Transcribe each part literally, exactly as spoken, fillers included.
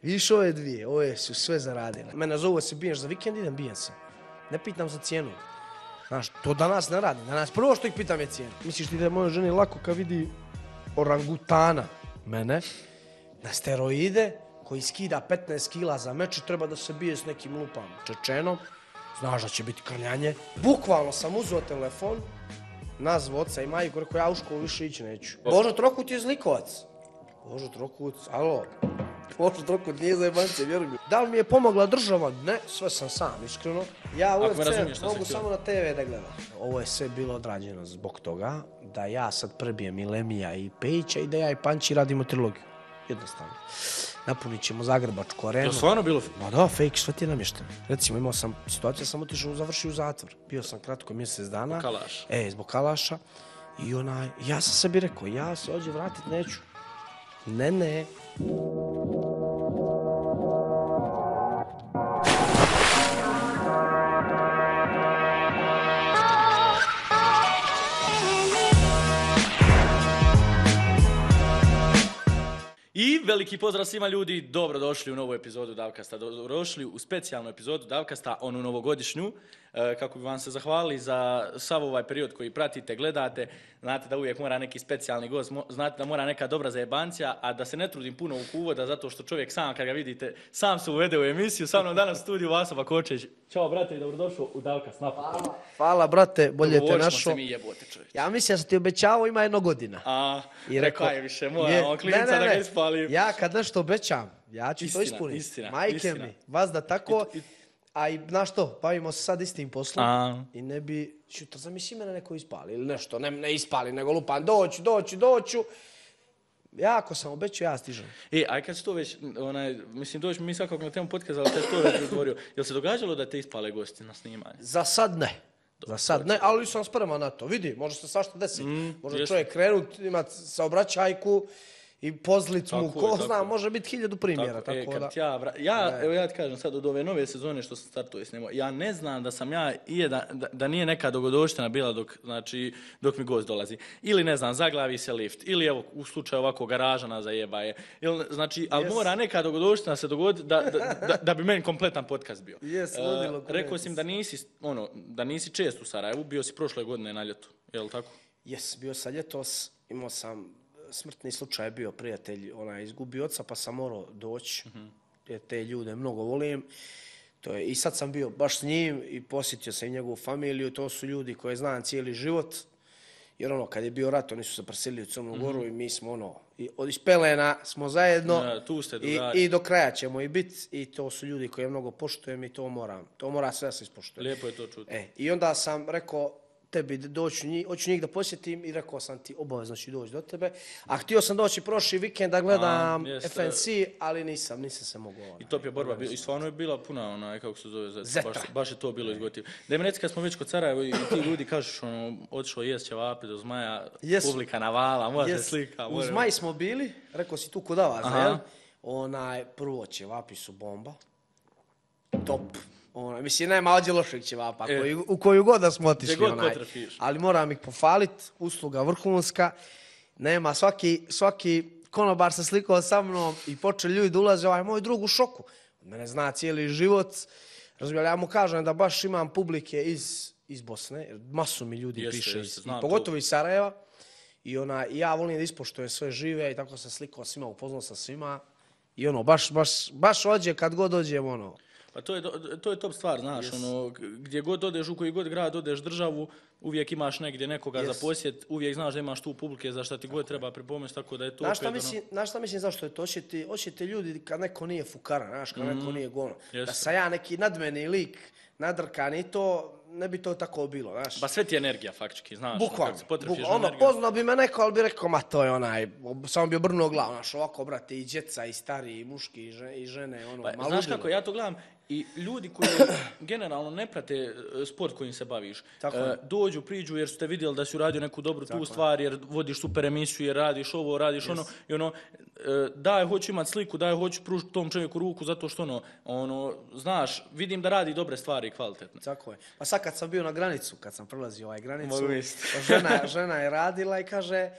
Vidiš ove dvije, ove su sve zaradile. Mene zovu se biješ za vikend, idem bijem se. Ne pitam za cijenu. Znaš, to danas ne radi. Danas prvo što ih pitam je cijenu. Misliš ti da je mojoj ženi lako kad vidi orangutana mene na steroide koji skida petnaest kila za meč i treba da se bije s nekim lupam Čečenom. Znaš da će biti krljanje. Bukvalno sam uzeo telefon, nazvao oca i majku, rekao ja u školu više ići neću. Božo Trokut je zlikovac. Božo Trokut, alo. Božo Trokut nije za jebance, vjeruj mi. Da li mi je pomogla država? Ne, sve sam sam, iskreno. Ja u U F C mogu samo na te ve da gledam. Ovo je sve bilo odrađeno zbog toga da ja sad prebijem i Lemija i Pejića i da ja i Panči radimo trilogiju. Jednostavno. Napunit ćemo Zagrebačku arenu. To stvarno bilo? Ma da, fake, sve ti je namješteno. Recimo, imao sam situaciju, sam otišao, završio u zatvor. Bio sam kratko mjesec dana. Zbog Kalaša. E, zbog Kalaša. I onaj, ja sam sebi rekao, ja se ovdje vratit neću. Ne, ne. I veliki pozdrav svima ljudi, dobrodošli u novu epizodu Davkasta, dobrodošli u specijalnu epizodu Davkasta, onu novogodišnju, kako bi vam se zahvalili za sav ovaj period koji pratite, gledate. Znate da uvijek mora neki specijalni gost, znate da mora neka dobra zajebancija, a da se ne trudim puno u uvoda zato što čovjek sam, kad ga vidite, sam se uvede u emisiju. Sa mnom danas u studiju Vaso Bakočević. Ćao brate i dobrodošao u Davkast. Hvala. Hvala brate, bolje te našo. Se mi jebote čovječ. Ja mislim da sam ti obećavao ima jedno godina. A, I rekao je više, moramo klinca da ga ispalim. Ja kad nešto obećam, ja ću istina, to ispuniti. Istina, Majke istina. mi, vas da tako, I, i, a i znaš što, bavimo se sad istim poslom a. i ne bi, šutra, zamisli mene neko ispali ili nešto, ne, ne ispali, nego lupan, doću, doću, doću. Ja ako sam obećao, ja stižem. E, aj kad si to već, onaj, mislim, doći mi svakog na temu podcasta, ali kad si to već odgovorio, jel se događalo da te ispale gosti na snimanje? Za sad ne. Za sad ne, ali sam spreman na to. Vidi, može se svašta desiti. Mm, može jest. čovjek krenut, imat saobraćajku i pozlicu mu, ko je, zna, može biti hiljadu primjera. Tako, tako, tako e, kad da. ja, vra... ja, evo ja ti kažem sad od ove nove sezone što sam startuje s njima, ja ne znam da sam ja, i da, da, da nije neka dogodovština bila dok, znači, dok mi gost dolazi. Ili ne znam, zaglavi se lift, ili evo u slučaju ovako garaža nas zajebaje. Ili, znači, ali yes. mora neka dogodovština se dogoditi da, da, da, da bi meni kompletan podcast bio. Yes, ludilo, uh, rekao sam da nisi, ono, da nisi čest u Sarajevu, bio si prošle godine na ljetu, je li tako? Jes, bio sam ljetos, imao sam smrtni slučaj je bio prijatelj, ona je izgubio oca pa sam morao doći, mm-hmm. jer te ljude mnogo volim. To je, i sad sam bio baš s njim i posjetio sam i njegovu familiju, to su ljudi koje znam cijeli život, jer ono, kad je bio rat, oni su se preselili u Crnu Goru mm-hmm. i mi smo ono, i od ispelena smo zajedno ja, tu ste i, i do kraja ćemo i biti i to su ljudi koje mnogo poštujem i to moram, to mora sve da se ispoštuje. Lijepo je to čuti. E, i onda sam rekao, tebi doću njih, hoću njih da posjetim i rekao sam ti obavezno ću doći do tebe. A htio sam doći prošli vikend da gledam a, F N C, ali nisam, nisam se mogao. Onaj, I top je borba, i stvarno je bila puna onaj, kako se zove, Zeta. Baš, baš je to bilo izgotiv. Da mi reci kad smo već kod Sarajeva i ti ljudi kažeš, ono, otišao jest ćevapi do Zmaja, yes. publika navala, može yes. slika. Može. U Zmaj smo bili, rekao si tu kod vas, jel? Onaj, prvo ćevapi su bomba, top. Ona, mislim, nema ođe lošeg ćevapa, e. koji, u koju god da smo otišli, onaj. Ali moram ih pofalit, usluga vrhunska, nema, svaki, svaki konobar se slikao sa mnom i počeli ljudi da ulaze, ovaj moj drug u šoku. Mene zna cijeli život, razumijem, ja mu kažem da baš imam publike iz, iz Bosne, jer masu mi ljudi jeste, piše, jeste, iz, i pogotovo iz Sarajeva, i ona, ja volim da ispoštujem sve žive i tako se slikao svima, upoznao sa svima, i ono, baš, baš, baš ođe kad god dođem, ono, pa to je, to je top stvar, znaš, yes. ono, gdje god odeš, u koji god grad odeš državu, uvijek imaš negdje nekoga yes. za posjet, uvijek znaš da imaš tu publike za šta ti god treba pripomoći, tako da je to znaš opet, mislim, ono... Znaš šta mislim zašto je to? Oćete, oćete ljudi kad neko nije fukara, znaš, kad mm. neko nije gono. Yes. Da sam ja neki nadmeni lik, nadrkan i to, ne bi to tako bilo, znaš. Ba sve ti energija, faktički, znaš. Bukvalno, bukvalno. Ono, poznao bi me neko, ali bi rekao, ma to je onaj, samo bi obrnuo glavu, znaš, ovako, brate, i djeca, i stari, i muški, i žene, ono, pa, malo znaš udilo. kako, ja to gledam, i ljudi koji generalno ne prate sport kojim se baviš, uh, dođu, priđu jer su te vidjeli da si uradio neku dobru tako tu stvar, jer vodiš super emisiju, jer radiš ovo, radiš yes. ono, i ono, uh, daj, hoću imat sliku, daj, hoću pružiti tom čovjeku ruku, zato što ono, ono, znaš, vidim da radi dobre stvari i kvalitetne. Tako je. Pa sad kad sam bio na granicu, kad sam prelazio ovaj granicu, žena, žena je radila i kaže,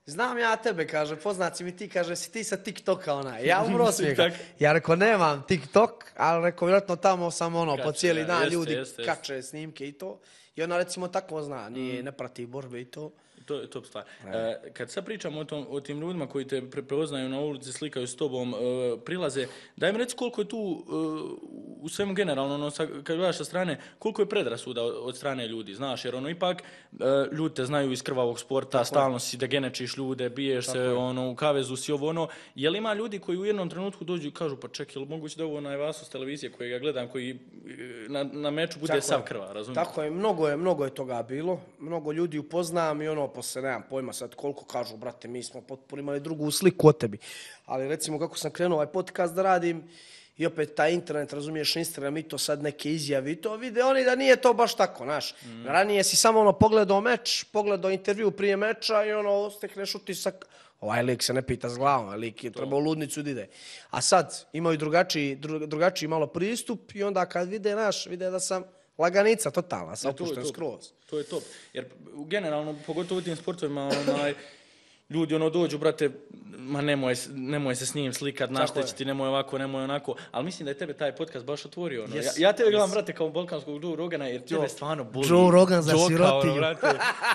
znam ja tebe, kaže, poznat si mi ti, kaže, si ti sa TikToka onaj. Ja umro smijeha. Ja rekao, nemam TikTok, ali rekao, vjerojatno tamo sam ono, po cijeli dan ljudi kače snimke i to. I ona recimo tako zna, nije, ne prati borbe i to. To je top stvar. E, kad sad pričamo o, tom, o tim ljudima koji te prepoznaju na ulici, slikaju s tobom, e, prilaze, daj mi reci koliko je tu e, u svemu generalno, ono, sa, kad gledaš sa strane, koliko je predrasuda od, od strane ljudi, znaš, jer ono ipak e, ljudi te znaju iz krvavog sporta, tako stalno si da genečiš ljude, biješ tako se, je. Ono, u kavezu si ovo, ono, je li ima ljudi koji u jednom trenutku dođu i kažu, pa čekaj, ili moguće da ovo onaj Vaso s televizije koji ga gledam, koji na, na meču bude tako sav krva, razumiješ? Tako je, mnogo je, mnogo je toga bilo, mnogo ljudi upoznam i ono, posle nemam pojma sad koliko kažu, brate, mi smo potpuno imali drugu sliku od tebi. Ali recimo kako sam krenuo ovaj podcast da radim i opet taj internet, razumiješ, Instagram i to sad neke izjave i to vide oni da nije to baš tako, znaš. Mm. Ranije si samo ono pogledao meč, pogledao intervju prije meča i ono stekneš utisak, ovaj lik se ne pita s glavom, ovaj lik je trebao u ludnicu da ide. A sad imaju drugačiji, drugačiji malo pristup i onda kad vide, naš, vide da sam laganica totalna, sam opušten skroz. To je top. Jer generalno, pogotovo u tim sportovima, onaj, ljudi ono dođu, brate, ma nemoj, nemoj se s njim slikat, naštećiti, nemoj ovako, nemoj onako. Ali mislim da je tebe taj podcast baš otvorio. Ono. Yes, ja, ja tebe gledam, yes. brate, kao balkanskog Joe Rogana, jer tebe stvarno boli. Joe Rogan za sirotiju. Ono,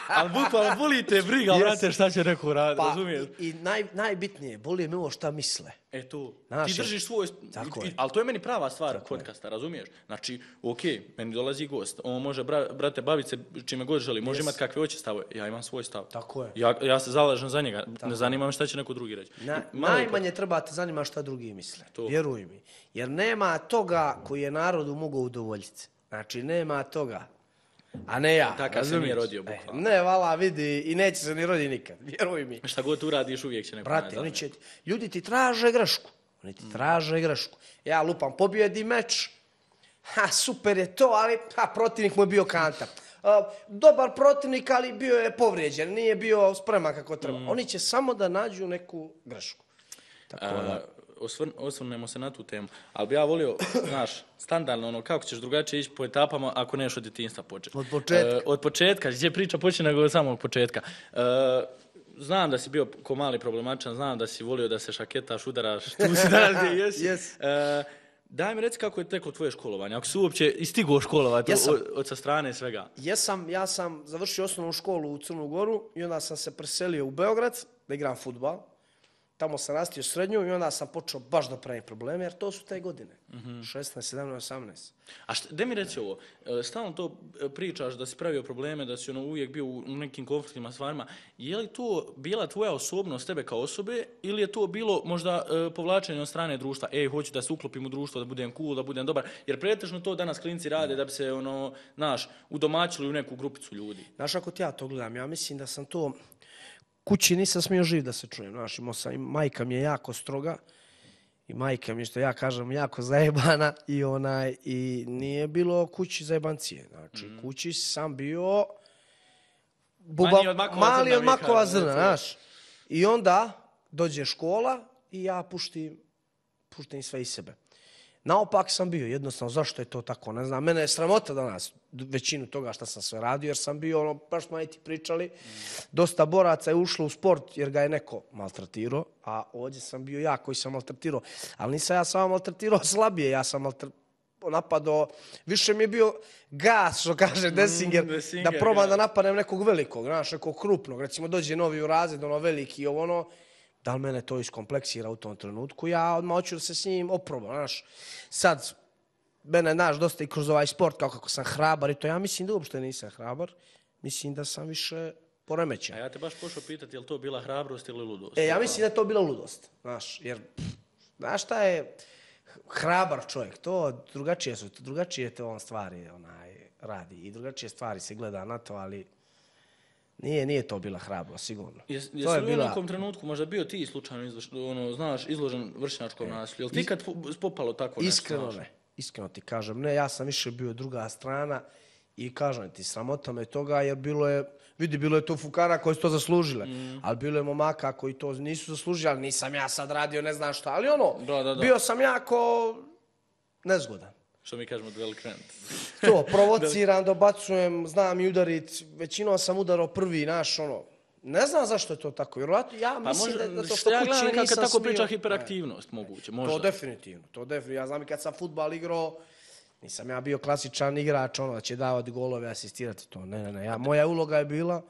ali bukvalno boli te briga, yes. brate, šta će neko raditi, pa, razumiješ? I, i naj, najbitnije, boli me ovo šta misle. E tu, ti držiš svoj, i, ali to je meni prava stvar tako podcasta, je. Razumiješ? Znači, okej, okay, meni dolazi gost, on može, bra, brate, baviti se čime god želi, može yes. imati kakve hoće stavove, ja imam svoj stav. Tako je. Ja, ja se zalažem za njega, tako ne zanima me šta će neko drugi reći. Na, najmanje treba te zanima šta drugi misle, to. Vjeruj mi. Jer nema toga koji je narodu mogao udovoljiti. Znači, nema toga. A ne ja. Takav se nije rodio, bukvalno. Ne, vala, vidi, i neće se ni rodi nikad, vjeruj mi. Šta god uradiš, uvijek će neko brate, oni će, ljudi ti traže grešku. Oni ti traže grešku. Ja lupam, pobjedi meč, ha, super je to, ali ha, protivnik mu je bio kanta. Uh, dobar protivnik, ali bio je povrijeđen, nije bio spreman kako treba. Mm. Oni će samo da nađu neku grešku. Tako da... Osvrn, osvrnemo se na tu temu, ali bi ja volio, znaš, standardno, ono, kako ćeš drugačije ići po etapama ako neš od djetinjstva početi. Od početka. E, od početka, gdje priča počne nego od samog početka. E, znam da si bio ko mali problematičan, znam da si volio da se šaketaš, udaraš, tu si danas gdje jesi. Yes. E, daj mi reci kako je teklo tvoje školovanje, ako si uopće istigao školovati od, od sa strane svega. Jesam, ja sam završio osnovnu školu u Crnu Goru i onda sam se preselio u Beograd da igram fudbal. Tamo sam rastio srednju i onda sam počeo baš da pravim probleme, jer to su te godine. Mm-hmm. šesnaest, sedamnaest, osamnaest. A šta, de mi reci ovo, stalno to pričaš da si pravio probleme, da si ono uvijek bio u nekim konfliktima s varima. Je li to bila tvoja osobnost tebe kao osobe ili je to bilo možda e, povlačenje od strane društva? Ej, hoću da se uklopim u društvo, da budem cool, da budem dobar. Jer pretežno to danas klinci rade da bi se, ono, znaš, udomaćili u neku grupicu ljudi. Znaš, ako ti ja to gledam, ja mislim da sam to... Kući nisam smio živ da se čujem, znaš, imao sam, majka mi je jako stroga i majka mi je, što ja kažem, jako zajebana i onaj, i nije bilo kući zajebancije, znači, mm. kući sam bio buba, mali od makova mali zrna, od makova zrna, znaš, i onda dođe škola i ja puštim, puštim sve iz sebe. Naopak sam bio, jednostavno, zašto je to tako, ne znam, mene je sramota danas većinu toga što sam sve radio, jer sam bio, ono, baš smo i ti pričali, mm. dosta boraca je ušlo u sport jer ga je neko maltretirao, a ovdje sam bio ja koji sam maltretirao, ali nisam ja samo maltretirao slabije, ja sam maltretirao, napadao, više mi je bio gas, što kaže Dessinger, mm, Dessinger da probam da napadnem nekog velikog, znaš, nekog krupnog, recimo dođe novi u razred, ono veliki, ovo ono, da li mene to iskompleksira u tom trenutku, ja odmah hoću da se s njim oprobam, znaš. Sad, mene, znaš, dosta i kroz ovaj sport, kao kako sam hrabar i to, ja mislim da uopšte nisam hrabar, mislim da sam više poremećen. A ja te baš pošao pitati, je li to bila hrabrost ili ludost? E, ja mislim da je to bila ludost, znaš, jer, znaš šta je hrabar čovjek, to drugačije su, drugačije te on stvari onaj, radi i drugačije stvari se gleda na to, ali... Nije, nije to bila hrabro, sigurno. Jes, jesi li bila... u nekom trenutku možda bio ti slučajno izložen, ono, znaš, izložen vršnjačkom e, nasilju? Jel ti kad popalo tako nešto? Iskreno ne. Iskreno ti kažem, ne, ja sam više bio druga strana i kažem ti, sramota me toga jer bilo je, vidi, bilo je to fukara koji su to zaslužile, mm. ali bilo je momaka koji to nisu zaslužili, ali nisam ja sad radio ne znam šta, ali ono, da, da, da. bio sam jako nezgodan. Što mi kažemo delikvent. To, provociram, dobacujem, znam i udarit. Većinom sam udarao prvi, naš, ono, Ne znam zašto je to tako, vjerojatno ja Pa mislim možda, da, da to što što ja kući gledam nekako nisam kad tako smio. priča hiperaktivnost moguće, možda. To definitivno, to definitivno. Ja znam i kad sam fudbal igrao, nisam ja bio klasičan igrač, ono da će davati golove, asistirati to. Ne, ne, ne. Ja, moja uloga je bila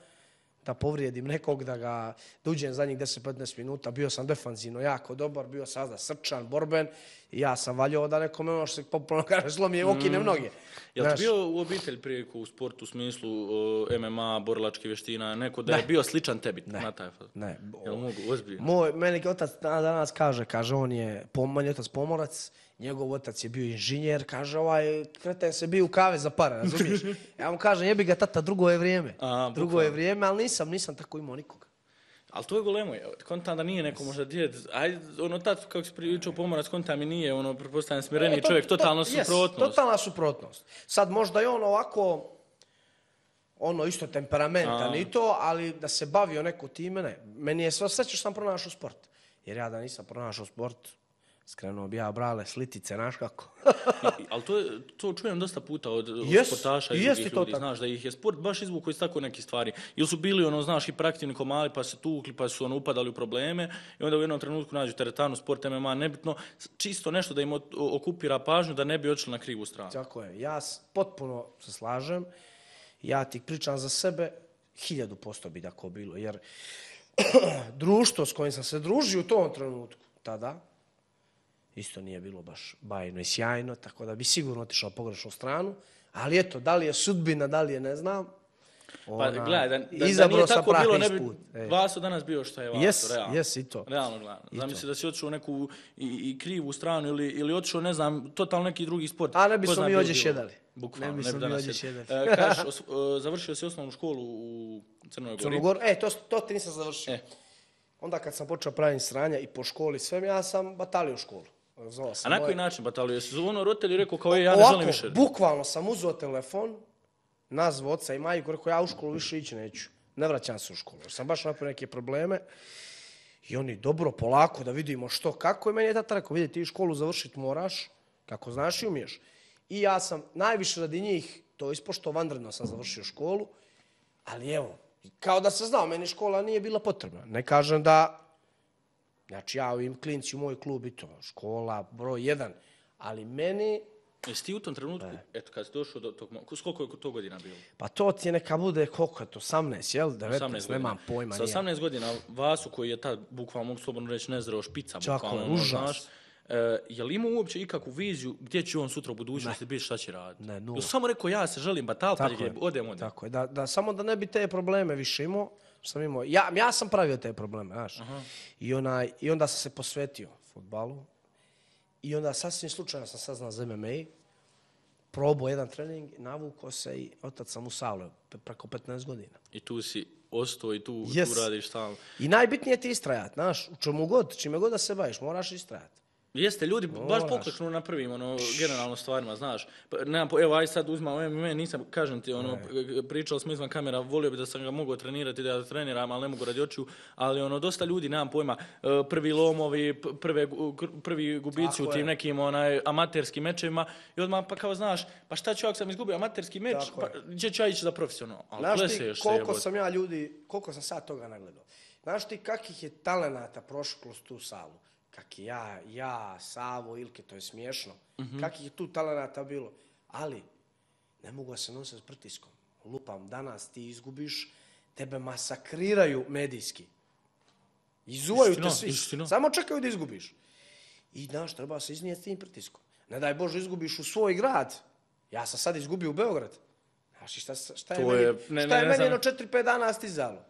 da povrijedim nekog, da ga da uđem zadnjih deset do petnaest minuta. Bio sam defanzivno jako dobar, bio sam da srčan, borben i ja sam valjao da nekome ono što se popularno kaže slomije okine mnoge. Jel ti bio u obitelj prije u sportu u smislu uh, M M A, borilačke vještina, neko da Ne. je bio sličan tebi Ne. na taj faz? Ne. Jel mogu, ozbiljno? Moj, meni otac danas kaže, kaže, on je, moj otac pomorac, njegov otac je bio inženjer, kaže, ovaj kreten se bio u kave za pare, razumiješ? Ja mu kažem, jebi ga tata, drugo je vrijeme. A, drugo bukvalno. je vrijeme, ali nisam, nisam tako imao nikoga. Ali to je golemo, je. Kontam da nije neko možda djed, ajde, ono, tad kako si pričao pomorac, kontam mi nije, ono, pretpostavljam smireniji E, to- čovjek, to- totalno jes, suprotnost. Totalna suprotnost. Sad možda je on ovako, ono isto temperamentan A. i to, ali da se bavio neko time, ne. Meni je sve sreće što sam pronašao sport. Jer ja da nisam pronašao sport, skrenuo bi ja brale slitice, znaš kako. I- Ali to, je, to čujem dosta puta od, od Jes, sportaša i jeste drugih to ljudi, tako. znaš, da ih je sport baš izvukao iz tako nekih stvari. Ili su bili, ono, znaš, hiperaktivni komali, pa se tukli, pa su ono, upadali u probleme i onda u jednom trenutku nađu teretanu, sport, M M A, nebitno, čisto nešto da im o- okupira pažnju, da ne bi odšli na krivu stranu. Tako je. Ja s- potpuno se slažem. Ja ti pričam za sebe, hiljadu posto bi tako bilo. Jer društvo s kojim sam se družio u tom trenutku, tada, isto nije bilo baš bajno i sjajno, tako da bi sigurno otišao pogrešnu stranu. Ali eto, da li je sudbina, da li je ne znam. Pa Ona, gledaj, da, da, da izabrao nije sam tako pravi bilo, ne bi put. E. Vaso danas bio što je Vaso, Jes, realno. jes i to. Realno gledano. I Zamisli to. da si otišao u neku i, i krivu stranu ili, ili otišao, ne znam, totalno neki drugi sport. A ne bi Ko smo zna mi bio ovdje bilo. šedali. Bukvalno, Ne bi ne bi smo mi danas ovdje šedali. šedali. E, kažeš, os- e, završio si osnovnu školu u Crnoj Gori. Crnogor, e, to, to ti nisam završio. E. Onda kad sam počeo praviti sranja i po školi sve, ja sam batalio školu. Zvao A sam na moje- koji način batalio? Jesi zvono roditelji rekao kao je, ja ne Ovako, želim više? bukvalno sam uzeo telefon, nazvao oca i majku, rekao ja u školu više ići neću. Ne vraćam se u školu. Jer sam baš napravio neke probleme. I oni, dobro, polako, da vidimo što, kako. I meni je tata rekao, vidi, ti školu završiti moraš, kako znaš i umiješ. I ja sam najviše radi njih, to ispošto vanredno sam završio školu, ali evo, kao da se znao, meni škola nije bila potrebna. Ne kažem da, znači ja ovim klinci u moj klub i to, škola, broj jedan, ali meni, Jesi ti u tom trenutku, eto, kad si došao do tog, mo- s koliko je to godina bilo? pa to ti je neka bude, koliko je to, osamnaest, jel? devetnaest, osamnaest godina. nemam pojma. Sa nije. osamnaest godina Vasu koji je tad, bukvalno mogu slobodno reći, nezreo špica, Tako bukvalno, je, ono, užas. znaš, e, je li imao uopće ikakvu viziju gdje će on sutra u budućnosti biti, šta će raditi? Ne, nula. Jel samo rekao ja se želim batal, pa Tako gdje je, odem, odem. tako je, da, da, samo da ne bi te probleme više imao, što sam imao. Ja, ja sam pravio te probleme, znaš. I, onaj, I onda sam se posvetio fudbalu. I onda sasvim slučajno sam saznao za M M A. Probao jedan trening, navukao se i otac sam u salu preko petnaest godina. I tu si ostao i tu, Yes. tu radiš stalno. I najbitnije je ti istrajat, znaš, u čemu god, čime god da se baviš, moraš istrajat. Jeste, ljudi baš Moraš. pokleknu na prvim, ono, generalno stvarima, znaš. Pa, nemam, po- evo, aj sad uzmam M M A, nisam, kažem ti, ono, p- pričali smo izvan kamera, volio bi da sam ga mogao trenirati, da ga treniram, ali ne mogu radi očiju, ali ono, dosta ljudi, nemam pojma, e, prvi lomovi, p- prve, gu- gr- prvi gubici Tako u tim je. nekim, onaj, amaterskim mečevima, i odmah pa kao, znaš, pa šta ću ako sam izgubio amaterski meč, Tako pa je. gdje ću ja ići za profesionalno? Ali Znaš ti kleseš se, koliko jebote. sam ja ljudi, koliko sam sad toga nagledao. Znaš ti kakvih je talenata prošlo kroz tu salu? Kak je ja, ja, Savo, Ilke, to je smiješno. Mhm. Kakvih je tu talenata bilo. Ali, ne mogu se nositi s pritiskom. Lupam, danas ti izgubiš, tebe masakriraju medijski. Izuvaju te Istina, svi. istina. Samo čekaju da izgubiš. I znaš, treba se iznijeti s tim pritiskom. Ne daj Bože izgubiš u svoj grad. Ja sam sad izgubio u Beograd. Znaš, i šta, šta je To meni, je- ne, šta ne, je ne meni znam. jedno četiri pet dana stizalo?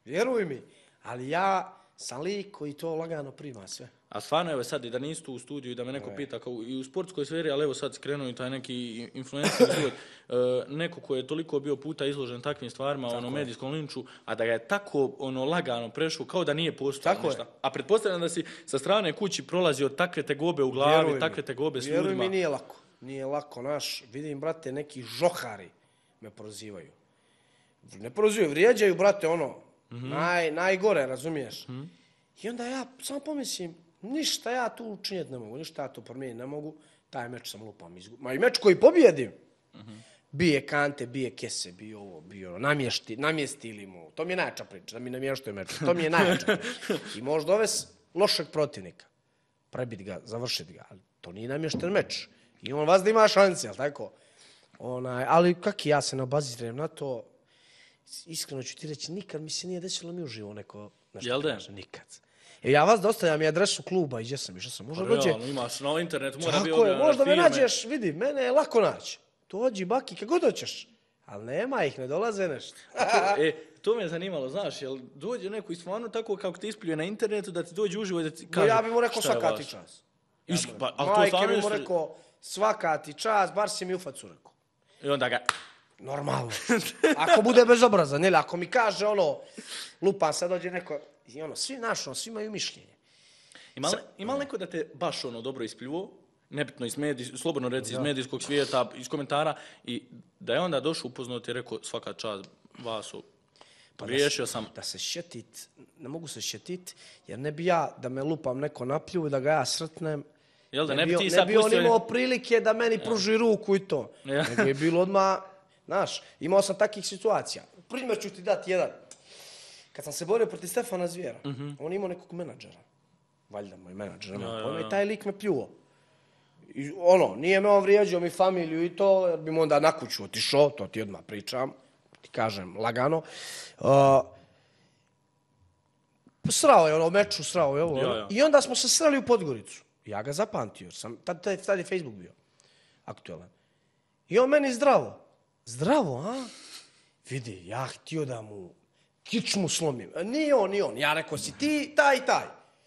Vjeruj mi. Ali ja sam lik koji to lagano prima sve. A stvarno, evo sad, i da nisi tu u studiju i da me neko pita, kao i u sportskoj sferi, ali evo sad skrenuo i taj neki influencer život, e, neko ko je toliko bio puta izložen takvim stvarima, ono, medijskom linču, a da ga je tako, ono, lagano prešao, kao da nije postojalo Tako je. ništa. A pretpostavljam da si sa strane kući prolazio takve tegobe u glavi, Vjeruj mi. takve tegobe s Vjeruj ljudima. mi, nije lako. Nije lako, naš. Vidim, brate, neki žohari me prozivaju. Ne prozivaju, vrijeđaju, brate, ono, naj, najgore, razumiješ? I onda ja samo pomislim, ništa ja tu učinjeti ne mogu, ništa ja tu promijeniti ne mogu, taj meč sam lupam izgubio. Ma i meč koji pobjedim, bije kante, bije kese, bije ovo, bije ono, namješti, namjestili mu. To mi je najjača priča, da mi namještaju meč. To mi je najjača priča. I može dovesti lošeg protivnika, prebiti ga, završiti ga, ali to nije namješten meč. I on vas da ima šanse, jel tako? Onaj, ali kak ja se ne obazirem na to, iskreno ću ti reći, nikad mi se nije desilo mi uživo neko nešto kaže, nikad. E, ja vas dostavljam i adresu kluba i gdje sam, išao sam, možda dođe. Realno, imaš na internetu, mora bi Tako je, objavljene možda me firme. nađeš, vidi, mene je lako naći. Dođi, baki, kako god hoćeš. Ali nema ih, ne dolaze nešto. E, to me je zanimalo, znaš, jel dođe neko i stvarno tako kako te ispljuje na internetu da ti dođe uživo i da ti kaže. No, ja bi mu rekao šta je svaka vaš. ti čas. Isk, pa, ali to Majke stvarno bi mu isto- rekao svaka ti čas, bar si mi u facu rekao. I onda ga... Normalno. Ako bude bezobrazan, ili ako mi kaže ono, lupa sad dođe neko, i ono, svi naš, ono, svi imaju mišljenje. Ima li, ima li neko da te baš ono dobro ispljuo, nebitno iz medij, slobodno reci iz medijskog svijeta, iz komentara, i da je onda došao upoznao ti je rekao svaka čast Vaso, pogriješio sam. Da se šetit, ne mogu se šetit, jer ne bi ja da me lupam neko naplju i da ga ja srtnem. Jel da, Ne ne bi bi, ti ne sad bi on pustio... imao prilike da meni pruži ruku i to. Ja. Nego je bilo odmah, znaš, imao sam takvih situacija. Primjer ću ti dati jedan. Kad sam se borio protiv Stefana Zvijera, on imao nekog menadžera. Valjda moj menadžer, nema Ja, pojma, ja, ja. i taj lik me pljuo. I ono, nije me on vrijeđao mi familiju i to, jer bi mu onda na kuću otišao, to ti odmah pričam, ti kažem lagano. Uh, srao je ono meču, srao je ovo. Ja, ono. ja. I onda smo se sreli u Podgoricu. Ja ga zapamtio, jer sam, tad, tad, tad je Facebook bio aktualan. I on meni zdravo. Zdravo, a? Vidi, ja htio da mu kičmu slomim. A nije on, nije on. Ja rekao, si ti taj i taj.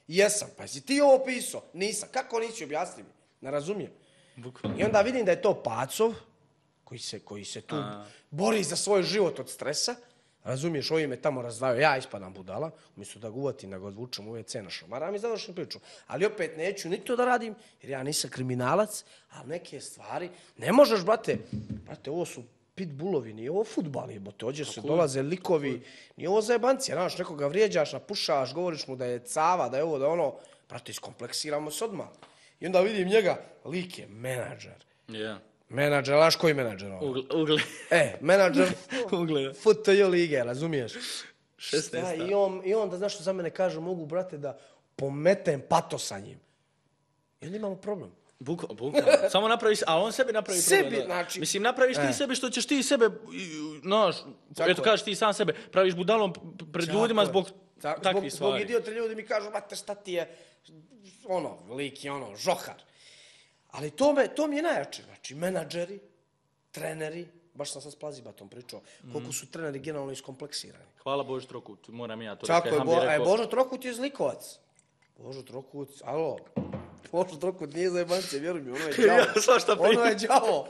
Jesam, pa si ti ovo pisao? Nisam. Kako nisi, objasni mi? Ne razumijem. Bukvalno. I onda vidim da je to Pacov, koji se, koji se tu A. bori za svoj život od stresa. Razumiješ, ovi me tamo razdvajaju, ja ispadam budala, umjesto da ga uvatim, da ga odvučem u ve ce na šamaram i završim priču. Ali opet neću ni to da radim, jer ja nisam kriminalac, ali neke stvari, ne možeš, brate, brate, ovo su pitbullovi, nije ovo fudbal, jebote, ođe se dolaze likovi, nije ovo zajebancija, znaš, nekoga vrijeđaš, napušaš, govoriš mu da je cava, da je ovo, da je ono, brate, iskompleksiramo se odmah. I onda vidim njega, lik je menadžer. Ja. Menadžer, znaš koji menadžer ono? Ugle, ugle. E, menadžer Ugleda. F T J lige, razumiješ? šesnaesta. Šta, I on, i onda, znaš što za mene kaže, mogu, brate, da pometem pato sa njim. I onda imamo problem. Bukvalno, bukvalno. Samo napraviš, a on sebi napravi Sebi, problem. da. znači- Mislim, napraviš ti E. sebi što ćeš ti sebe, znaš, Tako eto je. kažeš ti sam sebe, praviš budalom p- pred Tako ljudima je. zbog Ta- takvih zbog, zbog stvari. idiota ljudi mi kažu, brate, šta ti je, ono, lik je ono, žohar. Ali to, me, to mi je najjače. Znači, menadžeri, treneri, baš sam sad s Plazibatom pričao, koliko su treneri generalno iskompleksirani. Hvala Bože Trokut, moram i ja to Tako je, Hamdi Bo, e, rekao. Božo Trokut je zlikovac. Božo Trokut, alo, Božo Trokut nije zajebance, vjeruj mi, ono je đavo. Ja, svašta Ono pričam. je đavo.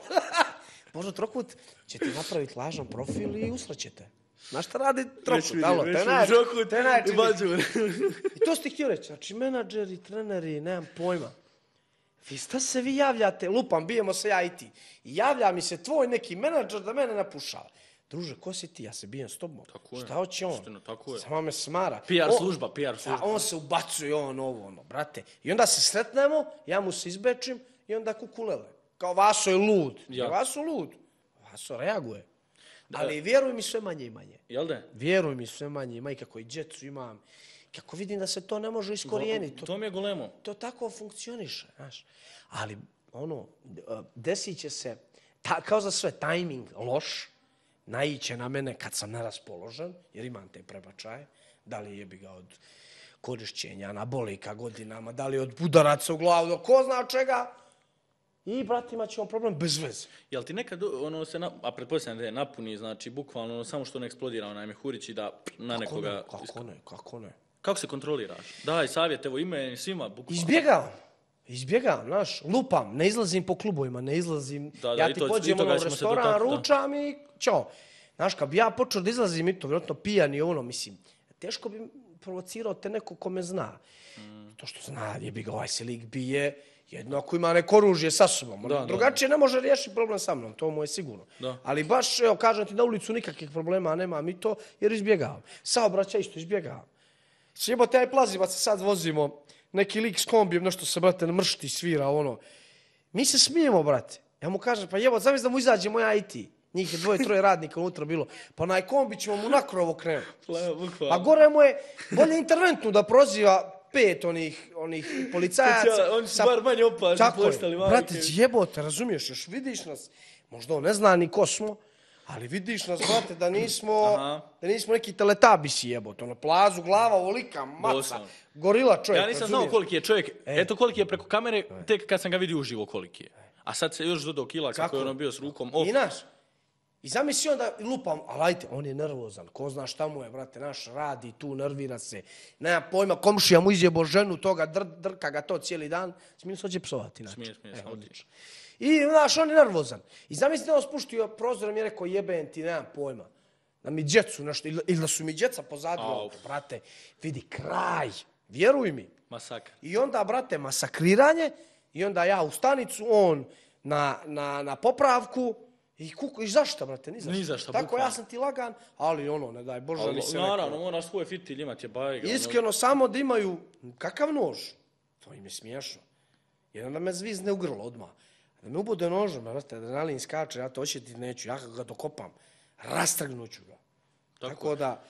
Božo Trokut će ti napraviti lažan profil i usrećete. Znaš šta radi Trokut, vidim, alo, već to je vidim, najjači- Trokut to je najjači i lik. Bađur. I to ste htio reći, znači menadžeri, treneri, nemam pojma. Vi šta se vi javljate, lupam, bijemo se ja i ti. I javlja mi se tvoj neki menadžer da mene napušava. Druže, ko si ti? Ja se bijem s tobom. Tako je. Šta hoće on? Istina, tako je. Samo me smara. P R On- služba, P R služba. A on se ubacuje, on ovo, ono, brate. I onda se sretnemo, ja mu se izbečim i onda kukulele. Kao Vaso je lud. Ja. Ja. Vaso lud. Vaso reaguje. Ali vjeruj mi sve manje i manje. Jel da? Vjeruj mi sve manje i manje, kako i djecu imam. Kako vidim da se to ne može iskorijeniti. To, To mi je golemo. to tako funkcioniše, znaš. Ali, ono, desit će se, ta, kao za sve, tajming loš, naiće na mene kad sam neraspoložen, jer imam te prebačaje, da li jebi ga od korišćenja anabolika godinama, da li od budaraca u glavu, do ko zna od čega. I, brate, imat ćemo problem bez veze. Jel ti nekad, ono se, na, a pretpostavljam da je napuni, znači, bukvalno, ono, samo što ne eksplodira onaj mehurić i da na Kako nekoga... ne, kako ne, kako ne. Kako se kontroliraš? Daj savjet, evo ime svima, bukvalno. Izbjegavam. Izbjegavam, znaš, lupam, ne izlazim po klubovima, ne izlazim, Da, da, ja i ti to- i pođem toga ono u ćemo se restoran, dotaknuti, da. ručam i ćao. Znaš, kad bi ja počeo da izlazim i to, vjerojatno pijan i ono, mislim, teško bi provocirao te neko ko me zna. Mm. To što zna, jebi ga, ovaj se lik bije, jedno ako ima neko oružje sa sobom. Da, da, Drugačije ne može riješiti problem sa mnom, to mu je sigurno. Da. Ali baš, evo, kažem ti, na ulicu nikakvih problema nemam i to, jer izbjegavam. Saobraćaj isto izbjegavam. Sjebote, aj Plazibac se sad vozimo, neki lik s kombijem, nešto se, brate, mršti, svira, ono. Mi se smijemo, brate. Ja mu kažem, pa jebo, zamisli da mu izađemo ja i ti. Njih je dvoje, troje radnika unutra bilo. Pa onaj kombi ćemo mu na krovo krenuti. Bukvalno. A gore mu je bolje interventnu da proziva pet onih, onih policajaca. Oni su bar manje opažni postali. Brate, jebote, razumiješ, još vidiš nas, možda on ne zna ni ko smo, ali vidiš nas, brate, da nismo, da nismo neki teletabisi jebote, ono, plazu, glava, ovolika, maca, gorila čovjek. Ja nisam znao koliki je čovjek, eto koliki je preko kamere, tek kad sam ga vidio uživo koliki je. A sad se još dodao kila kako je ono bio s rukom. I naš, i zamisli onda lupam, ali ajte, on je nervozan, ko zna šta mu je, brate, naš radi tu, nervira se, nema pojma, komšija mu izjebo ženu toga, dr, drka ga to cijeli dan, smije se ođe psovati, znači. Smije, smije, e, odlično. I, znaš, on je nervozan. I zamisli da on spuštio prozor i mi je rekao, jebem ti, nemam pojma, da mi djecu nešto, ili, ili da su mi djeca pozadili, auto, brate, vidi, kraj, vjeruj mi. Masakr. I onda, brate, masakriranje, i onda ja u stanicu, on na, na, na popravku, i kuku, i zašto, brate, ni zašto. Ni zašto, tako, bukvalno. Ja sam ti lagan, ali ono, ne daj Bože, mi se naravno, neko... moraš svoj fitilj imati, je bajga. Iskreno, samo da imaju, kakav nož, to im je smiješno. Jedan da me zvizne u grlo odmah. Da me ubude nožom, brate, adrenalin skače, ja to ošetiti neću, ja ga dokopam, rastrgnuću ga. Tako, tako da,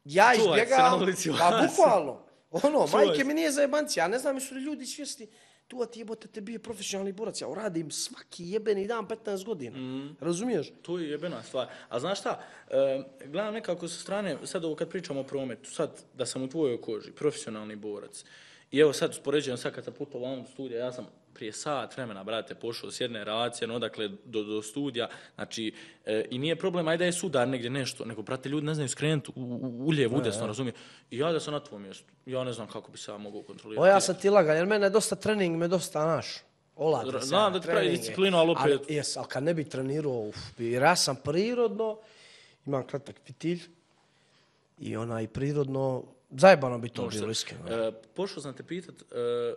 ja izbjegam, pa bukvalno, ono, majke mi nije za jebanci, ja ne znam, jesu li ljudi svjesni, tu ti jebote te bio profesionalni borac, ja uradim svaki jebeni dan petnaest godina, mm. razumiješ? To je jebena stvar. A znaš šta, e, gledam nekako sa strane, sad ovo kad pričamo o prometu, sad da sam u tvojoj koži, profesionalni borac, i evo sad uspoređujem sad kad sam putovao u studija, ja sam prije sat vremena, brate, pošao s jedne relacije, no, odakle do, do studija, znači, e, i nije problem, ajde je sudar negdje nešto, nego, brate, ljudi ne znaju skrenuti u, u, u lijevo, udesno, razumije. I ja da sam na tvojom mjestu, ja ne znam kako bi se ja mogao kontrolirati. O, ja sam ti lagan, jer mene je dosta trening, me dosta naš. Oladi se. Znam da ti pravi disciplinu, ali opet... Ali, jes, ali kad ne bi trenirao, uf, jer ja sam prirodno, imam kratak fitilj, i onaj prirodno, zajebano bi to bilo iskreno. E, pošao sam te pitat, e,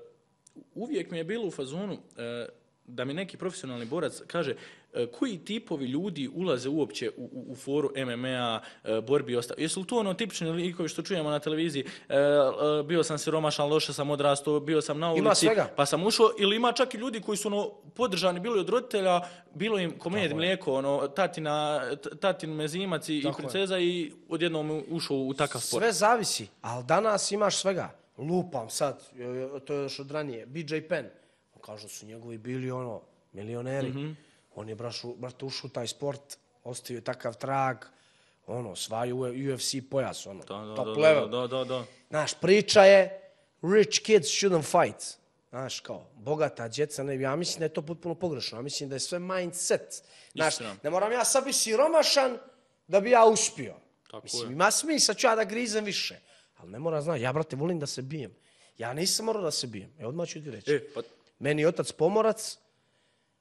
uvijek mi je bilo u fazonu e, da mi neki profesionalni borac kaže e, koji tipovi ljudi ulaze uopće u, u, u foru M M A, e, borbi i ostalo. Jesu li to ono tipični likovi što čujemo na televiziji, e, e, bio sam siromašan, loše sam odrastao, bio sam na ulici, pa sam ušao, ili ima čak i ljudi koji su ono, podržani bili od roditelja, bilo im komed, mlijeko, ono, tatina, tatin mezimac i, i princeza je. I odjednom ušao u takav sport. Sve zavisi, ali danas imaš svega. Lupam sad, to je još od ranije, B J Penn, kažu su njegovi bili ono, milioneri, mm-hmm. on je brašu, brate ušao u taj sport, ostavio takav trag, ono, svaju U F C pojas, ono, da, da, top da, level. Da, da, da. Znaš, priča je, rich kids shouldn't fight. Znaš, kao, bogata djeca, ne, ja mislim da je to potpuno pogrešno, ja mislim da je sve mindset. Znaš, ne moram ja sad biti siromašan da bi ja uspio. Tako mislim, je. ima smisla, ću ja da grizem više. Ali ne mora znati, ja, brate, volim da se bijem. Ja nisam morao da se bijem. E, odmah ću ti reći. E, pa... Meni je otac pomorac,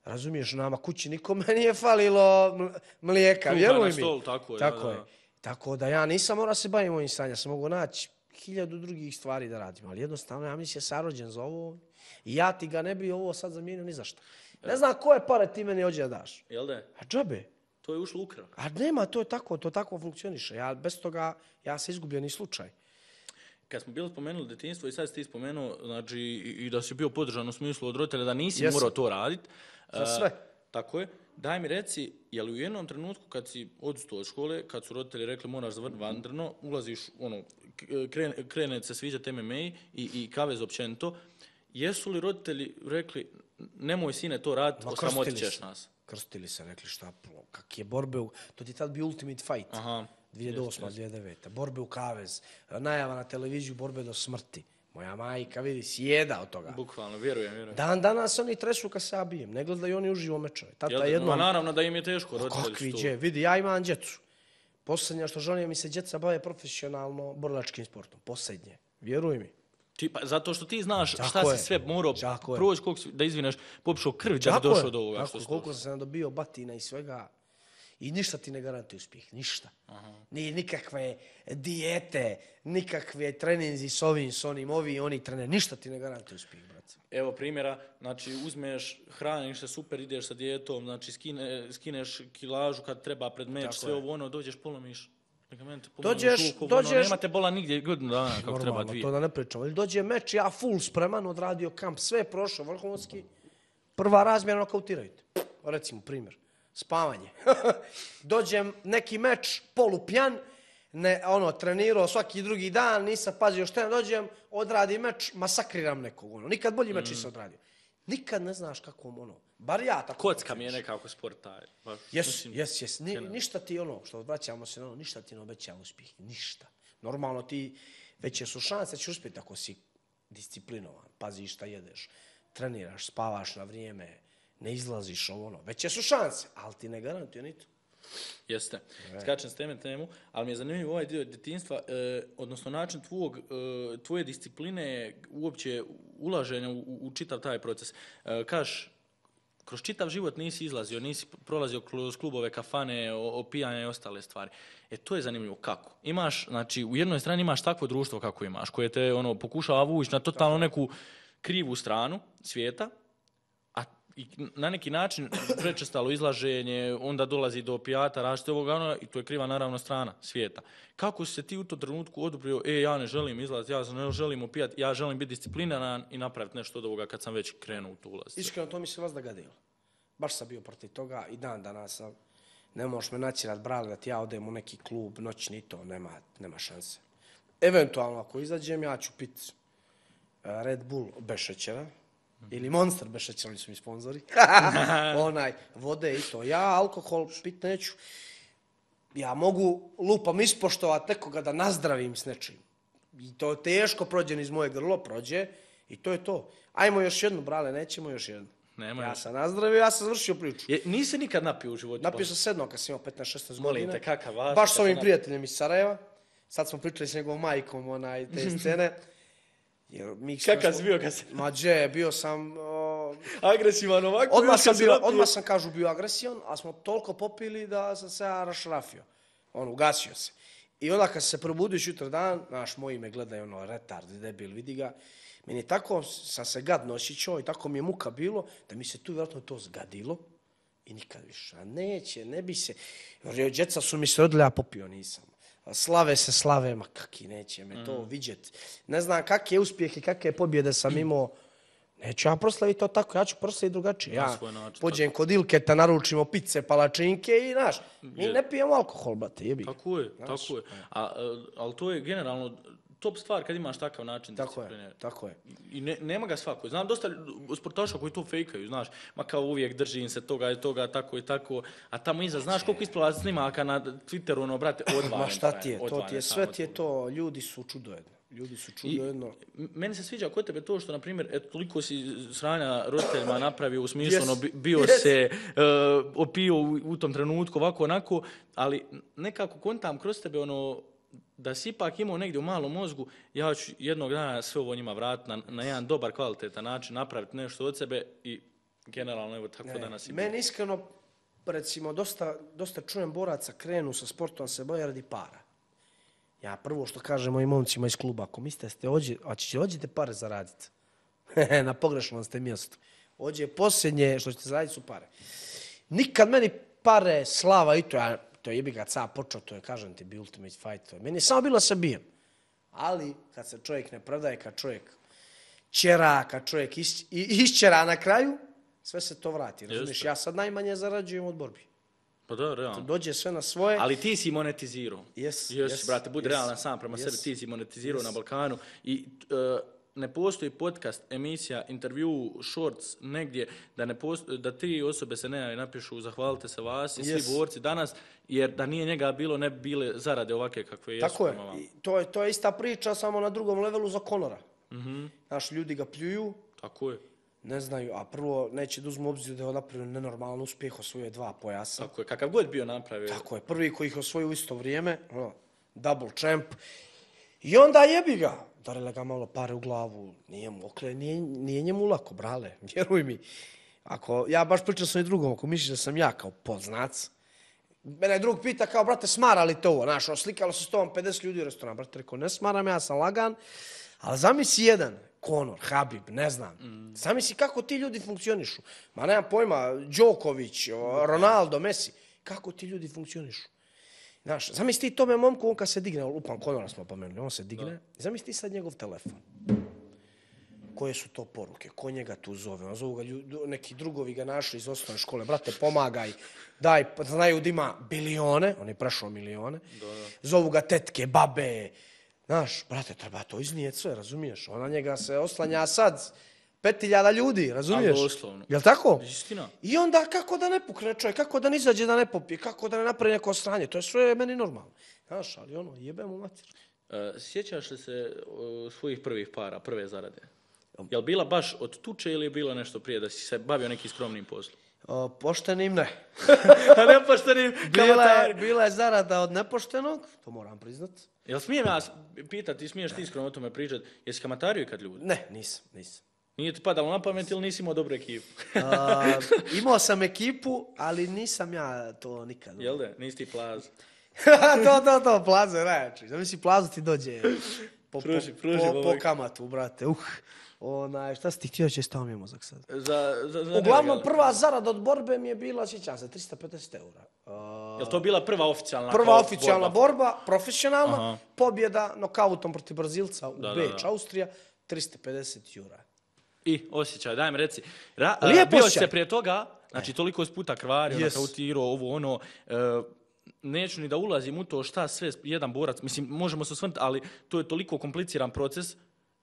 razumiješ, nama kući nikome nije falilo mlijeka, vjeruj mi. Stol, tako je. Tako da, je. da. Tako da ja nisam morao se baviti ovim stanjem, ja sam mogu naći hiljadu drugih stvari da radim, ali jednostavno ja mislim je sarođen za ovo i ja ti ga ne bi ovo sad zamijenio ni zašto. Ne znam koje pare ti meni ođe da daš. Jel da? A džabe. To je ušlo ukrao. A nema, to je tako, to tako funkcioniše. Ja bez toga, ja se izgubljeni slučaj. Kad smo bili spomenuli detinjstvo i sad si ti spomenuo, znači, i, i da si bio podržan u smislu od roditelja, da nisi Jesam. morao to raditi. Za sve. Uh, tako je. Daj mi reci, je li u jednom trenutku kad si odustao od škole, kad su roditelji rekli moraš zavrniti vandrno, ulaziš, ono, krene, krene se sviđati M M A i, i kavez općenito, jesu li roditelji rekli nemoj sine to raditi, osramotit ćeš nas? Krstili se, rekli šta, kak je borbe, u... to ti tad bio Ultimate Fight. Aha. dvije tisuće osma dvije tisuće deveta Borbe u kavez, najava na televiziju, borbe do smrti. Moja majka, vidi, sjeda od toga. Bukvalno, vjerujem, vjerujem. Dan danas oni tresu kad se ja bijem, ne gledaju oni uživo mečeve. Tata Jel, jednom... Ma naravno da im je teško, roditelji Kakvi su dje, vidi, ja imam djecu. Posljednje što želim mi se djeca bave profesionalno borilačkim sportom. Posljednje, vjeruj mi. Ti, pa, zato što ti znaš Tako šta je. si sve morao proći, koliko si, da izvineš, popišao krv da bi došao do ovoga. Tako, što si koliko sam dobio batina i svega. I ništa ti ne garantuje uspjeh, ništa. Aha. Ni nikakve dijete, nikakve treninzi s ovim, s onim, ovi, oni trener, ništa ti ne garantuje uspjeh, brate. Evo primjera, znači uzmeš, hraniš se super, ideš sa dijetom, znači skine, skineš kilažu kad treba pred meč, tako sve je. Ovo ono, dođeš, polomiš ligamente, polomiš dođeš, ruku, dođeš, ono, nemate bola nigdje godinu dana kako normalno, treba dvije. To da ne pričamo. Ili dođe meč, ja full spreman, odradio kamp, sve je prošao, vrhunski, prva razmjera nokautiraju te. Recimo, primjer. spavanje. Dođem neki meč, polupijan, ne, ono, trenirao svaki drugi dan, nisam pazio šta ne dođem, odradim meč, masakriram nekog, ono. Nikad bolji meč nisam odradio. Nikad ne znaš kakvom, ono, bar ja tako... Kocka mi je nekako sport taj. Jes, jes, jes. Ni, ništa ti, ono, što vraćamo se na ono, ništa ti ne obeća uspjeh. Ništa. Normalno ti, veće su šanse da ćeš uspjeti ako si disciplinovan, paziš šta jedeš, treniraš, spavaš na vrijeme, ne izlaziš ovo, ono. Veće su šanse, ali ti ne garantuje ni to. Jeste. Skačem s teme temu, ali mi je zanimljivo ovaj dio djetinjstva, eh, odnosno način tvojeg, eh, tvoje discipline, uopće ulaženja u, u čitav taj proces. Eh, kaš, kroz čitav život nisi izlazio, nisi prolazio kroz klubove, kafane, opijanja i ostale stvari. E, to je zanimljivo. Kako? Imaš, znači, u jednoj strani imaš takvo društvo kako imaš, koje te ono, pokušava vući na totalno neku krivu stranu svijeta, i na neki način prečestalo izlaženje, onda dolazi do opijata, različite ovoga, ono, i to je kriva naravno strana svijeta. Kako si se ti u tom trenutku odobrio, e, ja ne želim izlaziti, ja ne želim opijati, ja želim biti disciplinaran i napraviti nešto od ovoga kad sam već krenuo u tu ulaz? Iskreno, to mi se vas da gadilo. Baš sam bio protiv toga i dan danas sam. Ne možeš me naćirat, brale, da ti ja odem u neki klub, noćni, to nema, nema šanse. Eventualno, ako izađem, ja ću pit Red Bull bez šećera, ili Monster bez šećera, oni su mi sponzori. Onaj, vode i to. Ja alkohol pit neću. Ja mogu lupam ispoštovat nekoga da nazdravim s nečim. I to teško prođe iz moje grlo, prođe i to je to. Ajmo još jednu, brale, nećemo još jednu. Nema ja sam nazdravio, ja sam završio priču. Je, nisi nikad napio u životu? Napio sam sedno kad sam imao petnaest šesnaest godina. Molim te, kakav vas? Baš s ovim prijateljem iz Sarajeva. Sad smo pričali s njegovom majkom onaj, te scene. Jer mi kakav si bio kad se... Ma dže, bio sam... O... agresivan ovako? Odmah sam, bio, odmah sam kažu bio agresivan, ali smo toliko popili da sam se ja rašrafio. On, ugasio se. I onda kad se probudiš jutro dan, znaš, moji me gledaju, ono, retard, debil, vidi ga. Meni tako sam se gadno osjećao i tako mi je muka bilo, da mi se tu vjerojatno to zgadilo i nikad više. A neće, ne bi se... Jer djeca su mi se odlja, popio nisam. Slave se slave, ma kaki neće me to mm. vidjeti. Ne znam kakve uspjehe, kakve pobjede sam imao. Neću ja proslaviti to tako, ja ću proslaviti drugačije. Ja pođem kod Ilketa, naručimo pice, palačinke i, znaš, mi ne pijemo alkohol, brate, jebi. Tako je, znaš, tako je. A, ali to je generalno top stvar kad imaš takav način discipline. Tako je, tako je. I ne, nema ga svako. Znam dosta sportaša koji to fejkaju, znaš, ma kao uvijek držim se toga i toga, tako i tako, a tamo iza, znaš koliko isplava snimaka na Twitteru, ono, brate, odvajem. Ma šta ti je, to ti je, sve ti je to, ljudi su čudojedno. Ljudi su čudojedno. Meni se sviđa kod tebe to što, na primjer, eto, toliko si sranja roditeljima napravio u smislu, yes. ono, bio yes. se, uh, opio u, u tom trenutku, ovako, onako, ali nekako kontam kroz tebe, ono, da si ipak imao negdje u malom mozgu, ja ću jednog dana sve ovo njima vratiti na, na jedan dobar, kvalitetan način, napraviti nešto od sebe i generalno, evo, tako ne, danas i meni iskreno, recimo, dosta, dosta čujem boraca krenu sa sportom, se boje radi para. Ja prvo što kažem mojim momcima iz kluba, ako mislite ste ođe, a ćete ođete pare zaraditi. Na pogrešnom ste mjestu. Ođe posljednje što ćete zaraditi su pare. Nikad meni pare, slava i to, ja, to je jebi ga ca počeo, to je, kažem ti, bi ultimate fight. To je. Meni je samo bilo se bijem. Ali kad se čovjek ne predaje, kad čovjek ćera, kad čovjek iš, išćera na kraju, sve se to vrati. Razumiješ, ja sad najmanje zarađujem od borbi. Pa da, realno. Dođe sve na svoje. Ali ti si monetizirao. Yes, Jesi, yes, brate, budi yes, realan sam prema yes, sebi, ti si monetizirao yes. na Balkanu i uh, ne postoji podcast, emisija, intervju, shorts, negdje, da, ne postoji, da tri osobe se ne napišu zahvalite se vas i yes. svi borci danas, jer da nije njega bilo, ne bi bile zarade ovake kakve jesu. Tako je. I to je, to je ista priča, samo na drugom levelu za Conora. Mm-hmm. Znaš, ljudi ga pljuju. Tako je. Ne znaju, a prvo neće da uzmu obzir da je napravio nenormalan uspjeh, osvojio dva pojasa. Tako je, kakav god bio napravio. Tako je, prvi koji ih osvojio u isto vrijeme, ono, double champ. I onda jebi ga, darile ga malo pare u glavu, nije mu okle, nije, nije njemu lako, brale, vjeruj mi. Ako, ja baš pričam sam i drugom, ako misliš da sam ja kao poznac, mene drug pita kao, brate, smara li to ovo, znaš, oslikalo se s tobom pedeset ljudi u restoranu, brate, rekao, ne smaram, ja sam lagan, ali zamisli jedan, Conor, Habib, ne znam. Mm. Zamisli kako ti ljudi funkcionišu. Ma nemam pojma, Đoković, Ronaldo, Messi. Kako ti ljudi funkcionišu. Znaš, zamisli ti tome momku, on kad se digne, upam, Conora smo pomenuli, on se digne. Da. Zamisli ti sad njegov telefon. koje su to poruke, ko njega tu zove, on zovu ga ljud, neki drugovi ga našli iz osnovne škole, brate, pomagaj, daj, znaju da ima bilione, on je prešao milione, Da, da. zovu ga tetke, babe, znaš, brate, treba to iznijeti sve, razumiješ, ona njega se oslanja sad, pet hiljada ljudi, razumiješ? Ali doslovno. Jel tako? Istina. I onda kako da ne pukne čovjek, kako da ne izađe da ne popije, kako da ne napravi neko sranje, to je sve meni normalno. Znaš, ali ono, jebe mu mater. E, sjećaš li se o, svojih prvih para, prve zarade? Je li bila baš od tuče ili je bilo nešto prije da si se bavio nekim skromnim poslom? O, poštenim ne. A nepoštenim Bila je, kamatari. bila je zarada od nepoštenog, to moram priznat. Jel smijem ja pitati, smiješ ti iskreno o tome pričati, jesi kamatario kad ljudi? Ne, nisam, nisam. Nije ti padalo na pamet ili nisi imao dobru ekipu? A, imao sam ekipu, ali nisam ja to nikad. Jel da? Nisi ti plaz. to, to, to, plaza najjači. Zamisli, plazu ti dođe po, Pruži, po, pruži, po, po ovaj. kamatu, brate. Uh, onaj, šta si ti htio, će stao mi je mozak sad. Za, za, za Uglavnom, nelegal. prva zarada od borbe mi je bila, sjećam se, tristo pedeset eura. A, Jel to bila prva oficijalna? prva kao oficijalna borba, profesionalna, Aha. pobjeda nokautom protiv Brazilca u Da, da, Beč, da. Austrija, tristo pedeset eura. I osjećaj, daj mi reci. Ra, Lijep bio si osjećaj. se prije toga, znači toliko si puta krvario, Yes. nakautirao, ovo ono, e, neću ni da ulazim u to šta sve jedan borac, mislim, možemo se osvrnuti, ali to je toliko kompliciran proces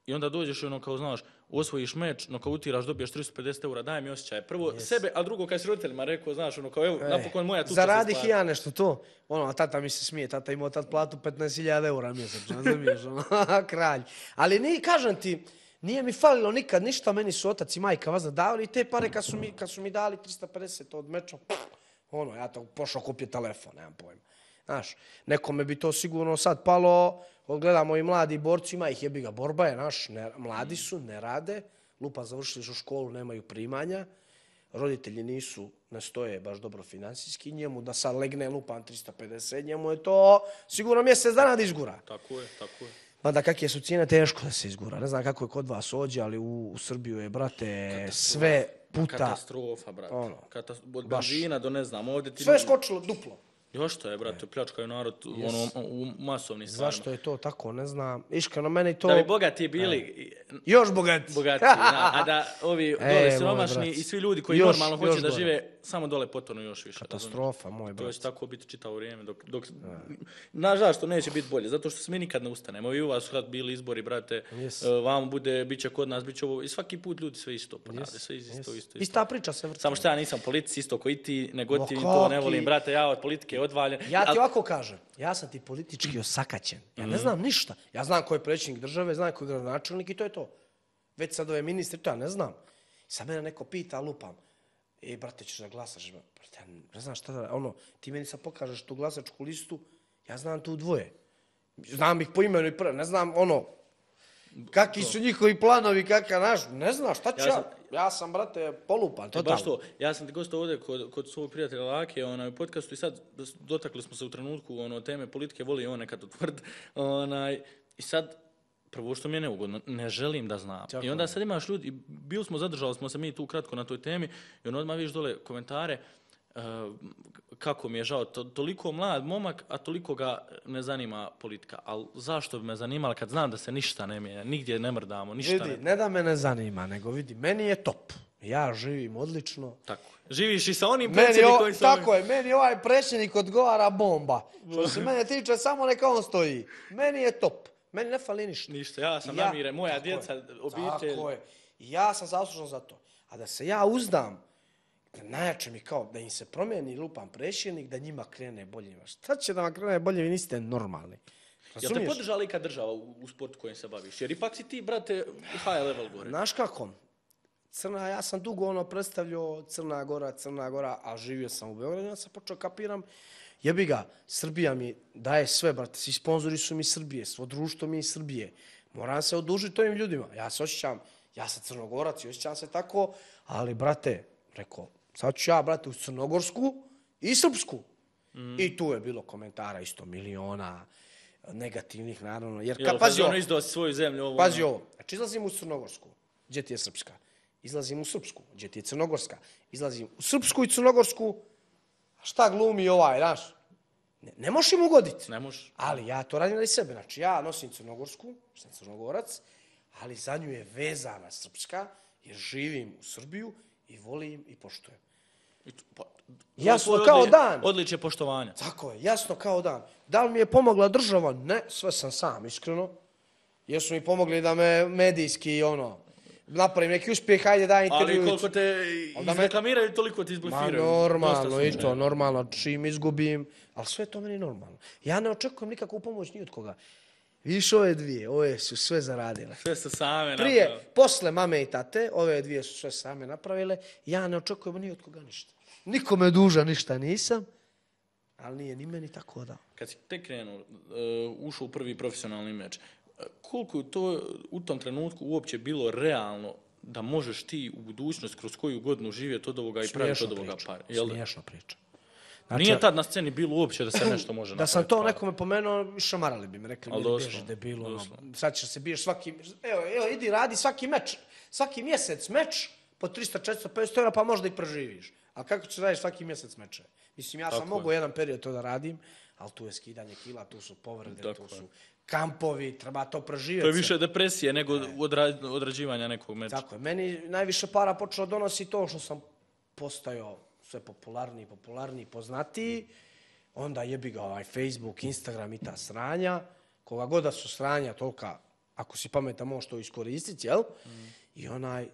i onda dođeš i ono kao, znaš, osvojiš meč, nokautiraš, dobiješ tristo pedeset eura, daj mi osjećaj. Prvo Yes. sebe, a drugo kad si roditeljima rekao, znaš, ono kao, evo, E, napokon moja tuča se Zaradih i stvari. ja nešto to. Ono, a tata mi se smije, tata imao tad platu petnaest hiljada eura mjesečno, razumiješ, ono, kralj. Ali ni, kažem ti, nije mi falilo nikad ništa, meni su otac i majka vazda davali i te pare kad su mi, kad su mi dali tristo pedeset od meča, pff, ono, ja to pošao kupiti telefon, nemam pojma. Znaš, nekome bi to sigurno sad palo, gledamo i mladi borci, ima ih jebi ga, borba je, naš, ne, mladi su, ne rade, lupa završili su školu, nemaju primanja, roditelji nisu, ne stoje baš dobro financijski, njemu da sad legne lupan tristo pedeset, njemu je to sigurno mjesec dana da izgura. Tako je, tako je. Mada kakve su cijene, teško da se izgura. Ne znam kako je kod vas ođe, ali u, u Srbiju je, brate, sve puta, Katastrofa, brate. Ono, Katas- od baš. benzina do ne znam, ovdje ti... sve je skočilo duplo. Još što je, brate, pljačkaju narod ono, u masovnim stvarima. Zašto je to tako, ne znam. Iskreno, meni to... Da bi bogati bili Još bogati. bogati, da, a da ovi E, dole moj siromašni brat. i svi ljudi koji Još- normalno hoće još da gore. žive samo dole potonu još više. Katastrofa, moj To brat. će tako biti čitavo vrijeme. Dok, dok, znaš zašto neće biti bolje? Zato što se mi nikad ne ustanemo. I u vas kad bili izbori, brate, Yes. uh, vamo bude, bit će kod nas, bit će ovo. I svaki put ljudi sve isto ponavljaju. Sve isto, isto, isto. Ista priča se vrti. Samo što ja nisam politici, isto koji ti, nego Ma ti to ne kaki? volim, brate, ja od politike odvaljen. Ja ti Al- ovako kažem, ja sam ti politički osakaćen. Ja ne znam ništa. Ja znam ko je predsjednik države, znam ko je gradonačelnik i to je to. Već sad ove ministri, to ja ne znam. I sad mene neko pita, lupam. E, brate, ćeš da glasaš? Brate, ja ne znam šta da... Ono, ti meni sad pokažeš tu glasačku listu, ja znam tu dvoje. Znam ih po imenu i prvo, ne znam, ono... Kakvi su njihovi planovi, kakav naš, ne znam, šta ću Ja ja? sam- Ja sam, brate, polupan, E, totalno. baš to. Ja sam ti gostao ovdje kod, kod svog prijatelja Lake onaj, u podcastu i sad dotakli smo se u trenutku ono, teme politike, voli on nekad utvrd. Onaj, I sad, prvo što mi je neugodno, ne želim da znam. Tako I onda je. sad imaš ljudi, i bili smo, zadržali smo se mi tu kratko na toj temi i ono odmah vidiš dole komentare uh, kako mi je žao, to, toliko mlad momak, a toliko ga ne zanima politika. Ali zašto bi me zanimala kad znam da se ništa ne mijenja, nigdje ne mrdamo, ništa Vidi, ne... ne da me ne zanima, nego vidi, meni je top. Ja živim odlično. Tako. Živiš i sa onim Meni o, predsjednikom i sa ovim- tako je, meni ovaj predsjednik odgovara bomba. Što se mene tiče, samo neka on stoji. Meni je top. Meni ne fali ništa. Ništa, ja sam Ja- namiren, moja tako djeca, je, obitelj. Tako je. I ja sam zaslužan za to. A da se ja uzdam, da najjače mi kao, da im se promijeni lupan predsjednik, da njima krene bolje. Šta će da vam krene bolje, vi niste normalni. Jel te Razumiješ? podržala ikad država u, u sportu kojim se baviš? Jer ipak si ti, brate, high level gore. Znaš kako? Crna, ja sam dugo ono predstavljao Crna Gora, Crna Gora, a živio sam u Beogradu, ja sam počeo kapiram, jebi ga, Srbija mi daje sve, brate, svi sponzori su mi iz Srbije, svo društvo mi je iz Srbije. Moram se odužiti ovim ljudima. Ja se osjećam, ja sam Crnogorac i osjećam se tako, ali, brate, rekao, sad ću ja, brate, u Crnogorsku i Srpsku. Mm. I tu je bilo komentara isto miliona, negativnih, naravno. Jer, Jel, ka, pazi ovo, ono izdao si svoju zemlju, ovo... pazi ono. ovo, znači izlazim u Crnogorsku, gdje ti je Srpska? Izlazim u Srpsku, gdje ti je Crnogorska? Izlazim u Srpsku i Crnogorsku, a šta glumi ovaj, znaš? Ne, ne možeš im ugoditi. Ne možeš. Ali ja to radim radi sebe. Znači, ja nosim Crnogorsku, sam Crnogorac, ali za nju je vezana srpska, jer živim u Srbiju i volim i poštujem. I to- pa, Jasno to je kao odli- dan. Odličje poštovanja. Tako je, jasno kao dan. Da li mi je pomogla država? Ne, sve sam sam, iskreno. Jesu mi pomogli da me medijski, ono, napravim neki uspjeh, hajde da intervju. Ali koliko te Onda me- izreklamiraju, toliko ti Ma izblefiraju. normalno, Dosta i su to, ne. normalno, čim izgubim, ali sve je to meni normalno. Ja ne očekujem nikakvu pomoć ni od koga. Vidiš ove dvije, ove su sve zaradile. Sve su same Prije, napravili. posle mame i tate, ove dvije su sve same napravile, ja ne očekujem ni od koga ništa. Nikome duža ništa nisam, ali nije ni meni tako da. Kad si tek krenuo, uh, ušao u prvi profesionalni meč, uh, koliko je to u tom trenutku uopće bilo realno da možeš ti u budućnost kroz koju godinu živjeti od ovoga i praviti Smiješna od ovoga priča, para? Jel da? smiješna priča. Nije tad na sceni bilo uopće da se nešto može Da napraviti. sam to para. nekome pomenuo, šamarali bi mi, rekli Ali mi, doslovno, bježi debilu, ono, doslovno. sad ćeš se biješ svaki, evo, evo, idi radi svaki meč, svaki mjesec meč, po tristo, četiristo, petsto eura, pa možda i preživiš. A kako ćeš radiš svaki mjesec meče? Mislim, ja sam Tako mogao je. jedan period to da radim, ali tu je skidanje kila, tu su povrede, Tako tu je. su kampovi, treba to preživjeti. To je se. više depresije nego odra, odrađivanja nekog meča. Tako je, meni najviše para počelo donosi to što sam postajao sve popularniji, popularniji, poznatiji, onda jebi ga ovaj Facebook, Instagram i ta sranja, koga god da su sranja, tolika, ako si pametan možeš to iskoristiti, jel? Mm. I onaj,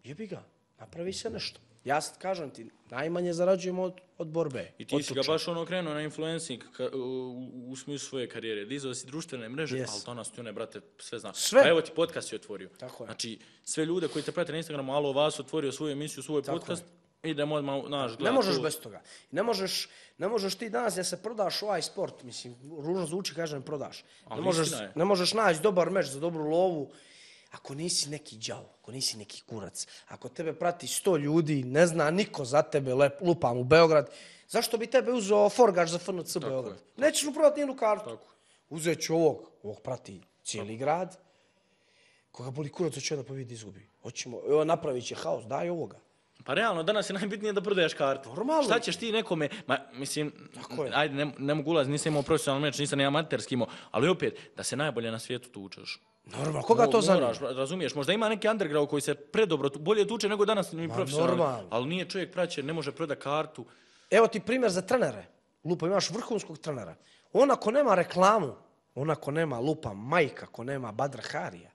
jebi ga, napravi se nešto. Ja sad kažem ti, najmanje zarađujem od, od borbe. I ti od si ga tuče. baš ono krenuo na influencing ka, u, u smislu svoje karijere. Dizao si društvene mreže, Yes. ali danas ti one, brate, sve zna. Sve. Pa evo ti podcast si otvorio. Tako je. Znači, sve ljude koji te prate na Instagramu, alo, vas otvorio svoju emisiju, svoj Tako podcast, idemo odmah, naš, gledati. Ne možeš to. bez toga. Ne možeš, ne možeš ti danas da se prodaš u ovaj sport, mislim, ružno zvuči, kažem, prodaš. Ali Ne možeš, istina je. ne možeš naći dobar meč za dobru lovu ako nisi neki đavo, ako nisi neki kurac. Ako tebe prati sto ljudi, ne zna niko za tebe, lep, lupam u Beograd, zašto bi tebe uzeo forgač za F N C Beograd? Nećeš mu prodati nijednu kartu. Tako. Uzet ću ovog, ovog prati cijeli grad, koga boli kurac, hoće da pobjedi izgubi. Hoćemo, evo, napravit će haos, daj ovoga. Pa realno, danas je najbitnije da prodaješ kartu. Normalno. Šta ćeš ti nekome, ma, mislim, Tako je. ajde, ne, ne mogu ulaziti, nisam imao profesionalni meč, nisam ni amaterski imao, ali opet, da se najbolje na svijetu tučeš. Normalno, koga to Mo- zanima? moraš, razumiješ, možda ima neki underground koji se predobro, tu- bolje tuče nego danas ni profesionalni, normalno. ali nije čovjek praćen, ne može prodati kartu. Evo ti primjer za trenere. Lupa, imaš vrhunskog trenera. On ako nema reklamu, on ako nema lupa majka, ako nema Badra Harija,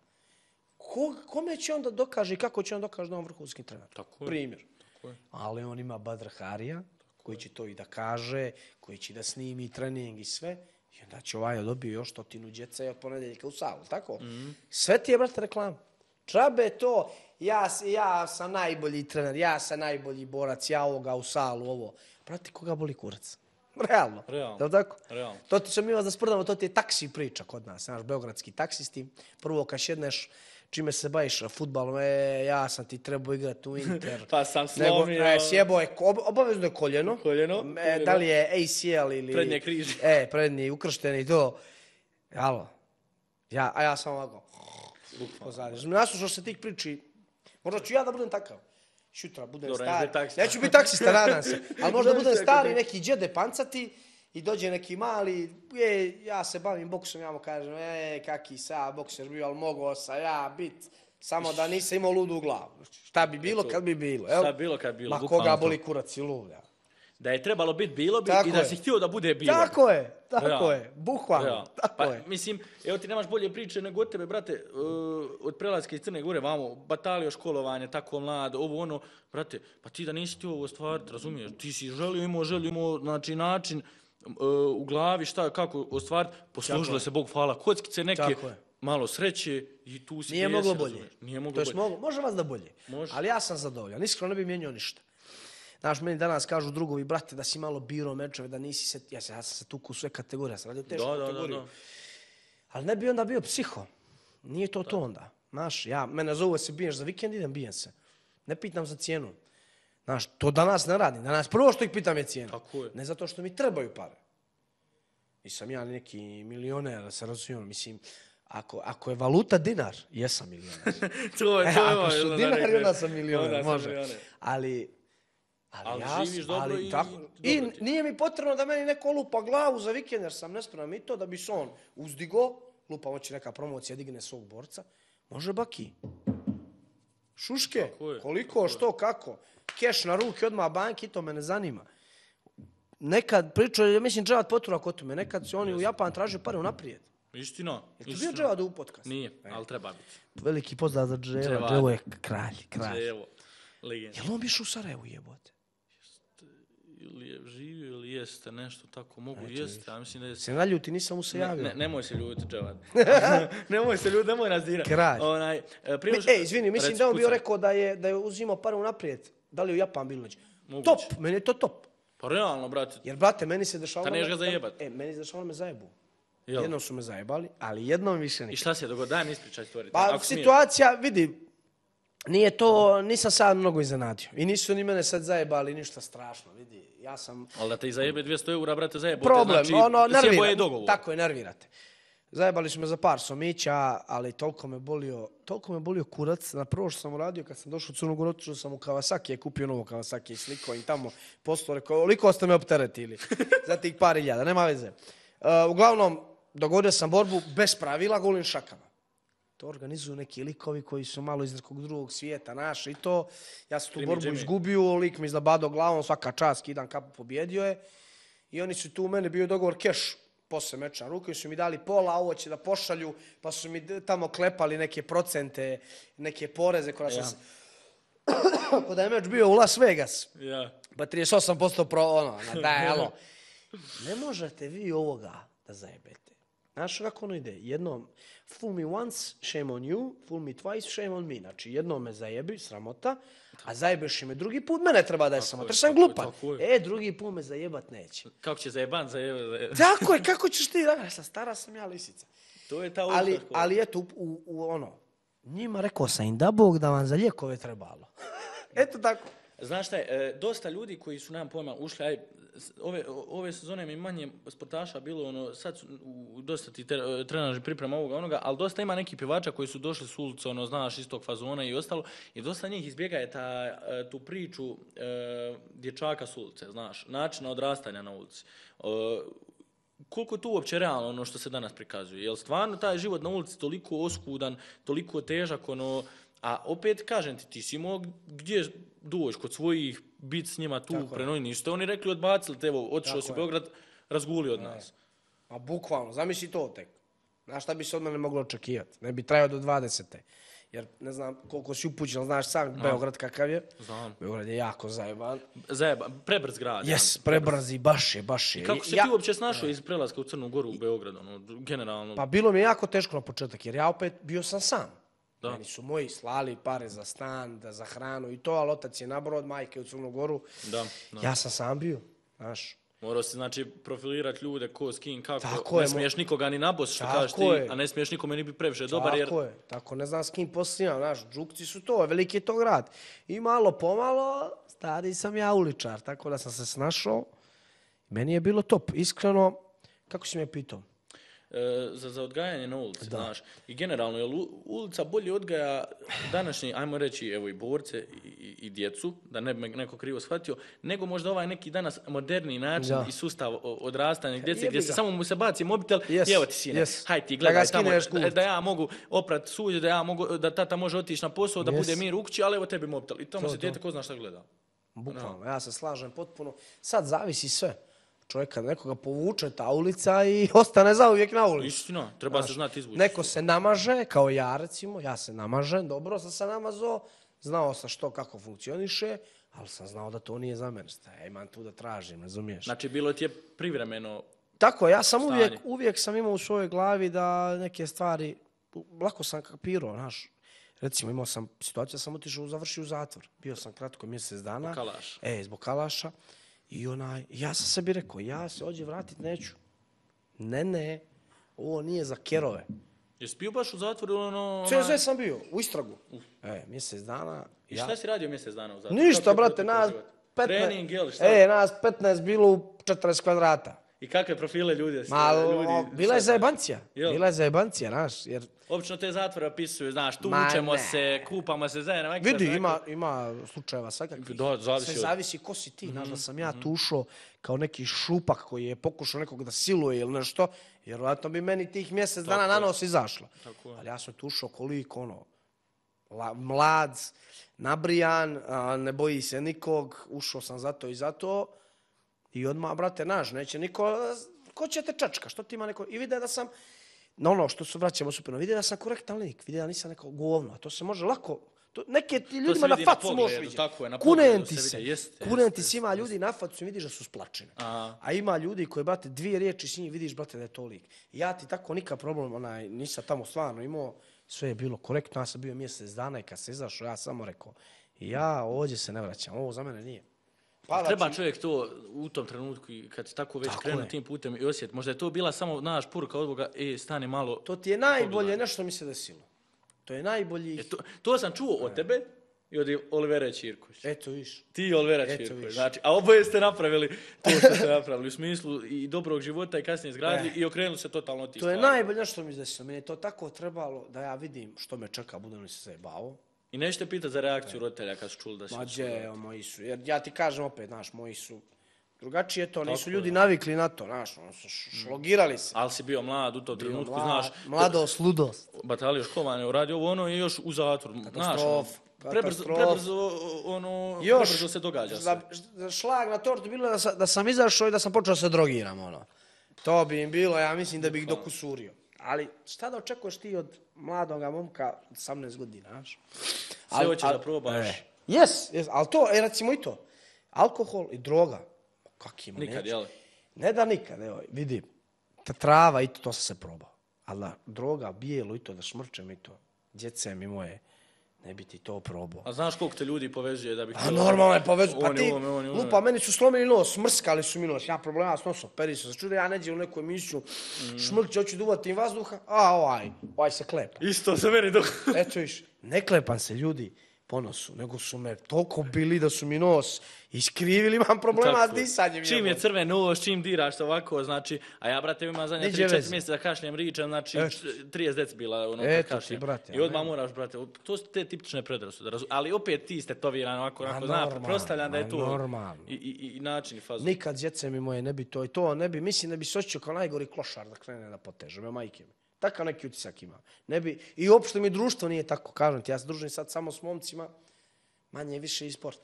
ko, kome će onda dokaže i kako će on dokaže da je on vrhunski trener? Tako je. Primjer. Tako je. Ali on ima Badra Harija, koji će to i da kaže, koji će da snimi trening i sve. I onda će ovaj dobio još stotinu djece od ponedjeljka u salu, tako? Mm. Sve ti je, brate, reklama. Džabe to, ja, s- ja sam najbolji trener, ja sam najbolji borac, ja ovoga u salu, ovo. Brate, koga boli kurac? Realno. Realno. Jel' tako? Realno. To ti ćemo mi vas da sprdamo, to ti je taksi priča kod nas, naš beogradski taksisti. Prvo kad šedneš, čime se baviš fudbalom, e, ja sam ti trebao igrati u Inter. Pa sam Nego, slomio. e, sjebo je, ob- obavezno je koljeno. Koljeno, E, koljeno. da li je A C L ili... Prednje križ. E, prednji, ukršteni, to. Alo. Ja, a ja sam ovako. Pozadnje. Naslušao se tih priči. Možda ću ja da budem takav. Šutra, budem Dobro, stari. neću biti taksista. Neću biti taksista, nadam se. Ali možda Znaš budem kako stari, to- neki džede pancati i dođe neki mali, e, ja se bavim boksom, ja mu kažem, e, kaki sa bokser bio, ali mogao sam ja bit, samo da nisam imao ludu glavu. Šta bi bilo kad bi bilo, jel? Šta bi bilo kad bi bilo, Ma bukvalno koga to. boli kurac i luda. Da je trebalo biti, bilo bi Tako i da je. si htio da bude bilo. bi. Tako je, tako Realno. je, bukvalno, Realno. tako Pa, je. mislim, evo ti nemaš bolje priče nego od tebe, brate, uh, od prelaska iz Crne Gore, vamo, batalio školovanje, tako mlad, ovo ono, brate, pa ti da nisi ti ovo ostvariti, razumiješ, ti si želio, imao, želio, imao, znači, način uh, u glavi šta, kako ostvariti, poslužilo se, Bog hvala, kockice neke, Tako je. malo sreće i tu si Nije gdje moglo jesi, bolje. razumiješ. Nije moglo To jest bolje. moglo, može vas da bolje. Može. Ali ja sam zadovoljan. Iskreno ne bi mijenjao ništa. Znaš, meni danas kažu drugovi, brate, da si malo birao mečeve, da nisi se... Ja, se, ja sam se tuku u sve kategorije, ja sam radio tešku Da, da, da, kategoriju. da. Ali ne bi onda bio psiho. Nije to to onda. Znaš, ja, mene zovu se biješ za vikend, idem bijem se. Ne pitam za cijenu. Znaš, to danas ne radim. Danas prvo što ih pitam je cijena. Tako je. Ne zato što mi trebaju pare. Nisam ja neki milioner, da se razumijem. Mislim, ako, ako je valuta dinar, jesam milioner. To je, E, to je, ako ono, su da dinari, rekneš. onda sam milioner, Onda sam može. milioner. Ali, ali, Ali ja, živiš sam- dobro ali i- tako, i i dobro ti je. nije mi potrebno da meni neko lupa glavu za vikend, jer sam nespreman i to da bi se on uzdigo, lupa hoće neka promocija, digne svog borca, Može baki. Šuške, je, koliko, što, kako. Keš na ruke, odmah banki, to me ne zanima. Nekad pričaju, ja mislim, Dževad poturak o tome, nekad su oni u Japan tražili pare unaprijed. Istina. Je ti bio Dževad u podcast? Nije, ali treba biti. Veliki pozdrav za Dževa, Dževo je kralj, kralj. Dževo, legenda. Jel on biš u Sarajevu jebote? Ili je živio ili jeste nešto tako, mogu jeste, ja mislim da je... Se naljuti, nisam mu se javio. Ne, nemoj se ljuti, Dževad. nemoj se ljuti, nemoj nas dirati. Kralj. Onaj, prije... Ej, izvini, mislim Reci, da on bio rekao da je, da je uzimao pare unaprijed. Da li je u Japan bilo neće? Top, meni je to top. Pa realno, brate. Jer, brate, meni se dešavalo... Ta neš ga zajebat. E, meni se dešavalo me zajebu. Jel? Jednom su me zajebali, ali jednom više nikad. I šta se je dogodilo? Daj mi ispričaj stvari. Pa, Ako situacija, smiješ. Vidi, nije to, nisam sad mnogo iznenadio. I nisu ni mene sad zajebali ništa strašno, vidi. Ja sam... Ali da te i zajebe dvjesto eura, brate, zajebote. Problem, znači, ono, nervira. Dogovor. Tako je, nervirate. Zajebali su me za par somića, ali toliko me bolio, toliko me bolio kurac. Na prvo što sam uradio, kad sam došao u Crnu Goru, otišao sam u Kawasaki, je kupio novo Kawasaki i sliko im tamo postao, rekao, oliko ste me opteretili za tih par iljada, nema veze. Uh, uglavnom, dogodio sam borbu bez pravila, golim šakama. To organizuju neki likovi koji su malo iz nekog drugog svijeta naši i to. Ja sam tu Krimi, borbu Jimmy. izgubio, lik mi izlabado glavom, svaka čast, kidan kapu, pobjedio je. I oni su tu u mene bio dogovor keš posle meča na ruke, su mi dali pola, ovo će da pošalju, pa su mi tamo klepali neke procente, neke poreze koja sam... Ja. Kada je meč bio u Las Vegas, ja. pa trideset osam posto pro, ono, daj, alo. Ne možete vi ovoga da zajebete. Znaš kako ono ide? Jednom, fool me once, shame on you, fool me twice, shame on me. Znači, jednom me zajebi, sramota, a zajebeš me drugi put, mene treba da je sramota. Jer sam glupan. E, drugi put me zajebat neće. Kako će zajeban zajebat? Tako je, kako ćeš ti, da, sam stara sam ja lisica. To je ta ali, ušta. ali eto, u, u ono, njima rekao sam im da Bog da vam za lijekove trebalo. Eto tako. Znaš šta je, e, dosta ljudi koji su nam pojma ušli, aj, ove, ove sezone mi manje sportaša bilo, ono, sad su u, dosta ti trenaži priprema ovoga onoga, ali dosta ima neki pjevača koji su došli s ulice, ono, znaš, iz tog fazona i ostalo, i dosta njih izbjegaje ta, tu priču e, dječaka s ulice, znaš, načina odrastanja na ulici. E, koliko je tu uopće realno ono što se danas prikazuje? Jel stvarno taj život na ulici toliko oskudan, toliko težak, ono, a opet, kažem ti, ti si imao gdje doći kod svojih, biti s njima tu, prenoj, nisu oni rekli odbacili te, evo, otišao si u Beograd, razguli od nas. A bukvalno, zamisli to tek. Znaš šta bi se od mene moglo očekivati? Ne bi trajao do dvadesete. Jer ne znam koliko si upućen, znaš sam no. Beograd kakav je. Znam. Beograd je jako zajeban. Zajeban, prebrz grad. Jes, prebrzi, baš je, baš je. I kako se ja... ti uopće snašao iz prelaska u Crnu Goru u Beograd, ono, generalno? Pa bilo mi je jako teško na početak, jer ja opet bio sam sam. Da. Meni su moji slali pare za stan, da za hranu i to, ali otac je na brod, majke u Crnu Goru. Da, da. Ja sam sam bio, znaš. Morao si, znači, profilirati ljude, ko, s kim, kako. Tako ne je, smiješ nikoga ni nabos, što kažeš ti, je. a ne smiješ nikome ni biti previše dobar, jer... Tako je, tako, ne znam s kim posljednjam, znaš, Džukci su to, veliki je to grad. I malo pomalo, stari sam ja uličar, tako da sam se snašao. Meni je bilo top, iskreno, kako si me pitao? E, za, za odgajanje na ulici, da. Znaš. I generalno, jer ulica bolje odgaja današnji, ajmo reći, evo i borce i, i, i djecu, da ne bi me neko krivo shvatio, nego možda ovaj neki danas moderni način da. I sustav odrastanja djece, gdje se samo mu se baci mobitel yes. I evo ti sine, yes. Haj ti gledaj tamo, da, da ja mogu oprat suđe, da, ja mogu, da tata može otići na posao, da yes. bude mir u kući, ali evo tebi mobitel. I tamo to, se djete ko zna šta gleda. Bukvalno, no. Ja se slažem potpuno. Sad zavisi sve. Čovjek kad nekoga povuče ta ulica i ostane zauvijek na ulici. Istina, treba znaš, se znati izvući. Neko se namaže, kao ja recimo, ja se namažem, dobro sam se namazao, znao sam što, kako funkcioniše, ali sam znao da to nije za mene. Ja imam tu da tražim, razumiješ? Znači, bilo ti je privremeno tako, ja sam uvijek, uvijek sam imao u svojoj glavi da neke stvari, lako sam kapirao, znaš. Recimo, imao sam situaciju, sam otišao, završio u zatvor. Bio sam kratko mjesec dana. Zbog kalaša. E, zbog kalaša. I onaj, ja sam sebi rekao, ja se ovdje vratit neću. Ne, ne, ovo nije za kerove. Jesi bio baš u zatvoru? Ono, sve, sve sam bio, u istragu. Uf. E, mjesec dana. I šta ja... si radio mjesec dana u zatvoru? Ništa, brate, nas petnaest... Trening, jel, šta? E, nas petnaest bilo u četrdeset kvadrata. I kakve profile ljudi? Ma, ljudi bila je zajebancija. Bila je zajebancija, znaš, jer... Obično te zatvore opisuju, znaš, tučemo se, kupamo se zajedno. Vidi, ima, ima slučajeva svakakvih. Da, zavisi sve zavisi ko si ti. Mm-hmm. Znaš da sam ja tu ušao kao neki šupak koji je pokušao nekog da siluje ili nešto. Vjerojatno bi meni tih mjesec dana Tako na je. nos izašlo. Tako je. Ali ja sam tu ušao koliko, ono, la- mlad, nabrijan, a, ne boji se nikog, ušao sam zato i zato. I odmah, brate, naš, neće niko, ko će te čačka, što ti ima neko, i vide da sam, na ono što se vraćamo supino, vide da sam korektan lik, vide da nisam neko govno, a to se može lako, to, neke ti ljudima na vidi na facu možeš pogledu, vidjeti. tako je, na Kunem pogledu ti se se, vidi, jeste, kunem jeste, ti se, ima ljudi na facu i vidiš da su splačene. Aha. A ima ljudi koji, brate, dvije riječi s njim vidiš, brate, da je to lik. I ja ti tako nikad problem, onaj, nisam tamo stvarno imao, sve je bilo korektno, ja sam bio mjesec dana i kad se izašao, ja samo rekao, ja ovdje se ne vraćam, ovo za mene nije. Pa, Treba znači, čovjek to u tom trenutku, i kad si tako već Tako krenuo je. tim putem i osjet. Možda je to bila samo, naš poruka od Boga, e, stani malo. to ti je najbolje Pogledaj. nešto mi se desilo. To je najbolji... E, to, to sam čuo od tebe i od Olivera Ćirkovića. Eto, viš. Ti i Olivera Eto, Ćirković. viš. Znači, a oboje ste napravili to što ste napravili u smislu i dobrog života i kasnije izgradili E. i okrenuli se totalno od tih To je stvari. najbolje što mi se desilo. Meni je to tako trebalo da ja vidim što me čeka, budem li se zajebao. I nećete pitati za reakciju roditelja kad su čuli da si... Mađe, evo, moji su. Jer ja ti kažem opet, znaš, moji su... Drugačije to, nisu Tako ljudi je. navikli na to, znaš, ono su š- šlogirali se. Ali si bio mlad u tom trenutku, Mlad- znaš... Mladost, ludost. Batalio školovanje, uradio ovo ono i još u zatvor. Znaš, ono, Katastrof, prebrzo, katastrof. prebrzo, ono, Još, prebrzo se događa za, sve. za šlag na tortu bilo da sam, da sam izašao i da sam počeo se drogiram, ono. To bi im bilo, ja mislim da bih ih dokusurio. Ali šta da očekuješ ti od mladoga momka osamnaest godina, znaš? Sve hoćeš da probaš. E, jes, jes, ali to, e, recimo i to. Alkohol i droga. Kak ima, Nikad, neću. jel? Ne da nikad, evo, vidi, ta trava i to, to sam se probao. Ali da droga, bijelo i to, da šmrčem i to, djece mi moje, ne bi ti to probao. A znaš koliko te ljudi povezuje da bi... A normalno je povezu, pa Oni ti, ovome, oni ovome. lupa, meni su slomili nos, mrskali su mi nos, ja problema s nosom, peri se, začude, ja neđe u neku emisiju, Mm. šmrkće, hoću duvati im vazduha, a ovaj, ovaj se klepa. Isto se meni dok... Eto viš, ne klepam se ljudi po nosu, nego su me toliko bili da su mi nos iskrivili, imam problema s Tako je. disanjem. Čim je jebote. crven nos, čim diraš ovako, znači, a ja, brate, imam zadnje Niđe tri četiri veze. mjeseca da kašljem ričem, znači, Eto. trideset decibela, ono, Eto kad ti, kašljem. brate, I odmah amen. moraš, brate, to su te tipične predrasude, razu- ali opet ti ste toviran ovako, Ma onako, zna, normalno, pretpostavljam da je ma to normalno. i, i, i način i fazon. Nikad djece mi moje ne bi to i to, ne bi, mislim da bi se osjećao kao najgori klošar da krene da poteže, me majke mi. Takav neki utisak ima. Ne bi, i uopšte mi društvo nije tako, kažem ti, ja se družim sad samo s momcima, manje više i sport.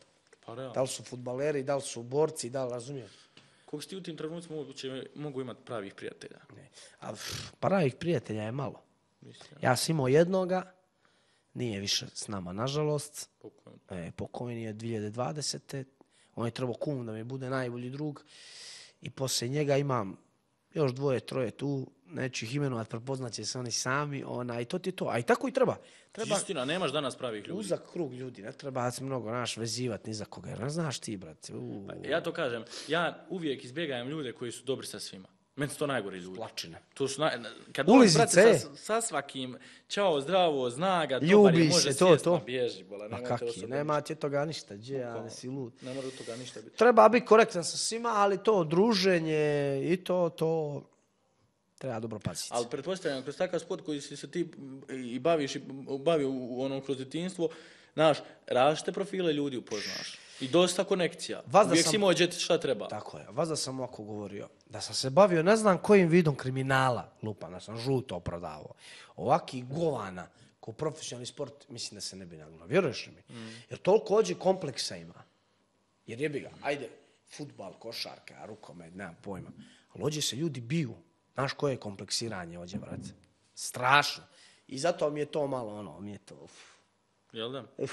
Pa realno. Da li su fudbaleri, da li su borci, da li razumijem. Koliko si ti u tim trenucima moguće mogu imati pravih prijatelja? Ne. A pff, pravih prijatelja je malo. Mislim, Ja sam imao jednoga, nije više s nama, nažalost. pokojno. E, pokojni je dvije tisuće dvadesete. On je trebao kum da mi bude najbolji drug. I poslije njega imam još dvoje, troje tu. Neću ih imenovat, prepoznaće se oni sami. Ona, i to ti je to. A i tako i treba. Treba Istina, nemaš danas pravih ljudi. uzak krug ljudi. Ne treba se mnogo naš vezivati ni za koga. Jer ne znaš ti, brate. U, Ja to kažem, ja uvijek izbjegajem ljude koji su dobri sa svima. Meni su to najgori ljudi. plačine. To su naj... Kad Ulizice, dođeš, brate, sa, sa svakim, čao, zdravo, zna ga, dobar Ljubi je, može se, to, sjest, to. ma bježi, bola, Ma nemojte kaki, osobe- nema ti od toga ništa. Gdje, ja ne si lud. Ne mora od toga ništa biti. Treba biti korektan sa svima, ali to druženje i to, to treba dobro paziti. Ali pretpostavljam, kroz takav sport koji si se ti i baviš i bavio u ono kroz djetinjstvo, znaš, različite profile ljudi upoznaš. I dosta konekcija. Vas da Uvijek sam- si imao gdje ti šta treba. Tako je. Vas da sam ovako govorio. Da sam se bavio ne znam kojim vidom kriminala, lupa, da sam žuto prodavao. Ovaki govana, ko profesionalni sport, mislim da se ne bi nagnao. Vjeruješ li mi? Mm. Jer toliko ođe kompleksa ima. Jer jebi ga, ajde, futbal, košarka, rukomet, nemam pojma. Ali ođe se ljudi biju. Znaš koje je kompleksiranje ođe, brate? Strašno. I zato mi je to malo, ono, mi je to, uf. Jel da? Uf.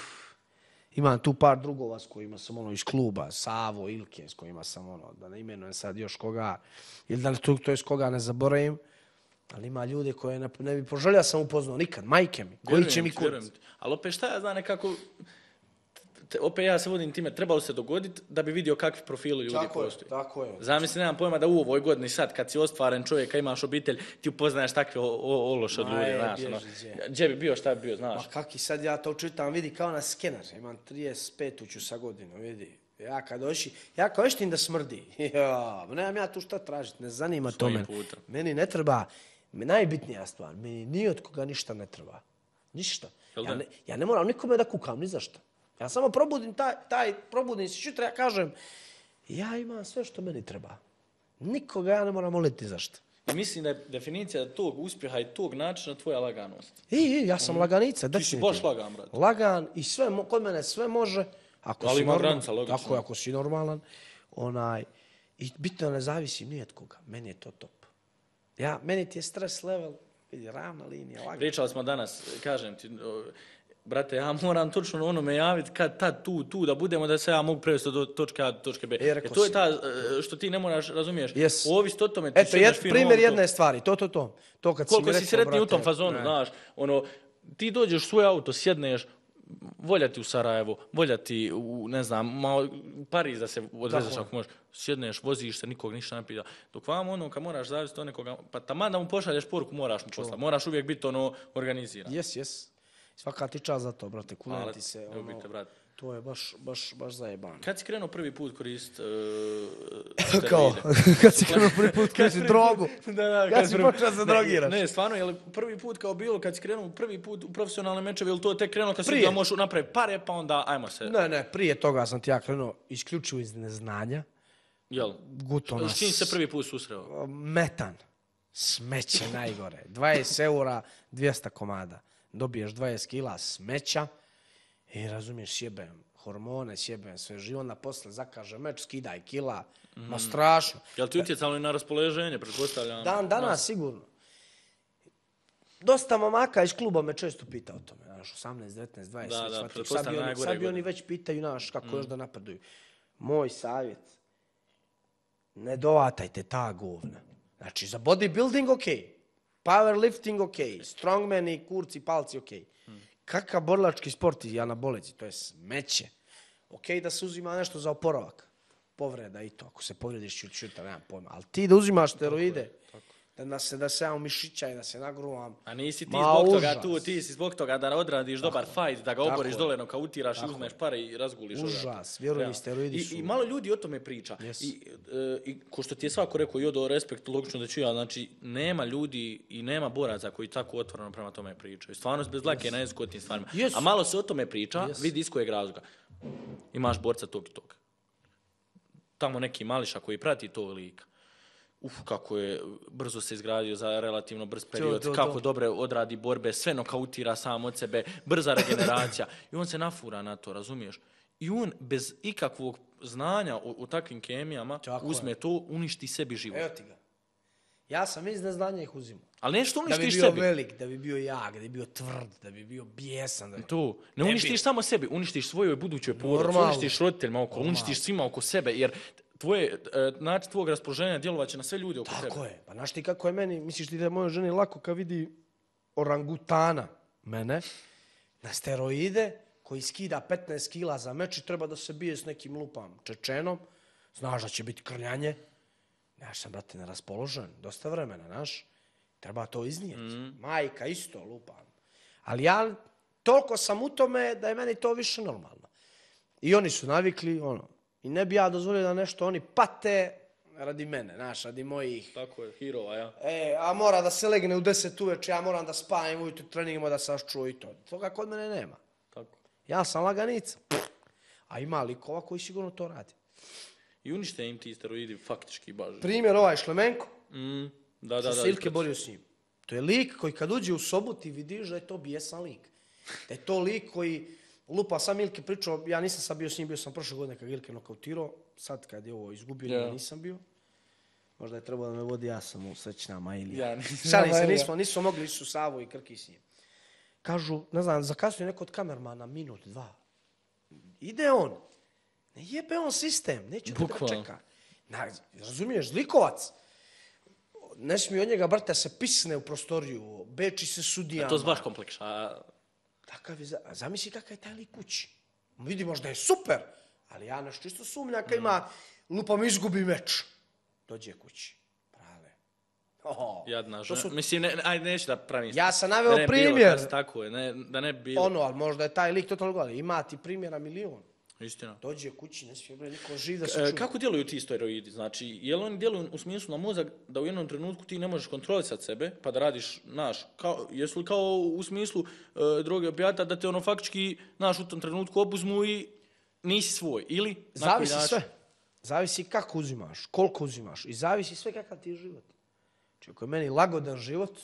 Imam tu par drugova s kojima sam ono iz kluba, Savo, Ilke, s kojima sam ono, da ne imenujem sad još koga, ili da to, to je s koga ne zaboravim, ali ima ljude koje ne, ne bi poželio sam upoznao nikad, majke mi, koji će Vjerujem mi ti, kurac. vjerujem ti. Ali opet šta ja znam nekako, te, opet ja se vodim time, trebalo se dogoditi da bi vidio kakvi profili ljudi Tako je, postoji. tako je. Zamisli, nemam pojma da u ovoj godini sad, kad si ostvaren čovjek, a imaš obitelj, ti upoznaješ takve o- o- ološe od Ma ljudi, je, znaš. bježi, Ono, gdje. gdje bi bio, šta bi bio, znaš. Ma kaki sad ja to čitam, vidi kao na skener, imam trideset pet ću sa godinu, vidi. Ja kad doši, ja kao eštim da smrdi. Ja, nemam ja tu šta tražiti, ne zanima to Svojim mene. putem. Meni ne treba, me- najbitnija stvar, meni ni od koga ništa ne treba. Ništa. Jel Ja da? ne, ja ne moram nikome da kukam, ni za šta. Ja samo probudim taj, taj probudim se jutra, ja kažem, ja imam sve što meni treba. Nikoga ja ne moram moliti za šta. I mislim da je definicija tog uspjeha i tog načina tvoja laganost. I, i ja sam laganica, Ti si definitivno. baš lagan, brate. Lagan i sve, mo- kod mene sve može. Ako Ali si ima normalan, granica, logično. tako je, ako si normalan, onaj, i bitno da ne zavisi ni od koga. Meni je to top. Ja, meni ti je stres level, vidi, ravna linija, lagana. Pričali smo danas, kažem ti, o, brate, ja moram točno onome javiti kad tad tu, tu da budemo da se ja mogu prevesti do točke A do točke B. E, Jer rekao to je si. ta e, što ti ne moraš, razumiješ, Yes. ovisiti o tome ti Eto, sjedneš jed, fino primjer auto. jedne stvari, to, to, to. To kad Koliko mi si rekao, sretniji u brate, tom fazonu, ne. znaš, ono, ti dođeš u svoj auto, sjedneš, voljati u Sarajevo, voljati u, ne znam, malo, u Pariz da se odvezeš Tako. ako možeš, sjedneš, voziš se, nikog ništa ne pita. Dok vam ono, kad moraš zavisiti od nekoga, pa taman da mu pošalješ poruku, moraš mu poslati, moraš uvijek biti ono organiziran. Jes, jes. Svaka ti čast za to, brate, kunem Hvala ti ti, se. ljubim Ono, te, brate. to je baš, baš, baš zajebano. Kad si krenuo prvi put koristiti uh, Kao, kad si krenuo prvi put koristi drogu. Da, da, Kad si počeo se drogiraš. Ne, stvarno, je li prvi put kao bilo kad si krenuo prvi put u profesionalne mečeve, ili to tek krenuo kad si Prije. da možeš napraviti pare, pa onda ajmo se, Ne, ne, prije toga sam ti ja krenuo isključivo iz neznanja. jel? Gutona. S čim se prvi put susreo? Metan. Smeće najgore. dvadeset eura, dvjesto komada. Dobiješ dvadeset kila smeća i razumiješ, sjebem hormone, sjebem sve živo, onda posle zakaže meč, skidaj kila. Ma strašno. Jel ti utjecalo i na raspoloženje, pretpostavljam? Dan danas sigurno. Dosta mamaka iz kluba me često pita o tome, znaš, osamnaest, devetnaest, dvadeset, Da, da, shvatio. Sad pretpostavljam bi oni, najgore sad bi oni godine. već pitaju, znaš, kako još da napreduju. Moj savjet, ne dovatajte ta govna. Znači, za bodybuilding ok, powerlifting ok, strongmani, kurci, palci ok. Kakav borilački sport i anabolici, to je smeće. Ok da se uzima nešto za oporavak, povreda i to, ako se povrediš čut čuta, nemam pojma. Ali ti da uzimaš steroide, da se, da se ja umišićaj, da se nagruvam. A nisi ti Ma, zbog toga užas. tu, ti si zbog toga da odradiš dobar fight, da ga Tako oboriš je. dole, nokautiraš i Tako uzmeš pare i razguliš. Užas, odavde. vjeruj mi, Realno. steroidi I, su- I malo ljudi o tome priča. Yes. I, e, I ko što ti je svako rekao i odo respekt, logično da ću ja, znači nema ljudi i nema boraca koji tako otvoreno prema tome pričaju. Stvarno bez dlake yes. na jeziku o tim stvarima. Yes. A malo se o tome priča, Yes. vidi iz kojeg razloga. Imaš borca tog i tog. Tamo neki mališa koji prati tog lika. Uf, kako je brzo se izgradio za relativno brz period, To, to, kako to. dobre odradi borbe, sve nokautira sam od sebe, brza regeneracija. I on se nafura na to, razumiješ? I on bez ikakvog znanja u, u takvim kemijama Tako uzme je. to, uništi sebi život. Evo ti ga. Ja sam iz neznanja ih uzimao. Ali nešto Da bi uništiš bio sebi. velik, da bi bio jak, da bi bio tvrd, da bi bio bijesan. Da bi... To. Ne Ne uništiš bi. samo sebi, uništiš svojoj budućoj porodici, Normalno. uništiš roditeljima oko, uništiš svima oko sebe, jer tvoje, e, način tvojeg raspoloženja djelovaće na sve ljude oko Tako tebe. je. Pa znaš ti kako je meni, misliš ti da je mojoj ženi lako kad vidi orangutana mene na steroide koji skida petnaest kila za meč i treba da se bije s nekim lupam Čečenom, znaš da će biti krljanje. Ja sam, brate, neraspoložen, dosta vremena, znaš. Treba to iznijeti. Mm. Majka isto lupam. Ali ja toliko sam u tome da je meni to više normalno. I oni su navikli, ono, i ne bi ja dozvolio da nešto oni pate radi mene, znaš, radi mojih. Tako je, hirova, ja. E, a mora da se legne u deset uveče, ja moram da spavam ujutro treningima da sačuo i to. Toga kod mene nema. Tako. Ja sam laganica. A ima likova koji sigurno to radi. I unište im ti steroidi faktički baš. Primjer ovaj Šlemenko, Mm, da, da, što da. se Ilke ispred- borio s njim. To je lik koji kad uđe u sobu ti vidiš da je to bijesan lik. Da je to lik koji lupa, sam Ilke pričao, ja nisam sad bio s njim, bio sam prošle godine kad ga Ilke nokautirao, sad kad je ovo izgubio, Ja. ja nisam bio. Možda je trebalo da me vodi, ja sam u srećnama ili... Ja nisam. Šalim se, Ilija. nismo, nismo mogli ići u Savo i Krki s njim. Kažu, ne znam, zakasnije neko od kamermana minut, dva. Ide on. Ne jebe on sistem, neće da ga Bukvalno. čeka. Na, razumiješ, zlikovac. Ne smije od njega, brate, se pisne u prostoriju, beči se sudijama. To je baš kompleks. A, Takav je, za- a zamisli kakav je taj lik kući. Vidi, možda je super, ali ja nešto isto sumnjam kad ima, lupam izgubi meč. Dođe kući. Prale. Oh, jadna to žena. su- Mislim, ne, ajde, neću da pravim. Ja sam naveo da ne bilo primjer. kad- tako je, ne, da ne bi bilo. Ono, ali možda je taj lik totalno gledali. Ima ti primjera milion. Istina. Dođe kući, ne smije bre niko živ da se E, čuje. kako djeluju ti steroidi? Znači, je li oni djeluju u smislu na mozak da u jednom trenutku ti ne možeš kontrolisati sebe, pa da radiš, naš, kao, jesu li kao u smislu e, droge opijata da te ono faktički, naš, u tom trenutku obuzmu i nisi svoj? Ili? na koji Zavisi način? sve. Zavisi kako uzimaš, koliko uzimaš i zavisi sve kakav ti je život. Či ako je meni lagodan život,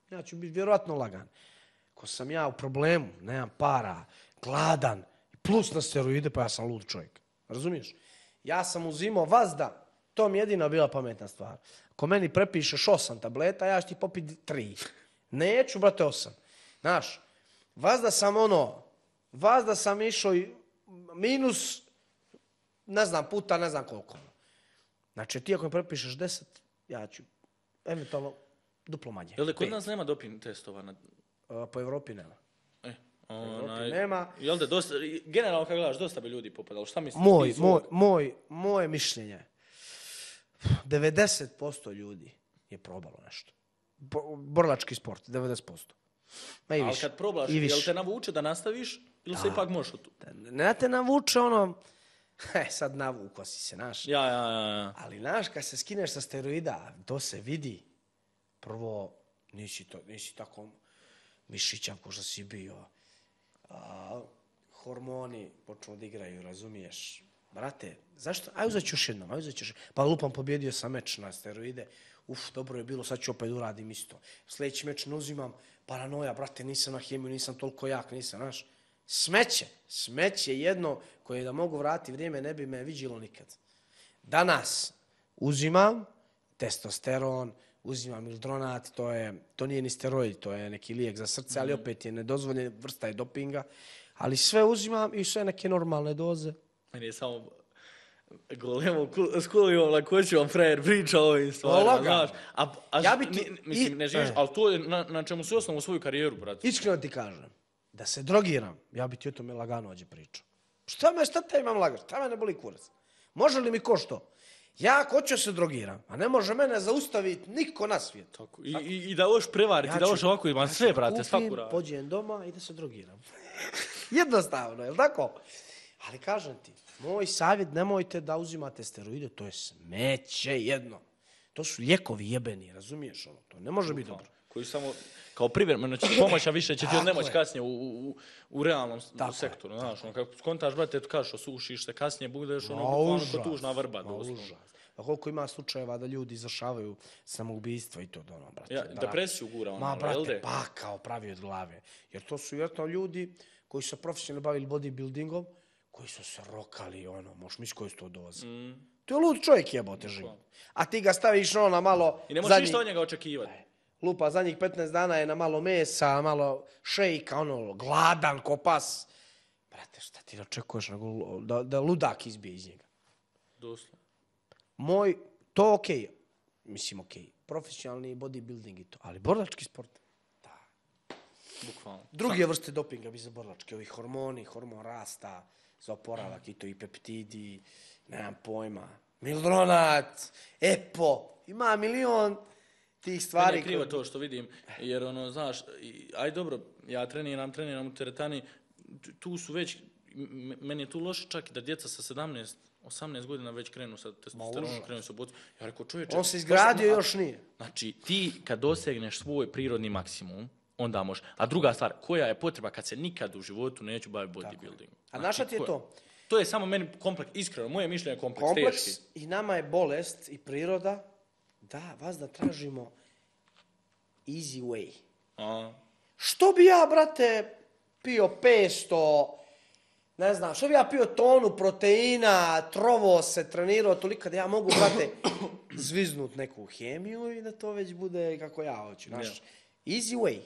ja ću biti vjerojatno lagan. Ako sam ja u problemu, nemam para, gladan, plus na steroide, pa ja sam lud čovjek. Razumiješ? Ja sam uzimao vazda, to mi je jedina bila pametna stvar. Ako meni prepišeš osam tableta, ja ću ti popiti tri. Neću, brate, osam. Znaš, vazda sam ono, vazda sam išao minus, ne znam, puta, ne znam koliko. Znači, ti ako mi prepišeš deset, ja ću eventualno duplo manje. Jel da kod nas nema doping testova? Na... Uh, po Evropi nema. E, Evropi onaj... nema. Jel da, dosta, generalno kad gledaš, dosta bi ljudi popadalo. Šta misliš? Moj, moj, moj, moje mišljenje, devedeset posto ljudi je probalo nešto. Bo, borilački sport, devedeset posto. Ma i ali više. kad probaš, I više. jel te navuče da nastaviš ili da. se ipak možeš tu? Ne te navuče ono, he, sad navuko si se, znaš. Ja, ja, ja, ja. Ali, znaš, kad se skineš sa steroida, to se vidi. Prvo, nisi, to, nisi tako mišićav ko što si bio. A, hormoni počnu da igraju, razumiješ? Brate, zašto? Aj uzet ću još jednom, aj uzet ću još. Pa lupam, pobjedio sam meč na steroide. Uf, dobro je bilo, sad ću opet uradim isto. Sljedeći meč ne uzimam, paranoja, brate, nisam na hemiju, nisam toliko jak, nisam, znaš. Smeće, smeće jedno koje da mogu vratiti vrijeme ne bi me viđilo nikad. Danas uzimam testosteron, uzimam mildronat, to, je, to nije ni steroid, to je neki lijek za srce, ali opet je nedozvoljen, vrsta je dopinga. Ali sve uzimam i sve neke normalne doze. Meni je samo golemo s kolijom lakoćom frajer priča o ovim stvarima, znaš. A, a ja bi ti, ni, mislim, i, ne živiš, eh. ali to je na, na čemu si osnovu svoju karijeru, brate. Iskreno ti kažem, da se drogiram, ja bi ti o tome lagano ođe pričao. Šta me, šta te imam lagati? Šta me ne boli kurac? Može li mi ko što? Ja ako hoću se drogiram, a ne može mene zaustaviti niko na svijetu. Tako. I, i, I da hoš prevariti, ja da hoš ovako imam ja sve, brate, svaku radu. Pođem doma i da se drogiram. Jednostavno, je li tako? Ali kažem ti, moj savjet, nemojte da uzimate steroide, to je smeće jedno. To su lijekovi jebeni, razumiješ ono? To ne može biti dobro. Koji samo kao privremeno će pomoć, a više će ti od nemoć kasnije u, u, u realnom tako sektoru. Je, znaš, ono, kako skontaš, brate, tu kažeš, osušiš se, kasnije budeš ono, bukvalno ko tužna vrba. A koliko ima slučajeva da ljudi izvršavaju samoubistvo i to do ono, brate. Ja, depresiju gura ono, ma, brate, jel de? pa kao pravi od glave. Jer to su vjerojatno ljudi koji su profesionalno bavili bodybuildingom, koji su se rokali, ono, možeš misliti koji su to doze. Mm. To je lud čovjek jebote život. A ti ga staviš ono na malo... I ne možeš ništa od njega očekivati. Lupa, zadnjih petnaest dana je na malo mesa, malo šejka, ono, gladan ko pas. Brate, šta ti očekuješ da, da ludak izbije iz njega? Doslovno. Moj, to okej. Okay. Mislim okej. Okay. Profesionalni bodybuilding i to. Ali borilački sport? Da. Bukvalno. Druge vrste dopinga bi za borilački. Ovi hormoni, hormon rasta, za oporavak i to i peptidi, nemam pojma. Mildronat, epo, ima milion tih stvari. Meni je krivo to što vidim, jer ono, znaš, aj dobro, ja treniram, treniram u teretani, tu su već, meni je tu loše čak i da djeca sa sedamnaest, osamnaest godina već krenu sa testosteronom, krenu sa bocu. Ja rekao, čovječe... On se izgradio, još nije. Znači, ti kad dosegneš svoj prirodni maksimum, onda možeš. A druga stvar, koja je potreba kad se nikad u životu neću baviti bodybuildingom? A naša ti je to? To je samo meni kompleks, iskreno, moje mišljenje je kompleks, kompleks teški. I nama je bolest i priroda, da, vas da tražimo easy way. A. Što bi ja, brate, pio petsto, ne znam, što bi ja pio tonu proteina, trovo se, trenirao toliko da ja mogu, brate, zviznut neku hemiju i da to već bude kako ja hoću. Naš, easy way.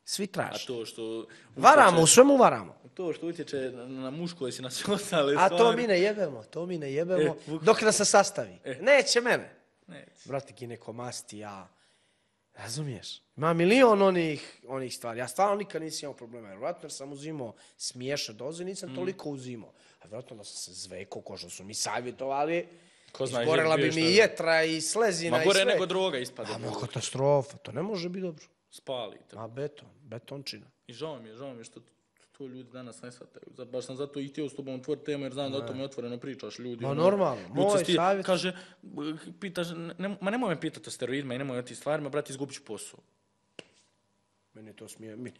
Svi traži. A to što... Varamo, u svemu varamo. To što utječe na, na muško i na sve ostale A stvari. to mi ne jebemo, to mi ne jebemo, e, dok nas se sastavi. E. Neće mene. Neće. Brate, ginekomasti, ja. Razumiješ? Ima milion onih, onih stvari. Ja stvarno nikad nisam imao problema. Vjerojatno jer sam uzimao smiješne doze, nisam mm. toliko uzimao. A vjerojatno da sam se zvekao, ko što su mi savjetovali, izgorela bi mi i jetra i slezina i sve. Ma gore nego droga ispada. A ma katastrofa, to ne može biti dobro. Spalite. Ma beton, betončina. I žao mi je, žao mi je što to ljudi danas ne shvataju. Baš sam zato i htio s tobom otvoriti temu jer znam ne. da o tome otvoreno pričaš ljudi. Ma ono, normalno, moj sti, savjet. Kaže, pitaš, ne, ma nemoj me pitati o steroidima i nemoj o tim stvarima, brate, izgubit ću posao. Meni to smije. Mi...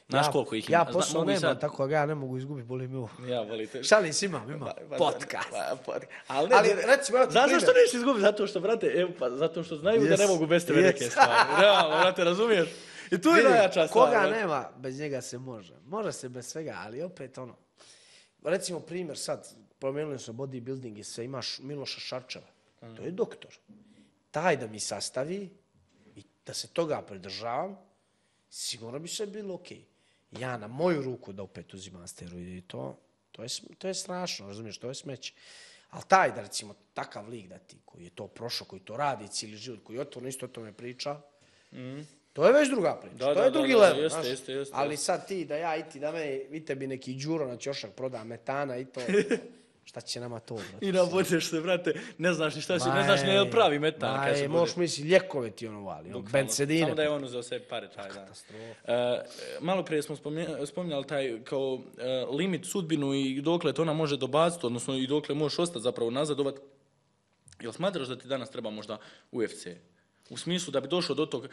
Znaš ja, koliko ih ima? Ja Zna- posao mogu i nemam, sad- tako ga ja ne mogu izgubiti, boli mi ovo. Ja, volite. Šalim se, imam, imam. Pa- Podcast. Pa, podcast. Ali, ne, Ali, ne, recimo, evo ti znaš primjer. zašto nećeš izgubiti? Zato što, brate, evo, pa, zato što znaju da Yes, ne mogu bez tebe yes. neke stvari. Realno, brate, razumiješ? I tu je Vidi, najjača stvar. koga brate. nema, bez njega se može. Može se bez svega, ali opet ono. Recimo primjer sad, promijenili su bodybuilding i sve, imaš Miloša Šarčeva. To je doktor. Taj da mi sastavi i da se toga pridržavam, sigurno bi sve bilo okej. Ja na moju ruku da opet uzimam steroide i to, to je, sm- to je strašno, razumiješ, to je smeće. Ali taj da recimo takav lik da ti, koji je to prošao, koji to radi cijeli život, koji otvorno isto o tome priča, to je već druga priča, Da, to da, je da, drugi da, level, jeste, znaš. jeste, jeste, Ali jeste. sad ti da ja i ti da me, vi tebi neki Đuro na ćošak proda metana i to, šta će nama to, brate? I nabodeš se, brate, ne znaš ni šta si, ne znaš ni je pravi metan. kad se Maj, možeš bude. misliti, ljekove ti ono vali, ono, Bukvalno. bensedine. Samo da je on uzeo sebi pare taj dan. Uh, malo prije smo spomnja- spominjali taj kao uh, limit sudbinu i dokle to ona može dobaciti, odnosno i dokle možeš ostati zapravo nazadovat. Jel smatraš da ti danas treba možda U F C? U smislu da bi došao do tog,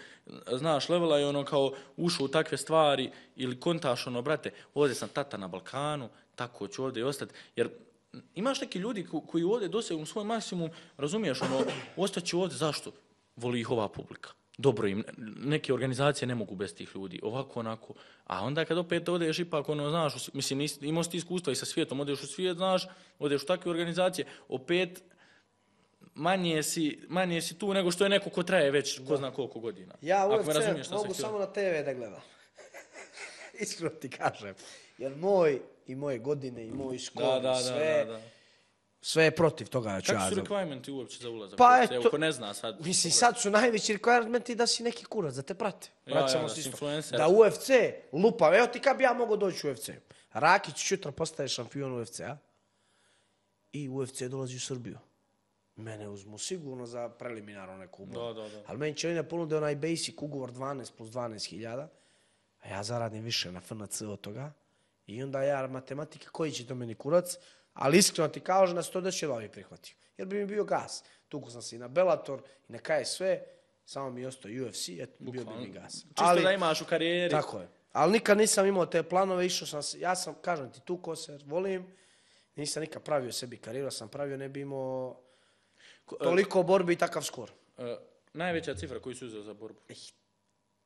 znaš, levela i ono kao ušao u takve stvari ili kontaš ono, brate, ovdje sam tata na Balkanu, tako ću ovdje i ostati. Jer imaš neki ljudi ko- koji ovdje dosegnu svoj maksimum, razumiješ, ono, ostaću ovdje, zašto? Voli ih ova publika. Dobro im, neke organizacije ne mogu bez tih ljudi, ovako, onako. A onda kad opet odeš ipak, ono, znaš, u- mislim, nis- imao si ti iskustva i sa svijetom, odeš u svijet, znaš, odeš u takve organizacije, opet manje si, manje si tu nego što je neko ko traje već ko zna koliko godina. Ja Ako me U F C razumiješ šta sam mogu htio. samo na te ve da gledam. Iskreno ti kažem. Jer moj i moje godine i moj skor Da, i da, da, sve, da, da. sve je protiv toga da ću Kako ja su za- requirementi uopće za ulazak? Pa u U F C? eto, Evo, ko ne zna sad. Mislim, sad su najveći requirementi da si neki kurac, da te prate. Ja, Vraćamo ja, da se si isto. influencer. Da U F C lupa. Evo ti kad bi ja mogao doći u U F C. Rakić sutra postaje šampion U F C-a i U F C dolazi u Srbiju. Mene uzmu sigurno za preliminarno neku ugovor. Da, da, da. Ali meni će ne ponude onaj basic ugovor dvanaest plus dvanaest hiljada, a ja zaradim više na F N C od toga. I onda ja matematika koji će to meni kurac, ali iskreno ti kažem da se to da će ovi prihvatio. Jer bi mi bio gas. Tuku sam se i na Bellator i na K S V, samo mi je ostao U F C, eto, bio bi mi gas. Čisto da imaš u karijeri. Tako je. Ali nikad nisam imao te planove, išao sam se, ja sam, kažem ti, tuko se, volim, nisam nikad pravio sebi karijeru, sam pravio, ne bi imao toliko borbi i takav skor. Uh, najveća cifra koju si uzeo za borbu?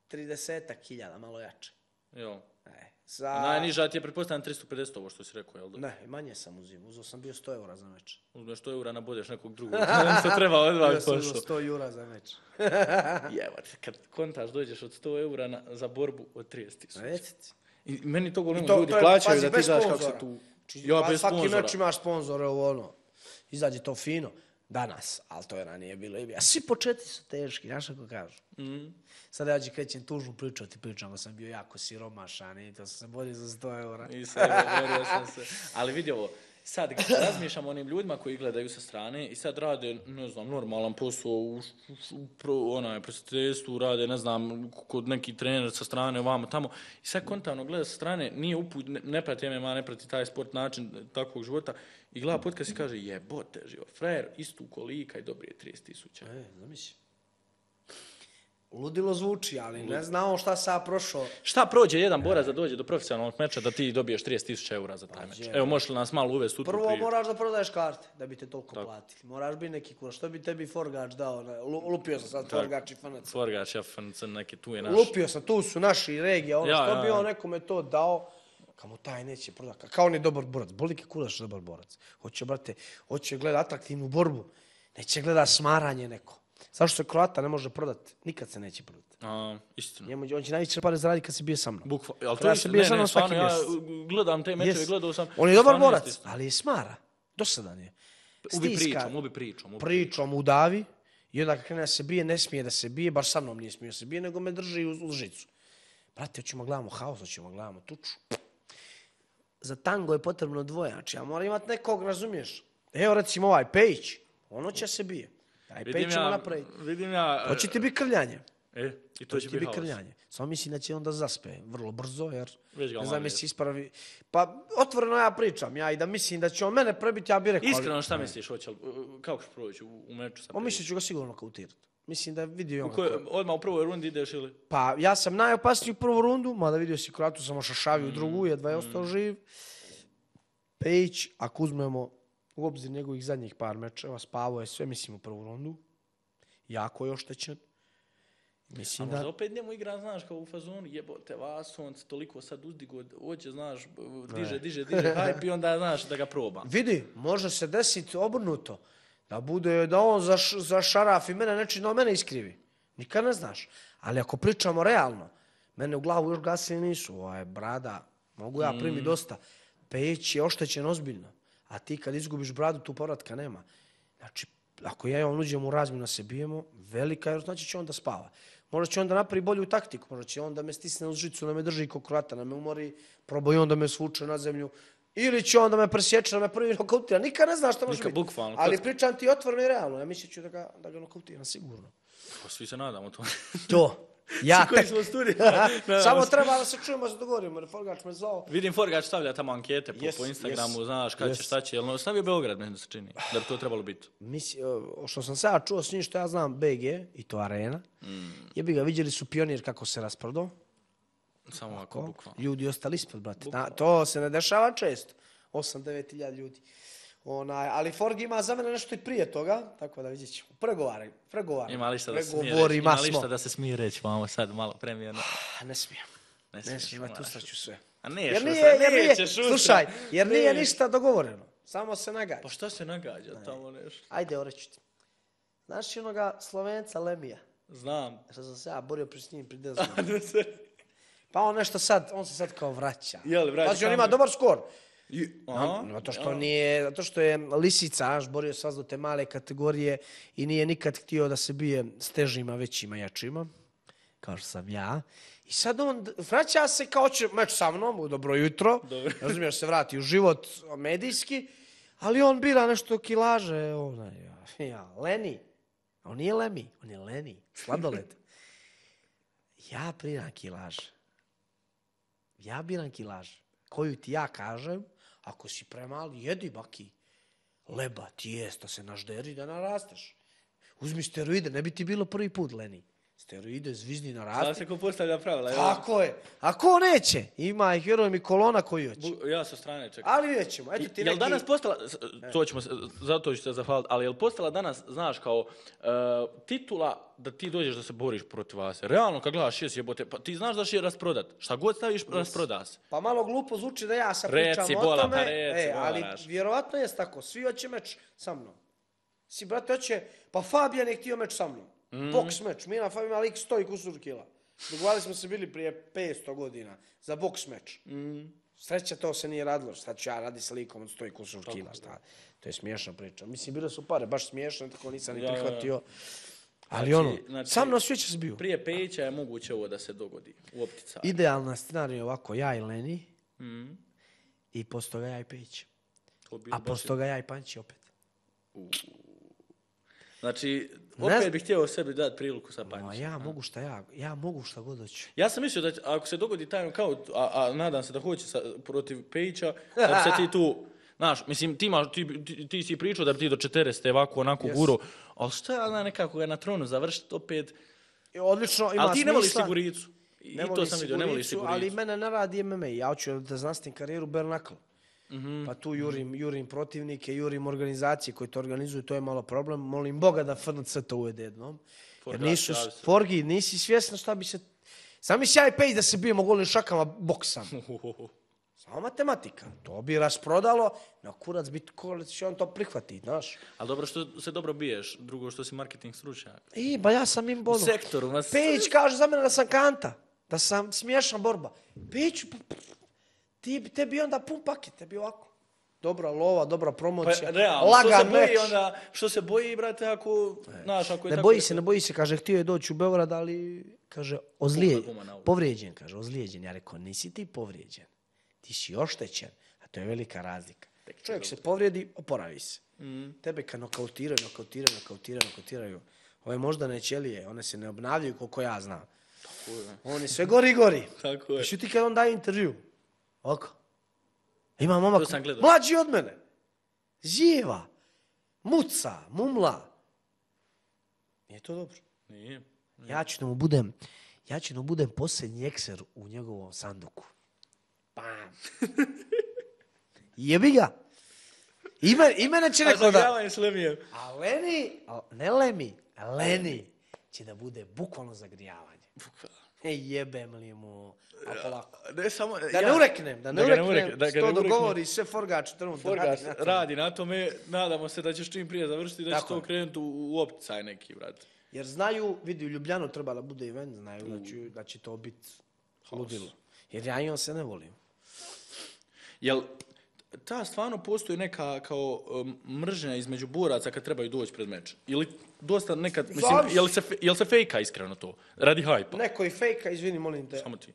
trideset hiljada, malo jače. Jel? E, za... A najniža ti je pretpostavljam tristo pedeset ovo što si rekao, jel da? Ne, manje sam uzimao, uzeo sam bio sto eura za meč. Uzmeš sto eura, nabodeš nekog drugog. Što treba odmah Bio sam uzeo pošlo. sto eura za meč. Jebate, kad kontaš dođeš od sto eura na, za borbu od trideset tisuća. Recite. I meni to govorimo, I to- ljudi to je, plaćaju pazi, da ti bez znaš kako sponzora. se tu... Či- Ja, pa bez svaki sponzora. meč imaš sponzore, ovo ono. Izađe to fino. Danas, ali to je ranije bilo. A svi početci su teški, znaš kako kažu. Mhm. Sada ja ću krećem tužnu priču, ti pričam da sam bio jako siromašan i to sam se borio za sto eura. I sve, borio sam se. Ali vidi ovo, sad razmišljam o onim ljudima koji gledaju sa strane i sad rade, ne znam, normalan posao u, u pro, onaj, prosvjetiteljstvu, rade, ne znam, kod neki trener sa strane, ovamo, tamo. I sad kontavno gleda sa strane, nije uput, ne, ne prati M M A, ne prati taj sport, način takvog života i gleda podcast i kaže, jebote, živo, frajer, istu kolika i dobije trideset tisuća. E, zamisli. Ludilo zvuči, ali ne znamo šta sam ja prošao. Šta prođe jedan borac da dođe do profesionalnog meča da ti dobiješ trideset tisuća eura za taj meč? je. Evo, možeš li nas malo uvesti u tu Prvo priču? moraš da prodaješ karte da bi te toliko platili. Moraš biti neki kurac. Što bi tebi Forgač dao? Ne? Lu- Lupio sam sad Forgač i F N C. Forgač, ja, F N C, neke tu je naš. Lupio sam, tu su naši regija. Ono, Ja, što ja, bi ja. on nekome to dao, kamo taj neće prodati. Kao on je dobar borac. Boli ke kurac dobar borac. Hoće, brate, hoće gleda atraktivnu borbu. Neće gleda smaranje neko. Zašto se Kroata ne može prodati? Nikad se neće prodati. A, istina. Njemu, on će najviše pare zaraditi kad si bio sa mnom. Bukva, ali to Kada je se istina. bio Ne, sa ne, mnom svaki stvarno, ja mjesec. gledam te mečeve, Yes. gledao sam. On je dobar stvarno borac, jeste istina. ali je smara. Dosadan je. Ubi Stiska pričom, ubi pričom. Ubi. pričom udavi i onda kad krene da se bije, ne smije da se bije, baš sa mnom nije smio da se bije, nego me drži uz, uz žicu. Brate, hoćemo gledamo haos, hoćemo gledamo tuču. Za tango je potrebno dvoje, znači ja moram imati nekog, razumiješ? Evo recimo ovaj Pejić, ono će se bije. Taj Vidim Pejić ćemo ja, napraviti. vidim ja... To će ti biti krljanje. E, i To to će će ti biti biti haos. krljanje. Samo mislim da će onda zaspe vrlo brzo, jer Već ga ne znam malo jesi ispravi. Pa otvoreno ja pričam, ja i da mislim da će on mene prebiti, ja bih rekao. ali- Iskreno, šta misliš, hoće li, kako će proći u, u meču sa On misli ću ga sigurno kautirati. Mislim da je vidio i on U kojoj- kako- odmah u prvoj rundi ideš ili? Pa ja sam najopasniji u prvu rundu, mada vidio si Kroatu sam ošašavio u drugu, jedva je ostao živ. Pejić, ako uzmemo u obzir njegovih zadnjih par mečeva, spavao je sve, mislim, u prvu rundu. Jako je oštećen. A Mislim možda da... opet njemu igra, znaš, kao u fazonu, jebote vas, on se toliko sad uzdigo, hoće, znaš, diže, diže, diže, hype i onda, znaš, da ga proba. Vidi, može se desiti obrnuto. Da bude, da on zaš, zašarafi mene nečim, da on mene iskrivi. Nikad ne znaš. Ali ako pričamo realno, mene u glavu još gasili nisu. Ovo je brada, mogu ja primiti dosta. Pejić je oštećen ozbiljno. A ti kad izgubiš bradu, tu povratka nema. Znači, ako ja i on uđemo u razmjenu se bijemo, velika je, znači će on da spava. Možda će on da napravi bolju taktiku, možda će on da me stisne uz žicu, da me drži ko Kroata, da me umori, probao on da me svuče na zemlju. Ili će on da me presječe, da me prvi nokautira. Nikad ne znaš što može Nikad, biti. bukvalno, Ali kocka. pričam ti otvoreno i realno. Ja mislit ću da ga, da ga nokautiram, sigurno. Pa svi se nadamo to. To. Ja Svi koji tek... smo u studiju. nadamo Samo se. treba da se čujemo, da se dogovorimo. Jer Forgač me zvao. Vidim Forgač stavlja tamo ankete po, Yes, po Instagramu, yes, znaš, kad će, yes. šta će, jel no, stavio Beograd, meni se čini, da bi to trebalo biti. Misli, o, što sam sada čuo s njim što ja znam B G i to Arena. Mm. Jebi ga, vidjeli su Pionir kako se rasprodao. Samo ovako, bukvalno. Ljudi ostali ispod, brate. Na, to se ne dešava često. osam devet hiljada ljudi. Onaj, ali Forg ima za mene nešto i prije toga, tako da vidjet ćemo. Pregovaraj, pregovaraj. Ima li šta da se smije reći? Pregovorima Ima li smo. šta da se smije reći? Vamo sad malo premijerno. A, Ne smijem. Ne Ne smiješ, smijem, a tu moraš. staću sve. A ne, Jer šusta, nije, jer nije, nećeš, šusta. slušaj, jer nije Ne. ništa dogovoreno. Samo se nagađa. Pa šta se nagađa tamo nešto? Ajde, oreću ti. Znaš onoga Slovenca Lemija? Znam. Što sam se ja borio pri s njim pri deset godina. Pa on nešto sad, on se sad kao vraća. Jel, vraća Pazi, on ima tamo. dobar skor. Aha. Zato što nije, zato što je lisica, znaš, borio se do te male kategorije i nije nikad htio da se bije s težima, većima, jačima, kao što sam ja. I sad on vraća se kao će meč sa mnom, u dobro jutro, Dobro. razumiješ, se vrati u život medijski, ali on bira nešto kilaže, onaj, ja, ja, Leni. On nije Lemi, on je Leni, sladoled. Ja biram kilaže. Ja biram kilaže. Koju ti ja kažem, ako si premali, jedi baki. Leba, tijesta se nažderi da narasteš. Uzmi steroide, ne bi ti bilo prvi put, Leni. Steroide, zvizni Zna naraste. se ko postavlja pravila. evo. Tako je. A ko neće? Ima ih, vjerujem, i kolona koji hoće. Bu- Ja sa strane čekam. Ali vidjet ćemo. Eto ti Jel neki... danas postala, s- to ćemo se, zato ću se zahvaliti, ali jel postala danas, znaš, kao e, titula da ti dođeš da se boriš protiv vas? Realno, kad gledaš šest jebote, pa ti znaš da će je rasprodat. Šta god staviš, rasproda se. Pa malo glupo zvuči da ja sad Reci, pričam bola, o tome, pa reci, e, ali moraš. vjerovatno je tako. Svi hoće meč sa mnom. Si, brate, hoće... Pa Fabijan je htio meč sa mnom. Mhm. Boks meč. Mi na Fabijan lik sto i kusur kila. Dogovarali smo se bili prije petsto godina za boks meč. Mhm. Sreća to se nije radilo. Šta ću ja radi sa likom od sto i kusur kila. Šta? To je smiješna priča. Mislim, bile su pare baš smiješne, tako nisam ni Ja, ja, ja. prihvatio. Ali Znači- ono, znači- sa mnom svi će se biju. Prije Pejića je moguće ovo da se dogodi u optica. Idealna scenarija je ovako, ja i Leni, Mhm. i posto toga ja i Pejić. To bi A baš- posto toga ja i Panči opet. Znači, Ne opet znam. bih htio sebi dati priliku sa Ma Pančićem. ja mogu šta ja, ja mogu šta god hoću. Ja sam mislio da će- ako se dogodi taj knockout, a, a nadam se da hoće sa, protiv Pejića, da bi se ti tu, znaš, mislim, ti, imaš, ti, ti, ti si pričao da bi ti do četrdeset ovako, onako Yes. guro, ali šta je ona nekako ga na tronu završiti opet, I odlično, ima ali ti ne voliš smisla. siguricu. I, Ne i to volim sam vidio, ne voliš siguricu, siguricu. ali mene ne radi M M A. Ja hoću da znanstim karijeru bare knuckle. Mhm. Pa tu jurim, jurim protivnike, jurim organizacije koje to organizuju, to je malo problem. Molim Boga da F N C to uvede jednom. Jer Forgač, nisu, javi se. Forgi, nisi svjesna šta bi se... Sam mi ja i Pejić da se bijemo golim šakama boksam. Samo matematika. To bi rasprodalo, na kurac bi kurac će on to prihvatiti, znaš. Ali dobro što se dobro biješ, drugo što si marketing stručnjak. I, ba ja sam im U bolu. sektoru, vas... Pejić kaže za mene da sam kanta, da sam smiješna borba. Pejić, ti, tebi onda pun paket, tebi ovako. Dobra lova, dobra Pa, promocija, realno, što se lagan boji meč. onda, što se boji, brate, ako, znaš, ako je Ne tako... boji se, ne boji se, kaže, htio je doći u Beograd, ali, kaže, ozlije, guma na ulici. povrijeđen, kaže, ozlijeđen. Ja rekao, nisi ti povrijeđen, ti si oštećen, a to je velika razlika. Čovjek se povrijedi, oporavi se. Mm. Tebe kad nokautiraju, nokautiraju, nokautiraju, nokautiraju, ove moždane ćelije, one se ne obnavljaju koliko ja znam. Tako je. Oni sve gori i gori. Tako je. I ti kad on daje intervju, oko, ima momak, To sam gledao. mlađi od mene, živa, muca, mumla. Nije to dobro. Nije. Ja ću da mu budem, ja ću da mu budem posljednji ekser u njegovom sanduku. Bam. Jebi ga. Ime, imena će A neko da... zagrijavanje s Lemijem. A Leni, a ne Lemi, a Leni će da bude bukvalno zagrijavanje. E, jebem li mu, a polako. Ne, samo, Da ne ureknem, da ne da ga ne ureknem, urek- da ga što ne ureknem. dogovori sve Forgač trenutno Forgač radi na tome. radi na tome, nadamo se da ćeš čim prije završiti, da će Tako to je. krenuti u, u opticaj neki, brate. Jer znaju, vidi, u Ljubljanu treba da bude event, znaju da će, da će to biti ludilo. Jer ja i on se ne volim. Jel, ta stvarno postoji neka kao um, mržnja između boraca kad trebaju doći pred meč? Ili dosta nekad, mislim, Zavisi. jel se, fe- jel se fejka iskreno to? Radi hajpa? Neko je fejka, izvini, molim te. Samo ti.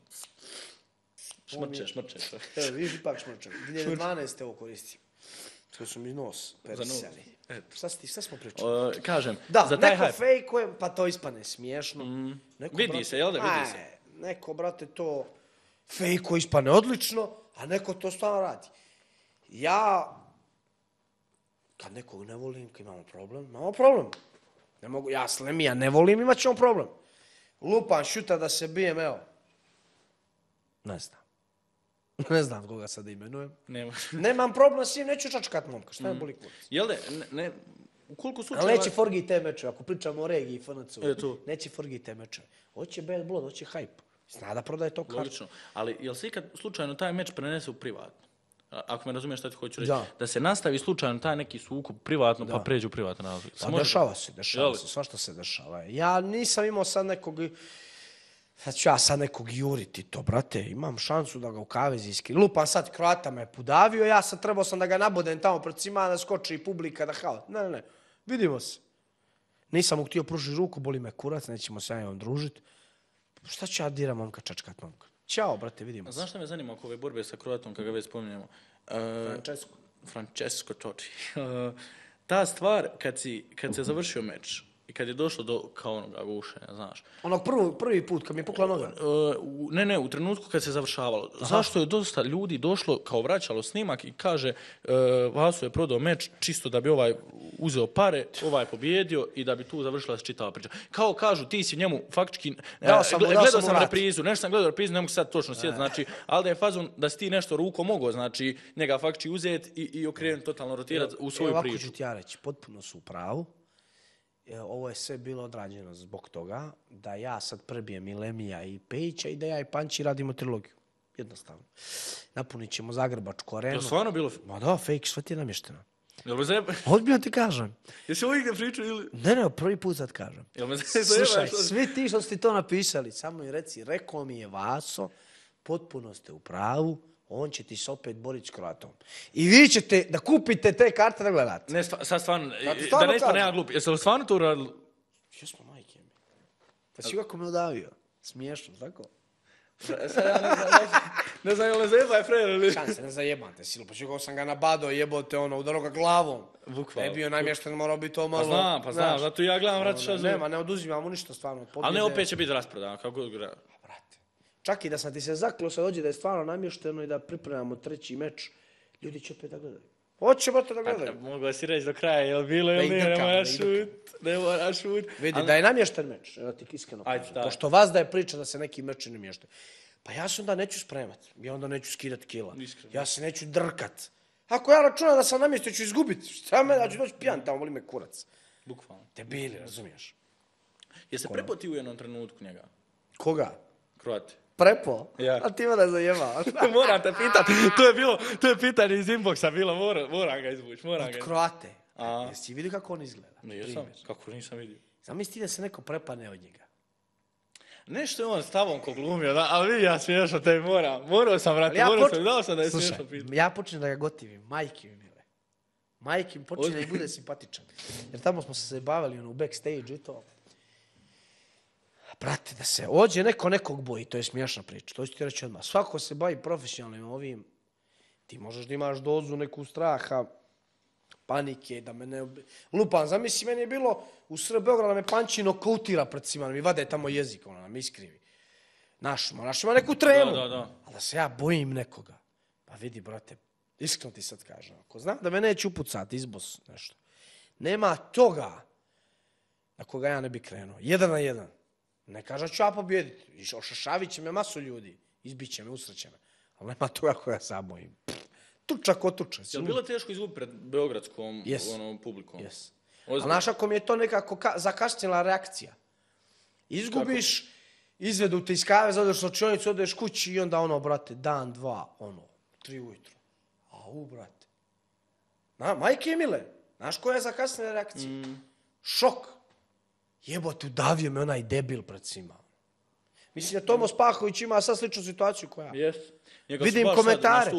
Šmrče, šmrče. Evo, viš ipak šmrčan. dvije hiljade dvanaeste ovo koristim. To su mi nos nos. perisali. Eto. Šta, si, šta smo pričali? Uh, kažem, Da, za taj neko hajp. fejkuje, pa to ispane smiješno. Neko, Vidi se, jel da, vidi se. Aj, neko, brate, to fejkuje, ispane odlično, a neko to stvarno radi. Ja, kad nekog ne volim, kad imamo problem, imamo problem. Ne mogu, ja Slemija ne volim, imat ćemo problem. Lupam šuta da se bijem, evo. Ne znam. Ne znam koga sad imenujem. Nema. Nemam problem s njim, neću čačkat momka, šta je boli kurac. Jel da, ne, ne, u koliko Ali slučajeva... neće Forgi te mečeve, ako pričamo o regiji i F N C-u, E, to. neće Forgi te mečeve. Hoće bad blood, hoće hype. Zna da prodaje to kartu. Logično. Ali jel se ikad slučajno taj meč prenese u privatno? A- Ako me razumiješ šta ti hoću reći. Da. Da se nastavi slučajno taj neki sukob privatno pa Da. pređe u privatno razlog. Pa dešava se, dešava Jel? se, svašta se dešava. Ja nisam imao sad nekog, sad ću ja sad nekog juriti to, brate, imam šansu da ga u kavezi iskri. Lupam sad, Kroata me pudavio, ja sad trebao sam da ga nabodem tamo pred svima, da skoči i publika, da hao. Ne, ne, ne, vidimo se. Nisam mu htio pružiti ruku, boli me kurac, nećemo se ja vam družiti. Šta ću ja diram momka, čačkat momka? Ćao, brate, vidimo se. Znaš šta me zanima oko ove borbe sa Kroatom, kada ga već spominjemo? Uh, Francesco. Francesco Totti. Uh, ta stvar, kad, si, kad se završio meč i kad je došlo do kao onoga gušenja, znaš. Onog prvi, prvi put kad mi je pukla noga. Uh, u- ne, ne, u trenutku kad se završavalo. Zašto je dosta ljudi došlo, kao vraćalo snimak i kaže uh, Vaso je prodao meč čisto da bi ovaj uzeo pare, ovaj pobjedio i da bi tu završila se čitava priča. Kao kažu, ti si njemu faktički... Dao sam mu- gle- dao gledao sam mu sam vrat. reprizu, nešto sam gledao reprizu, ne mogu sad točno sjetiti, znači, ali da je fazon da si ti nešto rukom mogao, znači, njega faktički uzeti i, i okrenuti, totalno rotirati u svoju Evo, ovako priču. ću ti ja reći, potpuno su u pravu. E, Ovo je sve bilo odrađeno zbog toga da ja sad prebijem i Lemija i Pejića i da ja i Panči radimo trilogiju. Jednostavno. Napunit ćemo Zagrebačku Je arenu. li stvarno bilo... Ma da, fake, sve ti je namješteno. Jel me zajeba... Odbijno ti kažem. Jesi ovo igde pričao ili... Ne, ne, prvi put sad kažem. Jel me Slušaj, zajebaš? svi ti što ste to napisali, samo mi reci, rekao mi je Vaso, potpuno ste u pravu, on će ti se opet boriti s Kroatom. I vi ćete da kupite te karte da gledate. Ne, stva, sad stvarno, Ja ti da stvarno ne ispadne kažem. ja glup. Jesi li stvarno to uradili? Jesmo, majke mi. Pa si kako me udavio. Smiješno, tako? Sad ja ne znam, ne znam, ne znam, jel me zajebaj frajer ili... Šanse, ne zajebate, silu. Pa čekao sam ga nabadao, jebote, ono, udarao ga glavom. Bukvalno. Da je bio namješten, morao biti to malo... Pa znam, pa znam, znaš. zato ja gledam, vrati šta Ono, zove. Nema, ne oduzimamo ništa, stvarno. od Ali pobjede. ne, opet će biti rasprodan, kako god gleda. Brate. Čak i da sam ti se zaklio sad dođe da je stvarno namješteno i da pripremamo treći meč, ljudi će opet da gledaju. Hoće, brate, da gledaju. Mogu si reći do kraja, jel bilo Da ili ih nije, ne drkamo, moraš da ih šut, ne moraš šut. Vidi, Ali- da je namješten meč, evo ti iskreno Ajde, kažem. daj. Pošto vas da je priča da se neki meč ne mješte. Pa ja se onda neću spremat, ja onda neću skidat kila. Iskreno. Ja se neću drkat. Ako ja računam da sam namjestio, ću izgubit. Šta me, da ću doći pijan tamo, boli me kurac. Bukvalno. Debili, razumiješ? Jesi prepoti u jednom trenutku njega? Koga? Kroati. Prepo? Ja. A ti me ne zajeba. Moram te pitat, to je bilo, to je pitanje iz inboxa bilo, moram, moram ga izvući, moram ga Od izvući. Kroate. A. Jesi vidio kako on izgleda? Nisam, Primjer. kako nisam vidio. Zamisli da se neko prepane od njega. Nešto je on stavom ko glumio, da, ali vidi ja smiješno te moram. Morao sam, vrati, Ali ja morao poč- sam, dao sam da je Slušaj, smiješno pitanje. ja počnem da ga gotivim, majke mi mile. Majke mi počne da i bude simpatičan. Jer tamo smo se bavili ono, u backstage i to. Brate, da se ođe neko nekog boji, to je smiješna priča, to ću ti reći odmah. Svako se bavi profesionalnim ovim, ti možeš da imaš dozu neku straha, panike, da me ne... Lupan, zamisli, meni je bilo u Srb Beograda da me Panči nokautira pred svima, da mi vade tamo jezik, ono, da me iskrivi. Naš, ma, naš ima neku tremu. Da, da, da. A da se ja bojim nekoga. Pa vidi, brate, iskreno ti sad kažem, ako znam da me neće upucati izbos nešto, nema toga. na koga ja ne bi krenuo. Jedan na jedan. Ne kažem ću ja pobjediti. I ošašavit će me masu ljudi. Izbit će me, usreće me. Ali nema toga koja sam bojim. Tuča ko tuča. Je li bilo teško izgubiti pred beogradskom yes. ono, publikom? Yes. A znaš ako mi je to nekako ka- zakasnila reakcija. Izgubiš, kako? Izvedu te iz kave, zadeš nočionicu, odeš kući i onda ono, brate, dan, dva, ono, tri ujutro. A u, brate. Na, majke mile, znaš koja je zakasnila reakcija? Mm. Šok. Jebote, udavio me onaj debil pred svima. Mislim da Tomo Spahović ima sad sličnu situaciju koja. Yes. Vidim komentare.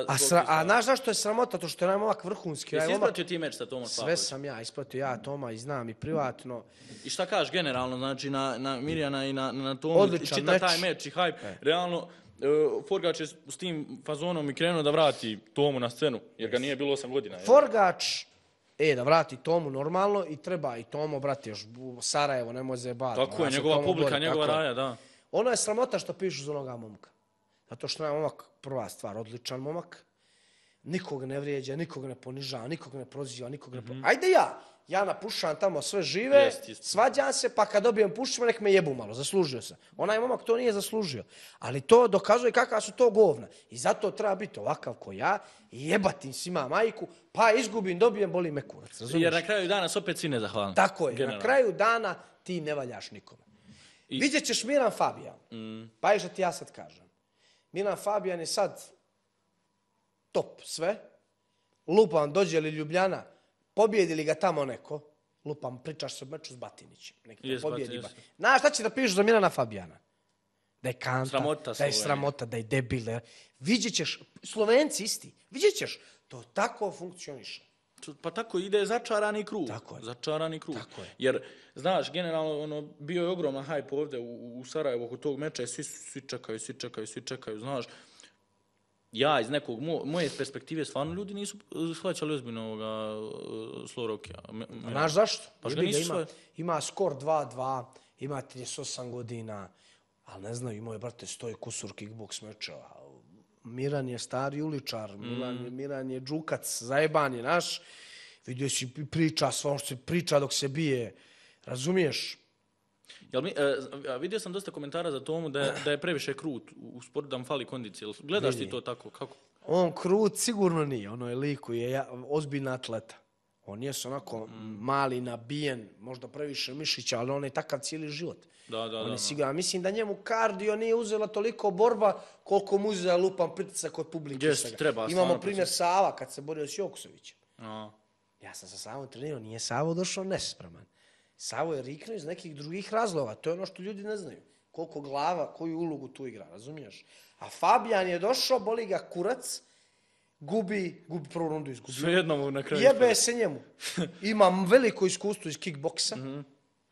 A, sra, a znaš zašto je sramota? To što je najmomak vrhunski. Jesi ispratio ti meč sa Tomom Spahovićem? Sve sam ja ispratio, ja Toma i znam i privatno. I šta kažeš generalno, znači na, na Mirjana i na, na Tomu? Odličan čita meč. Taj meč i hype. E. Realno, uh, Forgač je s tim fazonom i krenuo da vrati Tomu na scenu, jer ga nije bilo osam godina. Forgač, e, da vrati Tomu normalno i treba i Tomo, brate, još Sarajevo, ne može bati. Tako je, njegova publika, njegova raja, da. Ono je sramota što pišu za onoga momka. Zato što je momak, prva stvar, odličan momak. Nikog ne vrijeđa, nikog ne ponižava, nikog ne proziva, nikog ne... Mm-hmm. Ajde ja, ja napušam tamo sve žive, jest, jest. Svađam se, pa kad dobijem pušćima, nek me jebu malo, zaslužio sam. Onaj momak to nije zaslužio. Ali to dokazuje kakva su to govna. I zato treba biti ovakav ko ja, i jebatim svima majku, pa izgubim, dobijem, boli me kurac. Razumiješ? Jer na kraju dana se opet svi nezahvalni. Tako je, generalno. Na kraju dana ti ne valjaš nikome. I... Vidjet ćeš Miran Fabijan. Mm. Pa je što ti ja sad kažem. Milan Fabijan je sad top sve. Lupam, dođe li Ljubljana, pobjedi li ga tamo neko, lupam, pričaš se o meču s Batinićem. Neki yes, pobjedi. Yes. Znaš šta će da pišu za Milana Fabijana? Da je kanta, sramota, da je sramota, da je debil. Da je... Vidjet ćeš, Slovenci isti, vidjet ćeš, to tako funkcioniše. Pa tako ide začarani krug. Tako je. Začarani krug. Tako je. Jer, znaš, generalno, ono, bio je ogroman hype ovdje u, u Sarajevu oko tog meča i svi, svi čekaju, svi čekaju, svi čekaju, znaš. Ja iz nekog, mo, moje perspektive, stvarno ljudi nisu shvaćali ozbiljno ovoga uh, Slorokija. Znaš zašto? Pa što nisu ima, ima skor dva dva, ima trideset osam godina, ali ne znaju, imao je, brate, stoji kusur kickboks mečeva. Miran je stari uličar, mm. Miran, Miran je džukac, zajeban je naš. Vidio si priča, sve ono što se priča dok se bije. Razumiješ? Jel mi, e, vidio sam dosta komentara za Tomu da je, da je previše krut u sportu, da mu fali kondicije. Gledaš ti to tako? Kako? On krut sigurno nije. Ono je liku, je ja, ozbiljna atleta. On je onako mm. mali, nabijen, možda previše mišića, ali on je takav cijeli život. Da, da, on je da, siguran. Mislim da njemu kardio nije uzela toliko borba koliko mu uzela lupan pritisak od publike. Jest, treba, imamo primjer proces. Sava kad se borio s Jokusovićem. A. Ja sam sa Savom trenirao, nije Savo došao nespreman. Savo je riknuo iz nekih drugih razloga. To je ono što ljudi ne znaju. Koliko glava, koju ulogu tu igra, razumiješ? A Fabijan je došao, boli ga kurac, gubi, gubi prvu rundu izgubio. Sve jednom na kraju. Jebe se njemu. Imam veliko iskustvo iz kickboksa. Mm-hmm.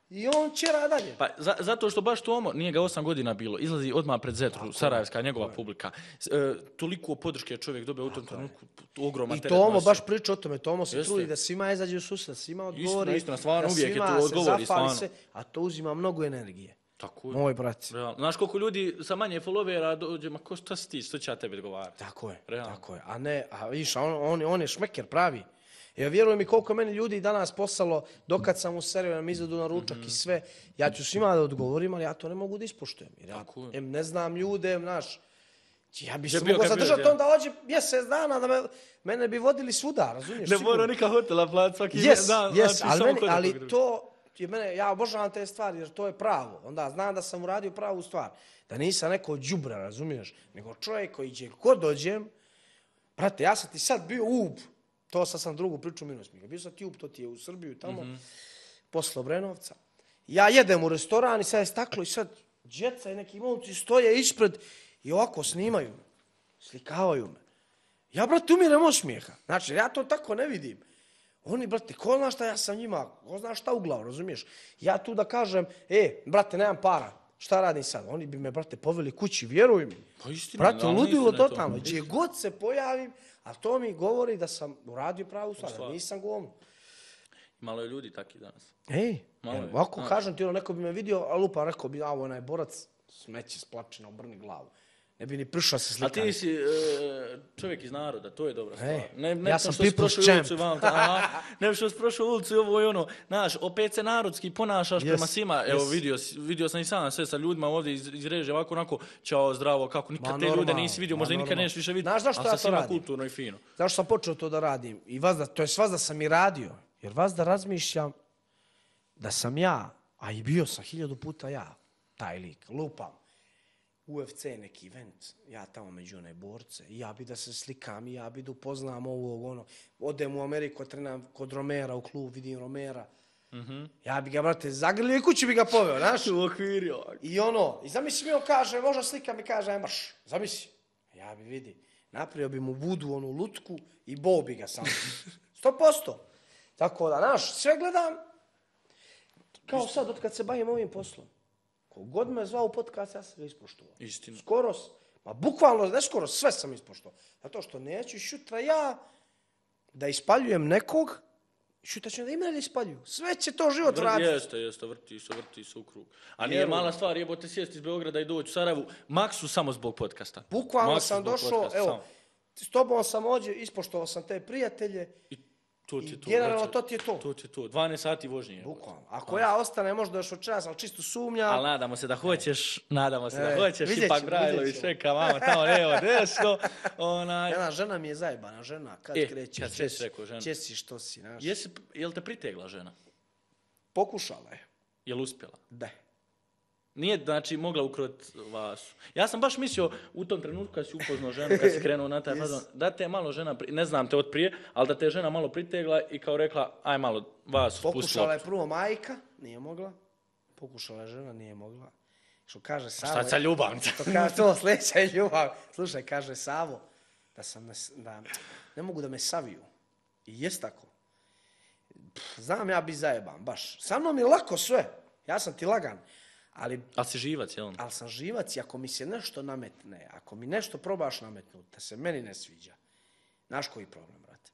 I on će rada dalje. Pa za, zato što baš Tomo, nije ga osam godina bilo, izlazi odmah pred Zetru, tako, sarajevska, njegova tako publika. E, toliko podrške čovjek dobio u tom trenutku, ogroman teret. I Tomo baš priča o tome, Tomo se Jeste. trudi da svima izađe u susret, svima odgovori, istina, stvarno, da uvijek svima je to odgovori, se zafali se, a to uzima mnogo energije. Tako je. Moj brat. Realno. Znaš koliko ljudi sa manje followera dođe, ma ko šta si ti, što će ja tebi odgovarati? Tako je, Realno. tako je. A ne, a viš, on, on, on je šmeker pravi. Ja vjerujem mi koliko meni ljudi danas poslalo, dokad sam u seriju nam izvedu na ručak mm-hmm. i sve, ja ću svima da odgovorim, ali ja to ne mogu da ispoštujem. Jer ja em, ne znam ljude, em, znaš, ja bi se mogao zadržati onda ođe mjesec dana da me, mene bi vodili svuda, razumiješ? Ne mora nikak hotela plat svaki yes, dan. Yes, znači, ali, meni, ali to, je mene, ja obožavam te stvari jer to je pravo. Onda znam da sam uradio pravu stvar. Da nisam neko đubra, razumiješ? Nego čovjek koji će kod dođem, brate, ja sam ti sad bio ub. To sad sam drugu priču minus mi. Bio sam ti up, to ti je u Srbiju tamo, mm-hmm. posle Obrenovca. Ja jedem u restoran i sad je staklo i sad djeca i neki momci stoje ispred i ovako snimaju me, slikavaju me. Ja, brate, umirem od smijeha. Znači, ja to tako ne vidim. Oni, brate, ko zna šta ja sam njima, ko zna šta u glavu, razumiješ? Ja tu da kažem, e, brate, nemam para, šta radim sad? Oni bi me, brate, poveli kući, vjeruj mi. Pa istina, brate, da, ludilo totalno. Gdje god se pojavim, a to mi govori da sam uradio pravu stvar, da nisam govno. Malo je ljudi taki danas. Ej, ovako kažem ti, ono, neko bi me vidio, a lupa, rekao bi, a ovo onaj borac, smeće splačina, obrni glavu. Ne bi ni prišao se A slikati. ti si e, čovjek iz naroda, to je dobra stvar. Ej, Ne, ne ja sam što si people's prošao champ. ulicu i vam, aha, ne što si prošao ulicu i ovo i ono. Znaš, opet se narodski ponašaš Yes, prema svima. Evo, yes. vidio, si- vidio sam i sam sve sa ljudima ovdje iz, iz režije, ovako, onako, čao, zdravo, kako, nikad Ma, te ljude normalno, nisi vidio, ma, možda i nikad normalno. nećeš više vidjeti, Znaš zašto ali ja sa to svima radim? kulturno i fino. Zašto sam počeo to da radim? I vas da, to je vas da sam i radio. Jer vas da razmišljam da sam ja, a i bio sam hiljadu puta ja, taj lik, lupam. U F C neki event, ja tamo među one borce, i ja bi da se slikam, i ja bi da upoznam ovog, ono, odem u Ameriku, trenam kod Romera u klub, vidim Romera. Mm-hmm. Ja bi ga, brate, zagrlio i kući bi ga poveo, znaš? U okviru. I ono, i zamisli mi on kaže, možda slika mi kaže, aj marš, zamisli. Ja bi vidi, napravio bi mu budu, onu lutku i bo bi ga samo. Sto posto. Tako da, znaš, sve gledam, kao sad, od kad se bavim ovim poslom. Kogod me zvao u podcast, ja sam ga ispoštovao. Istina. Skoro, ma bukvalno, ne skoro, sve sam ispoštovao. Zato što neću šutra ja da ispaljujem nekog, šutra će da i mene ispaljuju. Sve će to život raditi. Jeste, jeste, vrti se, vrti se u krug. A nije mala stvar, jebote sjesti iz Beograda i doći u Sarajevu, maksu samo zbog podcasta. Bukvalno Maksu sam zbog došao, podcasta, evo, samo. s tobom sam ođe, ispoštovao sam te prijatelje. I to ti I je to. generalno brate. to ti je to. To ti je to. dvanaest sati vožnje. jebote. Bukvalno. Ako ja ostane možda još večeras, ali čisto sumnjam. Ali nadamo se da hoćeš, nadamo se E, da hoćeš, vidjet ipak ćemo, Brajlović vidjet ćemo. čeka mama tamo lijevo desno. Onaj. Jedna žena mi je zajebana, žena, kad E, krećeš, kad si česi, rekao žena. česi što si, znaš. Jesi, jel te pritegla žena? Pokušala je. Jel uspjela? Da. Nije, znači, mogla ukrot vas. Ja sam baš mislio u tom trenutku kad si upoznao ženu, kad si krenuo na taj Yes. fazon, da te je malo žena, pri- ne znam te od prije, ali da te je žena malo pritegla i kao rekla, aj malo vas spusti Pokušala je loptu. prvo majka, nije mogla. Pokušala je žena, nije mogla. Što kaže Savo... Šta sa ljubavnica? To kaže, to sljedeća je ljubav. Slušaj, kaže Savo, da sam, ne, da ne mogu da me saviju. I jest tako. Pff, znam ja bi zajeban, baš. Sa mnom je lako sve. Ja sam ti lagan. Ali, Ali si živac, jel? ali sam živac i ako mi se nešto nametne, ako mi nešto probaš nametnuti, da se meni ne sviđa, znaš koji problem, brate?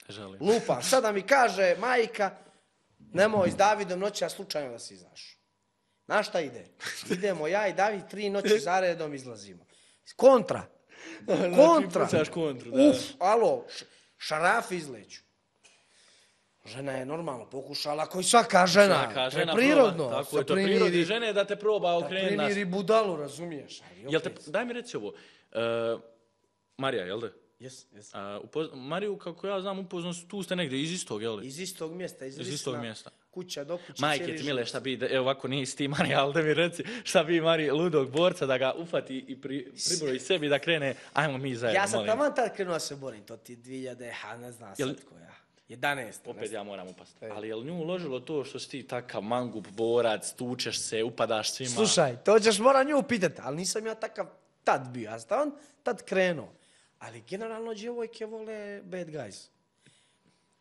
Želim. Lupa, sada mi kaže majka, nemoj s Davidom noći, a slučajno da si izaš. Znaš šta ide? Idemo ja i David tri noći zaredom izlazimo. Kontra. Kontra. Pucaš kontru, da. Uf, alo, š- šaraf izleću. Žena je normalno pokušala, kao i svaka žena. Svaka To je žena prirodno. proba. Tako sa je, to je primiri- prirodi žene da te proba Da okrenuti nas. primiri budalu, razumiješ? Ali Jel te, opet. daj mi reci ovo. E, Marija, jel da? Jes, jes. A, upoz, Mariju, kako ja znam, upoznao su, tu ste negdje iz istog, jel da? Iz istog mjesta, iz, Iz istog mjesta. Kuća do kuće. Majke cijeli ti mile, život. šta bi, evo ovako nisi ti Marija, ali da mi reci, šta bi Marija ludog borca da ga ufati i pri, pribroji sebi da krene, ajmo mi zajedno, Ja sam molim. taman tad krenuo da se borim, to ti dvije hiljade, ha, ne znam Jel- sad koja. jedanaest. Opet ja moram upasti. Ali je li nju uložilo to što si ti takav mangup, borac, tučeš se, upadaš svima? Slušaj, to ćeš mora nju pitati, ali nisam ja takav tad bio, ja sam on tad krenuo. Ali generalno djevojke vole bad guys.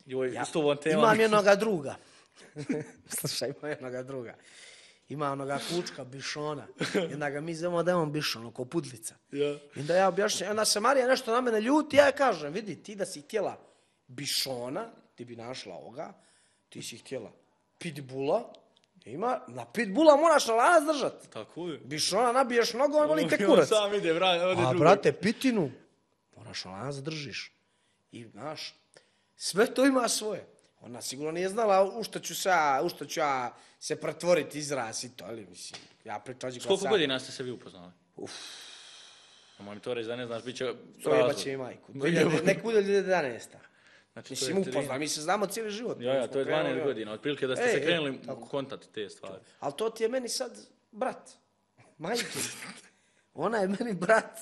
Joj, Ja s ovom temom. imam jednoga druga. Slušaj, imam jednoga druga. Ima onoga kučka, bišona. Jedna ga mi zovemo da je on bišon, oko pudlica. Ja. I onda ja objašnjam, onda se Marija nešto na mene ljuti, ja joj kažem, vidi, ti da si htjela bišona, ti bi našla ovoga, ti si htjela pitbula, ima, na pitbula moraš na lanac držati. Tako je. Bišona nabiješ nogom, voli te On kurac. sam ide, bra, ode A drugo. brate, pitinu, moraš na lanac držiš. I, znaš, sve to ima svoje. Ona sigurno nije znala u što ću se, ja- u što ću ja se pretvoriti izraz i to, ali mislim, ja pričam... S koliko godina ste se vi upoznali? Uf. Nemoj mi to reći da ne znaš, bit će Projebat razlog. će i majku. Nek bude dvije hiljade jedanaesta. Znači, to Mislim, je tri- upoznali, mi se znamo cijeli život. Ja, ja, Smo to je krenuli, dvanaest ja. godina, otprilike da ste Ej, se ej, krenuli tako. u kontakt te stvari. Ali to ti je meni sad brat. Majke. Ona je meni brat.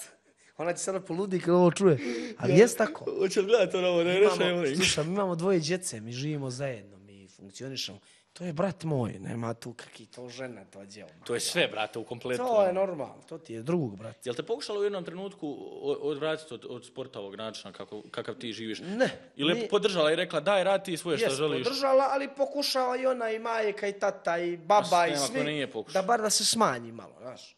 Ona će sada poludi kad ovo čuje. Ali jest tako. Hoće li gledati ono ovo, da je Imamo, slušaj, mi imamo dvoje djece, mi živimo zajedno, mi funkcionišemo. To je brat moj, nema tu kakvi to žena, to djelo. To je sve, brate, u kompletu. To je normalno, to ti je drug, brat. Jel te pokušalo u jednom trenutku o- odvratiti od, od sporta ovog načina kako, kakav ti živiš? Ne. Ili je ni- podržala i rekla daj radi ti svoje što Jes, želiš? podržala, ali pokušava i ona, i majka, i tata, i baba, i nema ko svi, nije pokušao. da bar da se smanji malo, znaš.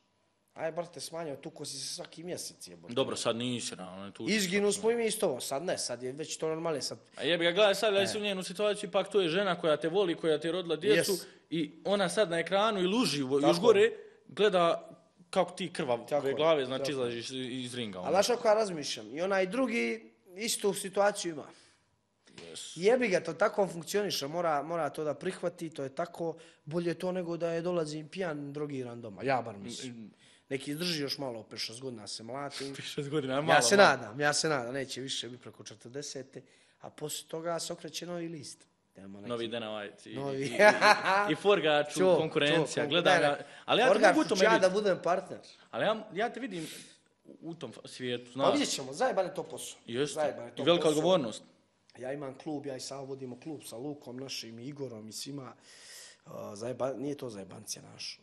Aj, bar te smanjio, tuko si se svaki mjesec, jebote. Dobro, sad nisi, na, ono je tu. Izginu smo i mi isto ovo, sad ne, sad je već to normalno, sad. A jebi ga, gledaj sad, da si u njenu situaciju, ipak to je žena koja te voli, koja ti je rodila djecu Yes. i ona sad na ekranu ili uživo, još Tako. gore, gleda kako ti krvave Tako, glave, znači tako. izlaziš iz ringa. Ali znaš kako ja razmišljam, i onaj drugi istu situaciju ima. Yes. Jebi ga, to tako funkcioniše, mora, mora to da prihvati, to je tako, bolje to nego da je dolazi pijan, drogiran doma, ja bar mislim. Neki izdrži još malo, pet šest godina se mlatim. šest godina je malo. Ja se malo. nadam, ja se nadam, neće više biti preko četrdesete, a poslije toga se okreće novi list. Neki... Novi Dana White i, Novi. i, i, i Forgaču, Čo, konkurencija, čo, gledam ne, ga. ne. Ali ja te Forgač, mogu u tome ja vidjeti. da budem partner. Ali ja, ja te vidim u tom svijetu, Pa znaš. vidjet ćemo, zajeban je to posao. Jeste. Zajeban je to I velika posao. odgovornost. Ja imam klub, ja i sam vodimo klub sa Lukom našim, Igorom i svima. Uh, zajeba, nije to zajebancija naš.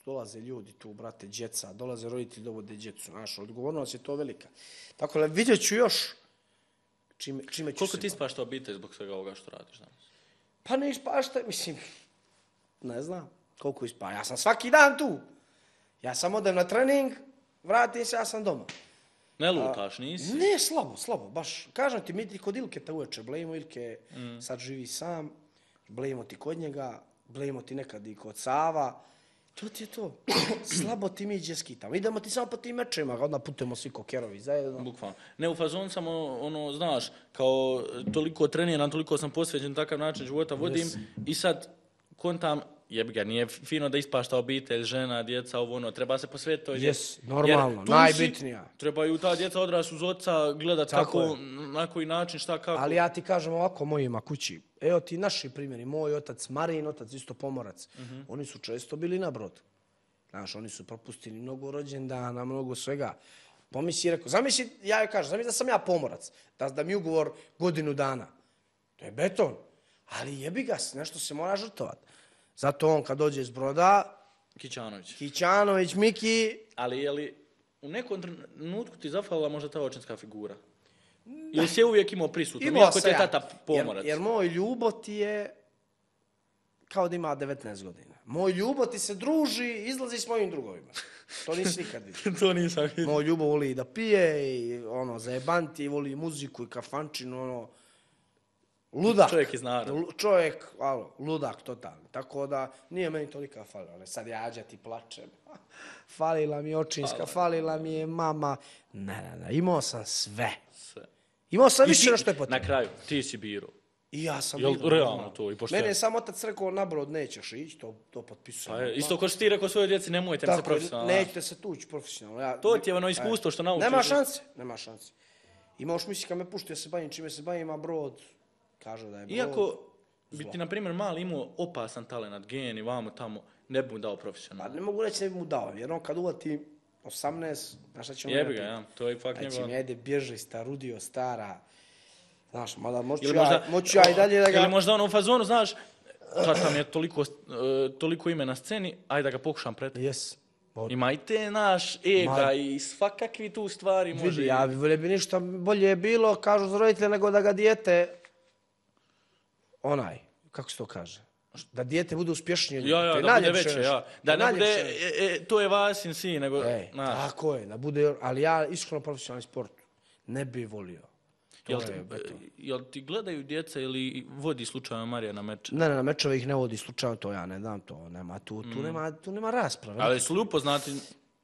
Dolaze ljudi tu, brate, djeca, dolaze roditelji, dovode djecu, naš. Odgovornost je to velika. Tako da vidjet ću još čime, čime ću Koliko se ti baviti. ispašta obitelj zbog svega ovoga što radiš danas? Pa ne ispašta, mislim, ne znam koliko ispa. Ja sam svaki dan tu. Ja sam odem na trening, vratim se, ja sam doma. Ne lutaš, nisi? Ne, slabo, slabo, baš. Kažem ti, mi ti kod Ilke te uveče blejimo, Ilke mm. sad živi sam, blejimo ti kod njega, blejimo ti nekad i kod Sava. To ti je to. Slabo ti mi iđe skitamo. Idemo ti samo po tim mečima, onda putujemo svi kokerovi zajedno. Bukvalno. Ne, u fazonu sam, ono, znaš, kao toliko treniram, toliko sam posvećen, takav način života vodim Yes. i sad kontam, jebi ga, nije fino da ispašta obitelj, žena, djeca, ovo ono, treba se posvetiti toj djeci. Yes, normalno, Jer tu najbitnija. Si, trebaju ta djeca odrasti uz oca, gledat Tako kako, je. na koji način, šta, kako. Ali ja ti kažem ovako mojima kući. Evo ti naši primjeri. Moj otac, Marin otac, isto pomorac. Uh-huh. Oni su često bili na brodu. Znaš, oni su propustili mnogo rođendana, mnogo svega. Pomisli, rekao, zamisli, ja joj kažem, zamisli da sam ja pomorac, da, da mi ugovor godinu dana. To je beton. Ali jebi ga, nešto se mora žrtvovat. Zato on kad dođe iz broda, Kićanović. Kićanović, Miki, Ali je li u nekom trenutku ti zafalila možda ta očinska figura? Ili si je uvijek imao prisutno, imao iako ti sam je ja. tata pomorac? Jer, jer moj ljubot je kao da ima devetnaest godina. Moj ljubot ti se druži, izlazi s mojim drugovima. To nisi nikad vidio. To nisam vidio. Moj ljubav voli da pije i ono, zajebanti, voli muziku i kafančinu, ono, ludak. Čovjek iz naroda. Lu- Čovjek, alo, ludak totalni. Tako da nije meni tolika falila. Ali sad ja ti plačem. Falila mi je očinska, falila mi je mama. Ne, ne, ne, imao sam sve. Sve. Imao sam I više ti- no što je potrebno. Na kraju, ti si biro. I ja sam Jel bilo, realno normalno. to i pošteno? Mene je sam otac rekao, na brod nećeš ići, to, to potpisujem. Pa je, isto ko što ti rekao svojoj djeci, nemojte mi se Tako, je, profesionalno. nećete se tući profesionalno. Ja, To ti je ono iskustvo što naučiš. Nema šanse, nema šanse. I možeš misliti kad me pušti, ja se bavim čime se bavim, a brod kaže da je brod. Iako bi zlo. ti, na primjer, mali imao opasan talent, gen i vamo tamo, ne bi mu dao Pa profesionalno. ne mogu reći ne bi mu dao, jer on kad uvati osamnaest, znaš šta će on Jebi ga, napraviti? ja. To je fakt Znači njegov. mi ajde bježi, starudio, stara. Znaš, mada moću Ili ja, možda, moću ja i dalje da ga... Ili možda ono u fazonu, znaš, tata mi je toliko, uh, toliko ime na sceni, ajde da ga pokušam pred. Jes. Ima i te naš ega Ma- i svakakvi tu stvari može. Vidi, ja bi volio bi ništa bolje je bilo, kažu za roditelje, nego da ga dijete, onaj, kako se to kaže, da dijete bude uspješnije. od njega. Ja, To ja, je da bude najljepše veće, nešto. ja. To Da je ne bude, najljepše nešto. e, e, to je Vasin sin, nego, Ej, znaš. tako je, da bude, ali ja iskreno profesionalni sport ne bi volio. To Jel, je ti, beton. jel ti gledaju djeca ili vodi slučajno Marija na meč? Ne, ne, na mečeve ih ne vodi slučajno, to ja ne dam to, nema tu, tu, nema, tu nema rasprave. Ali su li upoznati,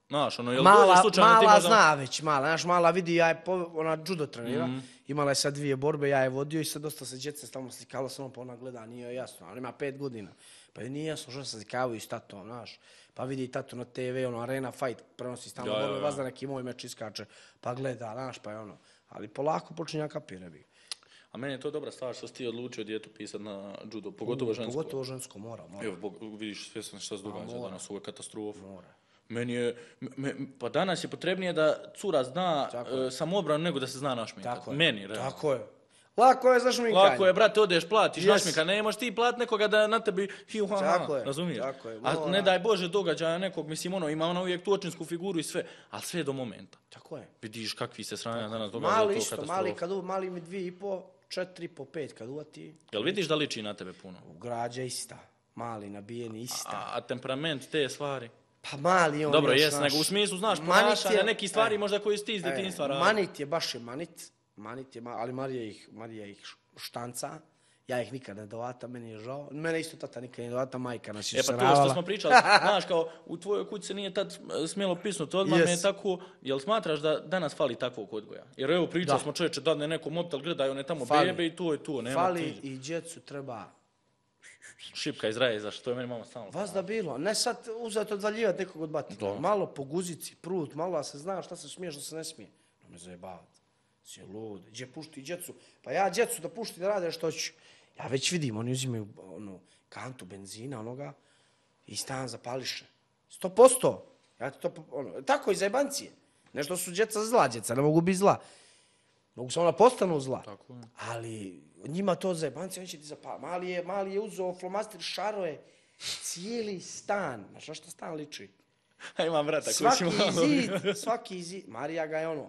znaš, ono, jel Mala, dođe slučajno ti mala možda... zna već, mala, znaš, mala vidi, ja je, po, ona judo trenira, Mhm. imala je sad dvije borbe, ja je vodio i sad dosta se djece tamo slikalo sa mnom, pa ona gleda, nije joj jasno, ona ima pet godina, pa joj nije jasno što se slikavaju s tatom, znaš, pa vidi tatu na te ve, ono, Arena Fight, prenosi stalno Ja, ja, borbe, ja. vazda neki moj meč iskače, pa gleda, znaš, pa je ono, ali polako počinja kapire bi. A meni je to dobra stvar što si ti odlučio djetu pisat na judo, pogotovo žensko. Pogotovo žensko, mora, mora. Evo, bog, vidiš, svjesno šta se događa mora. danas, ovo je katastrofa. Mora. Meni je, me, pa danas je potrebnije da cura zna Tako uh, samobranu nego da se zna našminkati. Tako je. Meni, realno. Tako je. Lako je za šminkanje. Lako je, brate, odeš, platiš Yes. našminka, ne možeš ti plat nekoga da na tebi hiu ha, Tako ha, je, razumiješ? tako je, A mora. ne daj Bože događaja nekog, mislim, ono, ima ona uvijek tu očinsku figuru i sve, ali sve do momenta. Tako je. Vidiš kakvi se sranja danas događa, Mali to isto, katastrofa. mali, kad u, mali mi dvije i po, četiri po pet kad uvati, Jel vidiš da liči na tebe puno? građa ista. Mali, nabijeni ista. A, a temperament, te stvari? Pa mali on Dobro, još, jes, znaš, nego u smislu, znaš, manit ponašanja, je- neki stvari e, možda koji si ti iz e, djetinjstva radi. Manit je, baš je manit. Manit je, ma- ali Marija ih, Marija ih štanca Ja ih nikad ne dovata, meni je žao. Mene isto tata nikad ne dovata, majka nas je E pa to saravala. što smo pričali, znaš kao u tvojoj kući se nije tad smjelo pisnuti odmah, Yes. me je tako, jel smatraš da danas fali takvog odgoja? Jer evo pričali Da. smo čovječe, dadne neko mobitel, gledaju one tamo Fali. bebe i to je to, nema Fali ti. i djecu treba Šipka iz raje, zašto to je meni mama stalno. vas da bilo. Ne sad uzeti odvaljivati nekog od batina. Da. Malo po guzici, prut, malo da se zna šta se smije, šta se ne smije. No me zajebavati. Si lud. Gdje pušti djecu? Pa ja djecu da pušti da rade što ću. Ja već vidim, oni uzimaju onu kantu benzina, onoga, i stan zapališe. Sto posto. Ja ti to, po- ono, tako i zajebancije. Nešto su djeca zla, djeca ne mogu biti zla. Mogu samo da postanu zla. Tako je. Ali njima to zajebanci, on će ti zapaliti. Mali je, mali je uzeo flomastir, šaroje, cijeli stan. Znaš na šta stan liči? A imam vrata koji Svaki ću malo... zid, svaki zid. Marija ga je ono,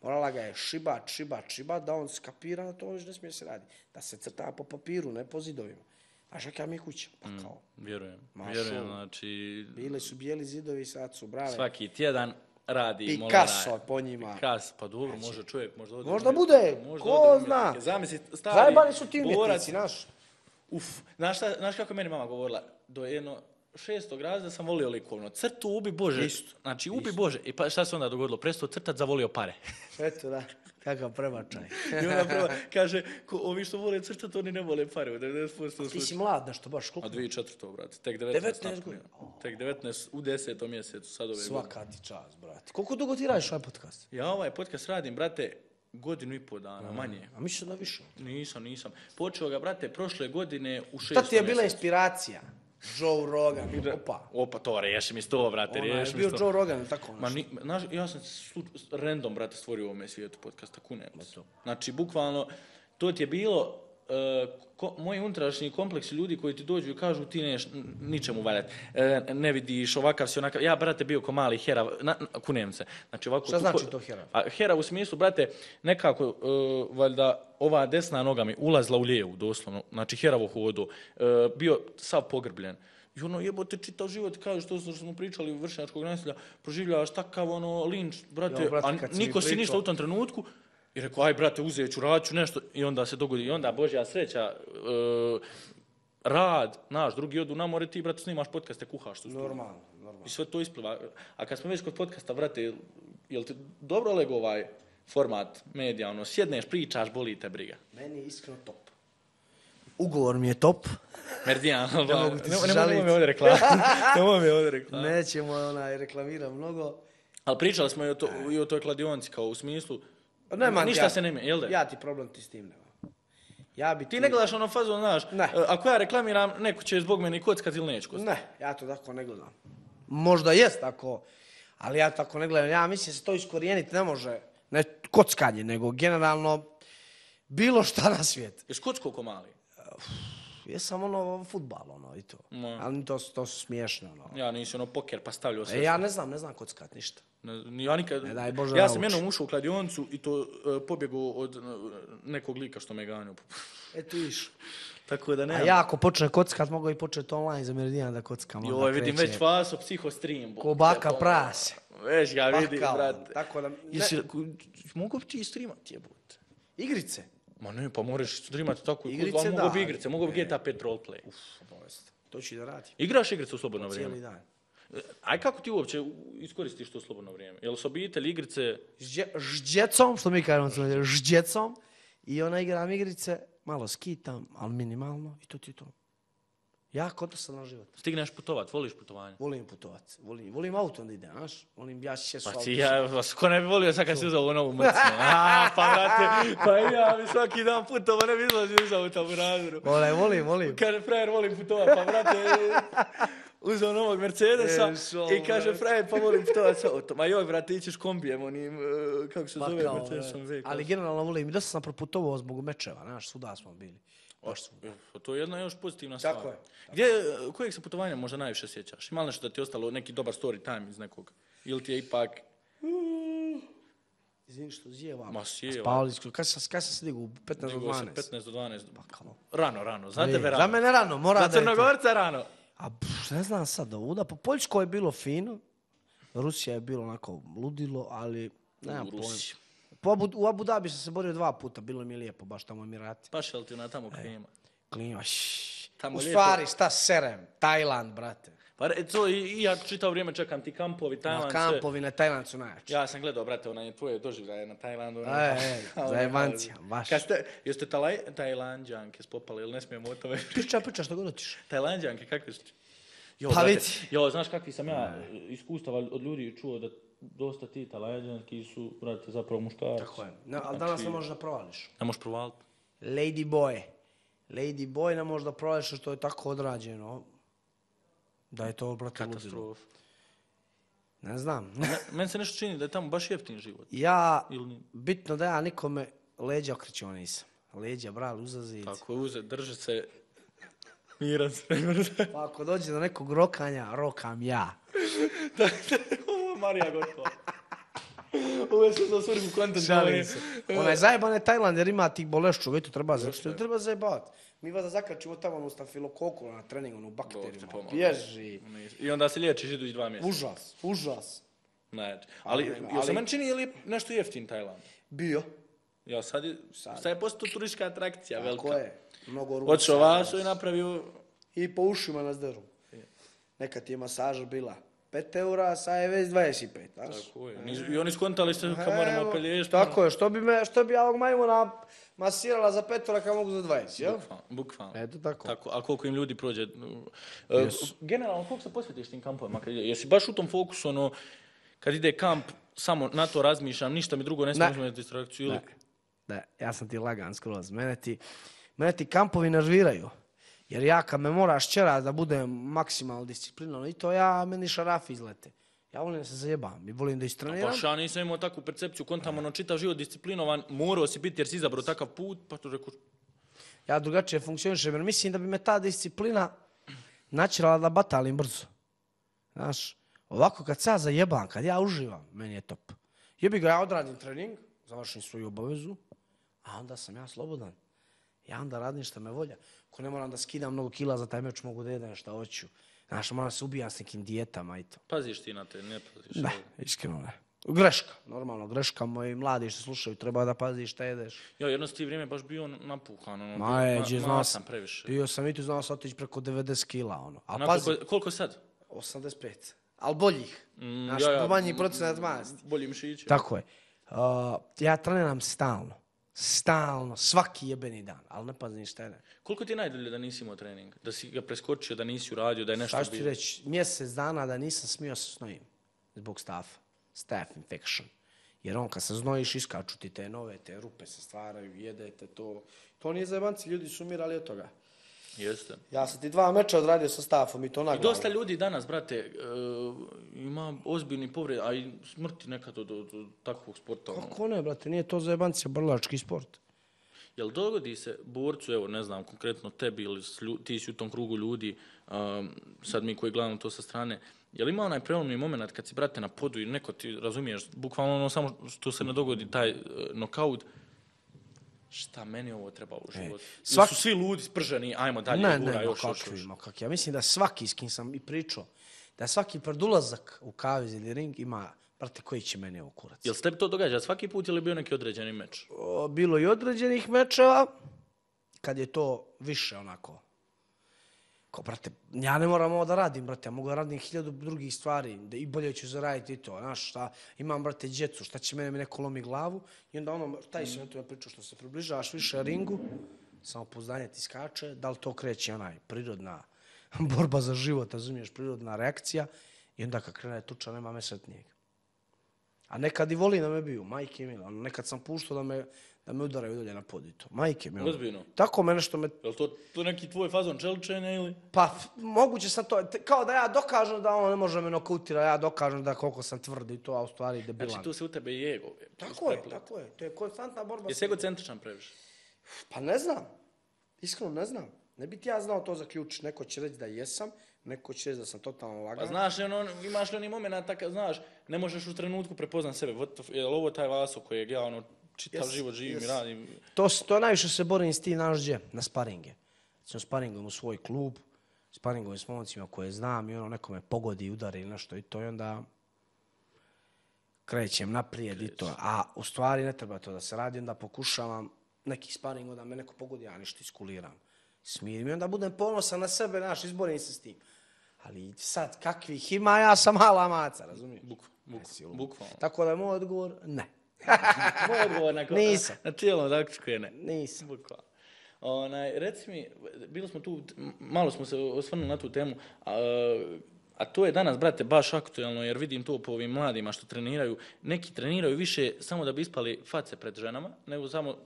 morala ga je šibat, šibat, šibat, da on skapira da to već ne smije se radi. Da se crta po papiru, ne po zidovima. Znaš kakva mi je kuća? Pa kao, Vjerujem, Ma vjerujem, šo. znači bili su bijeli zidovi, sad su brave. svaki tjedan radi Picasso po njima. Picasso, pa dobro, može čovjek, možda ode Možda u bude, umjetnike, možda ko ode u zna. umjetnike. Zamisli, stari Zajebani su ti borac, umjetnici, znaš. uf, znaš, šta, znaš kako je meni mama govorila, do jedno šestog razreda sam volio likovno, crtu ubi Bože, Isto, znači ubi Bože, i pa šta se onda dogodilo, prestao crtat, zavolio pare. Eto da, kakav prebačaj. I onda prvo kaže, ko, ovi što vole crtat, oni ne vole pare, u devedeset posto Ti si slučaja. mlad nešto, baš A koliko? dvije tisuće četvrte brate, tek devetnaest. devetnaest napunio. godina. Tek devetnaest u desetom mjesecu, sad ove godine. Svaka ti čast, brate. Koliko dugo ti radiš ovaj podcast? Ja ovaj podcast radim, brate, godinu i pol dana, manje. A mislim da više. Nisam, nisam. Počeo ga, brate, prošle godine u šestom Šta ti je bila mjesecu. inspiracija? Joe Rogan, opa. Opa, to, riješi mi sto, brate, Ona je riješi mi bio sto. Joe Rogan, tako Ma, nešto. ni, znaš, ja sam slu, random, brate, stvorio u ovome svijetu podcasta, kunem se. to. Znači, bukvalno, to ti je bilo, uh, ko, moji unutrašnji kompleksi ljudi koji ti dođu i kažu ti neš n- ničemu valjati, e, ne vidiš, ovakav si onakav, ja, brate, bio ko mali herav, na, na, kunem se. Znači, ovako, Šta tu- znači to herav? A herav u smislu, brate, nekako, uh, valjda, ova desna noga mi ulazila u lijevu, doslovno, znači, heravo hodu, uh, bio sav pogrbljen. I ono, jebote, čitav život, kažeš to što smo pričali vršnjačkog nasilja, proživljavaš takav ono linč, brate, Jo, brate, a kad si mi niko si pričao- ništa u tom trenutku. I rekao, aj brate, uzet ću, radit ću nešto. I onda se dogodi, i onda Božja sreća, e, rad, naš, drugi odu na more, ti, brate, snimaš podcaste, kuhaš tu studiju. Normalno, normalno. I sve to ispliva. A kad smo već kod podcasta, brate, jel, jel ti dobro lego ovaj format medija, ono, sjedneš, pričaš, boli te briga. Meni je iskreno top. Ugovor mi je top. Merdijan, Ne mogu ti se ne, ne, žalit. mogu mi ovdje reklama. Ne mogu mi ovdje reklama. Nećemo onaj reklamira mnogo. Ali pričali smo i o, to, i o toj kladionci, kao u smislu, Pa nema, ništa ja, se ne mijenja, jel da? Ja ti problem ti s tim nema. Ja bi Ti ne gledaš ono fazu, znaš, Ne. e, ako ja reklamiram, neko će zbog mene kockati ili neće kockati. Ne, ja to tako ne gledam. Možda jest tako, ali ja tako ne gledam. Ja mislim da se to iskorijeniti ne može, ne kockanje, nego generalno bilo šta na svijet. Ješ kocko ko mali? Jesam ono fudbal, ono i to. Ma. Ali to, su- to su smiješne, ono. Ja nisi ono poker pa stavljao sve. E, ja ne znam, ne znam kockat ništa. Ne, ni ja nikad... Ne daj Bože ja nauči. sam jednom ušao u kladioncu i to e, pobjegao od e, nekog lika što me ganjao. E tu iš. Tako da ne. A ja ako počne kockat, mogu i početi online za Meridijan da kockam. onda Joj, vidim kreće već vaso psihostream. Ko baka prase. Već ga vidim, Pakao, brate. tako da... Ne, Jesi, mogu bi ti streamati, jebote? igrice. Ma ne, pa moraš streamati tako. Igrice, Igrice, mogu bi da. igrice, mogu bi G T A pet roleplay. Obavezno. To ću i da radim. Igraš igrice u slobodno Cijeli vrijeme? dan. Aj kako ti uopće iskoristiš to slobodno vrijeme? Jel su obitelj, igrice? Ždje, ždjecom, što mi kažemo, smo ždjecom. I ona igram igrice, malo skitam, ali minimalno. I to ti je to. Jako dosadan život. Stigneš putovat, voliš putovanje? Volim putovat. Volim, volim autom da idem, znaš? Volim, ja se Pa auto. ti ja, vas ko ne bi volio sad kad si uzao novu mrcnu? A, pa brate, pa i ja bi svaki dan putovao, ne bi izlazio iz auta u razvoru. Volim, volim, volim. Kaže, frajer, volim putovat, pa brate, uzao novog Mercedesa E, šo, i kaže, brate. frajer, pa volim putovat s autom. Ma joj, brate, ićeš kombijem, onim, e, kako se Pa zove, kao, Mercedesom V. ali generalno volim. I dosta sam proputovao zbog mečeva, znaš, svuda smo bili. Baš smo. Pa to je jedna još pozitivna stvar. Tako je. Gdje, kojeg se putovanja možda najviše sjećaš? Ima li nešto da ti je ostalo neki dobar story time iz nekog? Ili ti je ipak... Izvini što zjevam. Ma sjevam. Spavali smo. Kad sam, kad sam se digao? U petnaest do Nego se dvanaest. petnaest do dvanaest. Pa kao. Rano, rano. Za E, tebe rano. Za mene rano, mora Za da je to. Crnogorca rano. A pff, ne znam sad, ovuda. Po Poljskoj je bilo fino. Rusija je bilo onako ludilo, ali nemam U pojma. Rusiji. Po Abu, u Abu Dhabi sam se borio dva puta, bilo mi je lijepo, baš tamo Emirati. Paš li ti na tamo klima? klima, šš. Tamo U lijepo. stvari, šta serem? Tajland, brate. Pa re- to i, i ja čitao vrijeme čekam ti kampovi, Tajland, Na sve. kampovi na Tajland su najjači. Ja sam gledao, brate, onaj tvoje doživljaje na Tajlandu. ono, E, e, kao zajebancija, ono, baš. Kad ste, jeste talaj, Tajlandžanke spopali, ili ne smijemo o tome pričati? Priča, priča što god hoćeš. Tajlandžanke, kakve su? Jo, Pa brate, vidi. jo, znaš kakvi sam ja iskustava od ljudi čuo da dosta ti Tajlandžanki su, brate, zapravo muškarci. Tako je. No, ali danas ne možeš da provališ. Ne možeš provaliti. Lady boy. Lady boy ne možeš da provališ što je tako odrađeno. Da je to, brate, ludilo. Katastrofa. Ne znam. Meni se nešto čini da je tamo baš jeftin život. Ja, Ili nije? bitno da ja nikome leđa okrećio nisam. Leđa, bral, uzazic. Tako je, uze, drže se, miran se. Pa ako dođe do nekog rokanja, rokam ja. Ovo je Marija gotova. Ovo je sve za svrhu kontent. Šalim se. Onaj zajeban je Tajland jer ima tih bolešću, već to treba zajebati. Treba zajebati. Mi vas da zakačimo tamo onu stafilokoku na treningu, onu bakteriju. pomogu. Bježi. I onda se liječiš idući dva mjeseca. Užas, užas. Znači, ali, Ali- jel se meni čini je li nešto jeftin Tajland? Bio. Ja, sad je, sad je postao turistička atrakcija velika. Tako je. Mnogo ruka. Otišao Vaso i napravio... I po ušima nas deru. Nekad ti je masaža bila pet eura, sad je već dvadeset pet. Znaš? Tako je. I oni skontali se kao moramo Evo, pelješiti. tako je, što bi, me, što bi ja ovog majmuna masirala za pet eura kad mogu za dvadeset, jel? Bukvalno, bukvalno. Eto tako. Tako, a koliko im ljudi prođe? Uh, Jesu. Generalno, koliko se posvetiš tim kampovima? Kad ide? Jesi baš u tom fokusu, ono, kad ide kamp, samo na to razmišljam, ništa mi drugo ne smijem uzmeti distrakciju? Ili... Ne, ne, ja sam ti lagan skroz. Mene ti, mene ti kampovi nerviraju. Jer ja kad me moraš čerat da budem maksimalno disciplinovan i to ja, meni šarafi izlete. Ja volim da se zajebam i volim da istreniram. Baš ja nisam imao takvu percepciju, kontam ono čitav život disciplinovan, morao si biti jer si izabrao takav put, pa to rekao, Ja drugačije funkcionišem jer mislim da bi me ta disciplina načirala da batalim brzo. Znaš, ovako kad se ja zajebam, kad ja uživam, meni je top. Jebi ga, ja odradim trening, završim svoju obavezu, a onda sam ja slobodan. Ja onda radim što me volja. Ako ne moram da skidam mnogo kila za taj meč, mogu da jedem šta hoću. Znaš, moram se ubijam s nekim dijetama i to. paziš ti na te, ne paziš. Ne, iskreno ne. Greška, normalno, greška. Moji mladi što slušaju, treba da paziš šta jedeš. Ja, jedno si ti vrijeme baš bio napuhan, ono, Ma je, ma- znao sam sam, previše. bio sam i tu znao sam otići preko devedeset kila, ono. Ali Onako, pazi, koliko, koliko sad? osamdeset pet. Ali boljih. Mm, Znaš, ja, ja, manji mm, procenat masti. Bolji mišići. Tako je. Uh, ja treniram stalno. Stalno, svaki jebeni dan, ali ne pazim šta je. Koliko ti je najdulje da nisi imao trening? Da si ga preskočio, da nisi uradio, da je nešto Šta ću ti bilo? reći, mjesec dana da nisam smio se znojim zbog stafa. Staph infection. Jer on kad se znojiš, iskaču ti te nove, te rupe se stvaraju, jedete to. To nije zajebanci, ljudi su umirali od toga. Jeste. Ja sam ti dva meča odradio sa stafom i to I naglavno. dosta ljudi danas, brate, uh, ima ozbiljni povred, a i smrti nekad od, od, od takvog sporta. ono. Kako ne, brate, nije to zajebanci, brlački sport. Jel dogodi se borcu, evo ne znam, konkretno tebi ili s lju- ti si u tom krugu ljudi, um, sad mi koji gledamo to sa strane, jel ima onaj prelomni moment kad si, brate, na podu i neko ti, razumiješ, bukvalno ono samo što se ne dogodi taj uh, nokaut, šta meni ovo treba u životu? svak- Ili su svi ludi, sprženi, ajmo dalje, Ne, gura, ne, ma još, još, kakvi, još. ma kakvi. Ja mislim da svaki s kim sam i pričao, da svaki predulazak u kavez ili ring ima, brate, koji će meni ovo kurac. Jel se tebi to događa svaki put ili je bio neki određeni meč? O, bilo i određenih mečeva, kad je to više onako. Ko, brate, ja ne moram ovo da radim, brate, ja mogu da radim hiljadu drugih stvari, da i bolje ću zaraditi i to, znaš, šta, imam, brate, djecu, šta će mene mi neko lomi glavu, i onda ono, taj si na to ja pričao, što se približavaš više ringu, samopouzdanje ti skače, da li to kreće onaj prirodna borba za život, razumiješ, prirodna reakcija, i onda kad krene tuča, nema mesretnijeg. A nekad i voli da me biju, majke mi, ono, nekad sam puštao da me, da me udaraju dolje na pod i to. Majke mi. ono. Ozbiljno? Tako me nešto me... Jel to, to neki tvoj fazon čeličenja ili? Pa, f- moguće sam to, te- kao da ja dokažem da on ne može me nokautira, ja dokažem da koliko sam tvrd i to, a u stvari debilan. Znači tu se u tebe i ego. Tako je, tako je, to je konstantna borba. Jesi egocentričan previše? Pa ne znam, iskreno ne znam. Ne bi ti ja znao to zaključiti, neko će reći da jesam, neko će reći da sam totalno lagan. Pa znaš li ono, imaš li oni momenta kad znaš, ne možeš u trenutku prepoznat sebe, what the f- je li ovo taj Vaso kojeg ja ono čitav Yes, život živim yes. i radim? To, s- to najviše se borim s tim, znaš gdje? Na sparinge. Recimo sparingom u svoj klub, sparingom s momcima koje znam i ono neko me pogodi, udari ili nešto i to i onda krećem naprijed i to. A u stvari ne treba to da se radi, onda pokušavam neki sparing, onda me neko pogodi, ja ništa iskuliram. Smirim i onda budem ponosan na sebe, naš, izborim se s tim. Ali sad, kakvih ima, ja sam mala maca, razumiješ? Bukvalno, bukvalno, bukvalno. Tako da je moj odgovor, ne. Moj odgovor na, Nisam. na cijelom zaključku je ne. Nisam. Bukvalno. Onaj, reci mi, bili smo tu, malo smo se osvrnuli na tu temu, a, a to je danas, brate, baš aktuelno, jer vidim to po ovim mladima što treniraju. Neki treniraju više samo da bi ispali face pred ženama, nego samo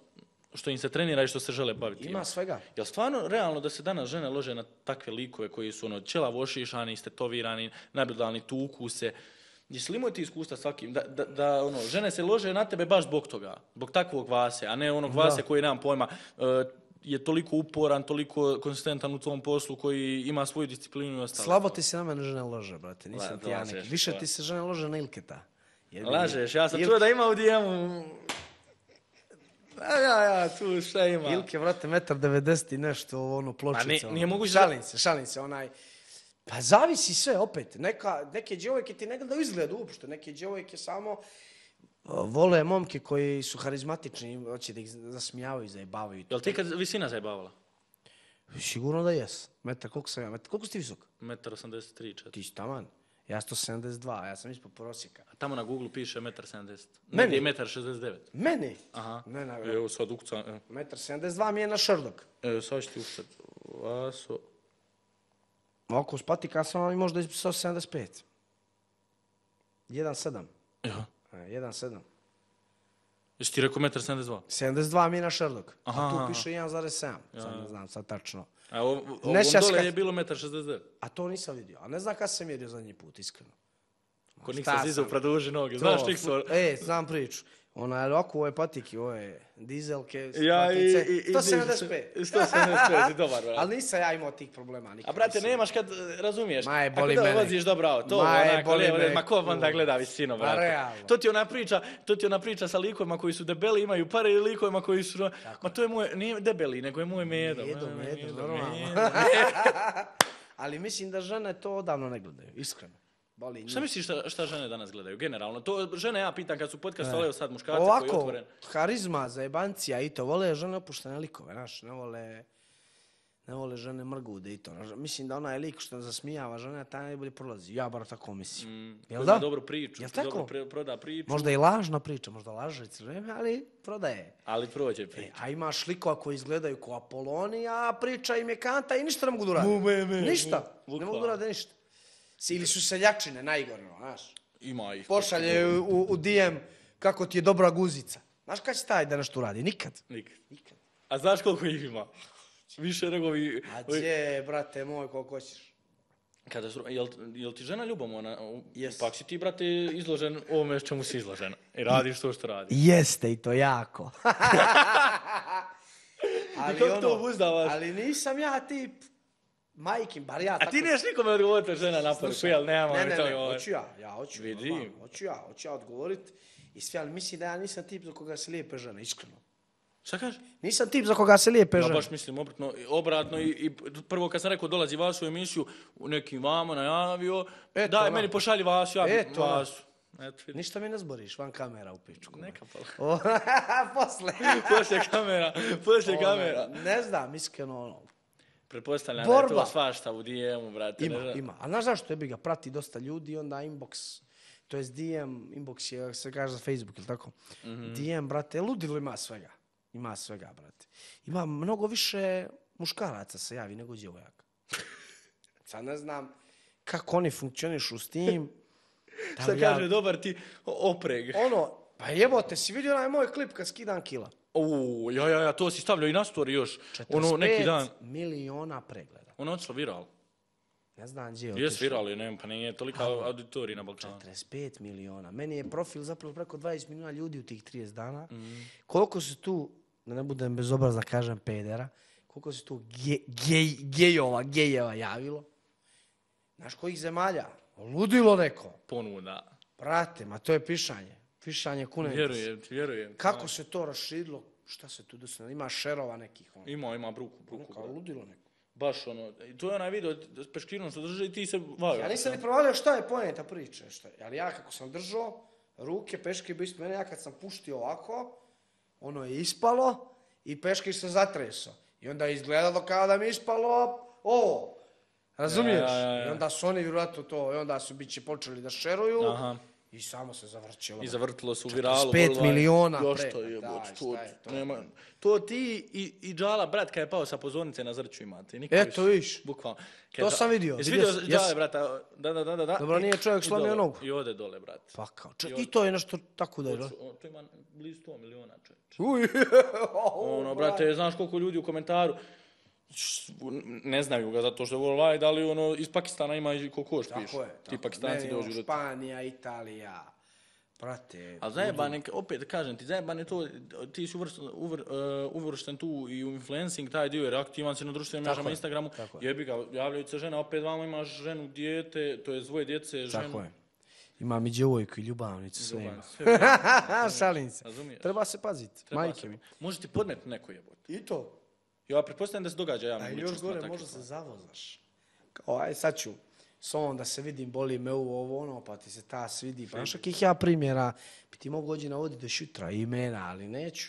što im se trenira i što se žele baviti. Ima svega. Jel stvarno realno da se danas žene lože na takve likove koji su ono ćelavo ošišani, istetovirani, nabildalni, tuku se? Jesi li imao ti iskustva svakim? Da, da, da ono, žene se lože na tebe baš zbog toga, zbog takvog Vase, a ne onog Vase koji nemam pojma, uh, je toliko uporan, toliko konsistentan u tom poslu, koji ima svoju disciplinu i ostalo. Slabo ti se na mene žene lože, brate, nisam La, ti ja neki. Više to. ti se žene lože na Ilketa. Jer Lažeš, ja sam Il... čuo da ima u D M-u. A ja, ja, tu šta ima? Ilke, vrate, metar devedeset i nešto, ono, pločica. nije- nije moguće da- Šalim se, šalim se, onaj... Pa zavisi sve, opet. Neka, neke djevojke ti ne gledaju izgled uopšte. Neke djevojke samo uh, vole momke koji su harizmatični, hoće da ih zasmijavaju, zajebavaju. Jel ti kad visina zajebavala? Sigurno da jes. Metar, koliko sam ja? Metar, koliko si ti visok? Metar osamdeset tri, četiri. Ti si taman. Ja sto sedamdeset dva, ja sam ispod prosjeka. A tamo na Google piše metar sedamdeset. Meni? Negdje je metar šezdeset devet. Meni? Aha. Ne, ne, Evo sad ukucam. evo. metar sedamdeset dva mi je na Šerdok. Evo sad ću ti ukucat. Vaso. Oko s patika sam vam i možda sto sedamdeset pet. jedan sedam. Ja. jedan sedam. Jesi ti rekao metar sedamdeset dva? sedamdeset dva mi je na Šerdok. Aha, A tu aha. piše jedan zarez sedam. Sad ne znam, sad tačno. A ovo, ovo Ne sjećaš dole kad- je bilo metar šezdeset devet. A to nisam vidio. A ne znam kada sam mjerio zadnji put, iskreno. Ko Šta Niksa Zizov sam? produži noge. To, Znaš Niksa? E, znam priču. Ona je ovako, ovo je patiki, ovo je dizelke, Ja i... patice, i- i- sto sedamdeset pet. sto sedamdeset pet, si dobar, brate. Ali nisam ja imao tih problema nikad. A brate, nisam. nemaš kad razumiješ. Ma je, Ako boli da mene. voziš dobro auto, Ma je, onako, boli lijevo, me, ma ko onda kur- gleda visinu, Ma brate. realno. To ti ona priča, to ti ona priča sa likovima koji su debeli, imaju pare i likovima koji su... Ma to je moj, nije debeli, nego je moj medo. Medo, Ma, medo, normalno. medo. Ali mislim da žene to odavno ne gledaju, iskreno. Boli njih. Šta misliš šta, šta žene danas gledaju, generalno? To žene ja pitam kad su podcast, ali evo sad muškarci koji je Ovako, otvoren. harizma, zajebancija i to, vole žene opuštene likove, znaš, ne vole, ne vole žene mrgude i to. znaš. Mislim da onaj lik što zasmijava žene, taj najbolje prolazi. Ja bar tako mislim. Mm, Jel ko da? zna dobru priču, Jel ko dobro tako? pre- proda priču, Možda i lažna priča, možda laže crveme, ali prodaje. ali prođe E, priča. a imaš likova koji izgledaju kao Apoloni, a priča im je kanta i ništa ne mogu da urade. Mu, me, me, ništa, mu, ne mogu da bukvalno. urade ništa. Ili su seljačine, najgore, no, znaš. Ima ih. Pošalje u, u D M kako ti je dobra guzica. Znaš kad će taj da nešto uradi? Nikad. Nikad. Nikad. A znaš koliko ih ima? Više nego vi... A gdje, brate moj, koliko hoćeš? Kada su, jel, jel ti žena ljubomorna? Jest. Pak si ti, brate, izložen ovome čemu si izložen. I radiš to što radiš. Jeste i to jako. ali, kako to obuzdavaš? ali nisam ja tip majkin, bar ja A tako... ti neš nikome odgovoriti žena na poruku, Slušaj, jel? Nemamo ne, ne, to ne, govor. hoću ja, ja hoću. Vidim. normalno, Hoću ja, hoću ja odgovorit. I sve, ali mislim da ja nisam tip za koga se lijepe žene, iskreno. Šta kažeš? Nisam tip za koga se lijepe Ja žene. baš mislim obratno, obratno i, i prvo kad sam rekao dolazi Vasu u emisiju, neki vamo najavio, Eto, daj ono. meni pošalji Vasu, ja Eto, bi ono. Vasu. Eto, vidi. Ništa mi ne zboriš, van kamera u pičku. Neka pa. O, posle. Poslije kamera, poslije kamera. Ono, ne znam, iskreno, ono, Pretpostavljam da je to Borba. svašta u D M-u, brate. ima, ne znam. ima. A znaš zašto je bi ga prati dosta ljudi, onda inbox, to je D M, inbox je, se kaže za Facebook, ili tako? Mhm. D M, brate, ludilo ima svega. Ima svega, brate. Ima mnogo više muškaraca se javi nego djevojaka. Sad ne znam kako oni funkcionišu s tim. Da Šta li ja- kaže, dobar ti opreg. Ono, pa jebote, si vidio onaj moj klip kad skidam kila? Uuu, ja, ja, ja, to si stavljao i na story još. Ono, neki dan. četrdeset pet miliona pregleda. Ono je otišlo viral. Ne znam gdje je Jes otišlo. viral je, ne, pa nije tolika auditorija na Balkanu. četrdeset pet miliona. Meni je profil zapravo preko dvadeset miliona ljudi u tih trideset dana. Mhm. Koliko se tu, da ne budem bezobrazna, kažem pedera, koliko se tu ge, gej, gejova, gejeva javilo? Znaš kojih zemalja? Ludilo neko. Ponuda. Brate, ma to je pišanje. Pišanje kunetice. Vjerujem, ti vjerujem. Kako se to raširilo? Šta se tu desilo? Ima šerova nekih. Ono. Ima, ima bruku, bruku. Kao ludilo neko. Baš ono, i to je onaj video s peškirinom što drži i ti se vaju. Ja nisam ni provalio šta je poenta priče. Šta je. Ali ja kako sam držao, ruke, peške bi ispod mene, ja kad sam puštio ovako, ono je ispalo i peškir se zatresao. I onda je izgledalo kao da mi je ispalo ovo. Razumiješ? Ja, ja, ja. I onda su oni vjerojatno to, i onda su biće počeli da šeruju. Aha. I samo se zavrćilo. I zavrtilo se u viralu. pet miliona Jo, pre. što je, Daj, bot, šta to, je to? nema, to ti i, i Džala, brat, kad je pao sa pozornice na Zrću imate. Niko Eto, više, viš. Bukvalno. To sam vidio, Jesi vidio vidio sam, Džale, jes. brata? Da, da, da, da. da. Dobro, I- nije čovjek i slomio dole. nogu. I ode dole, brat. Pa kao, če- I i to je nešto tako da je. da? O, to ima blizu sto miliona, čovječ. Uj, Ono, brate, znaš koliko ljudi u komentaru š- ne znaju ga zato što je worldwide, da li ono, iz Pakistana ima i koliko još piše. Tako je. Ti tako. Pakistanci Ne, dođu ono, do... Španija, Italija, prate. Ali zajebane, opet kažem ti, zajebane to, ti si uvršten, uvr, uh, uvršten tu i u influencing, taj dio, jer aktivan si na društvenim Tako mrežama, je, Instagramu, tako je. jebi ga, javljaju se žena, opet vama imaš ženu, dijete, to je dvoje djece, ženu. Tako je. Imam i djevojku i ljubavnicu, sve Ljubav, ima. sve ima. Šalim se. Razumiješ? Treba se paziti, Treba majke se- mi. Može ti podmet neko jebote. I to. Ja pretpostavljam da se događa A javnim još ličnostima gore, takve možda se stvari. zavozaš. Kao, aj sad ću s ovom da se vidim, boli me ovo, ovo, ono, pa ti se ta svidi. Pa znaš kakih ja primjera, bi ti mogu ođi navoditi do šutra imena, ali neću.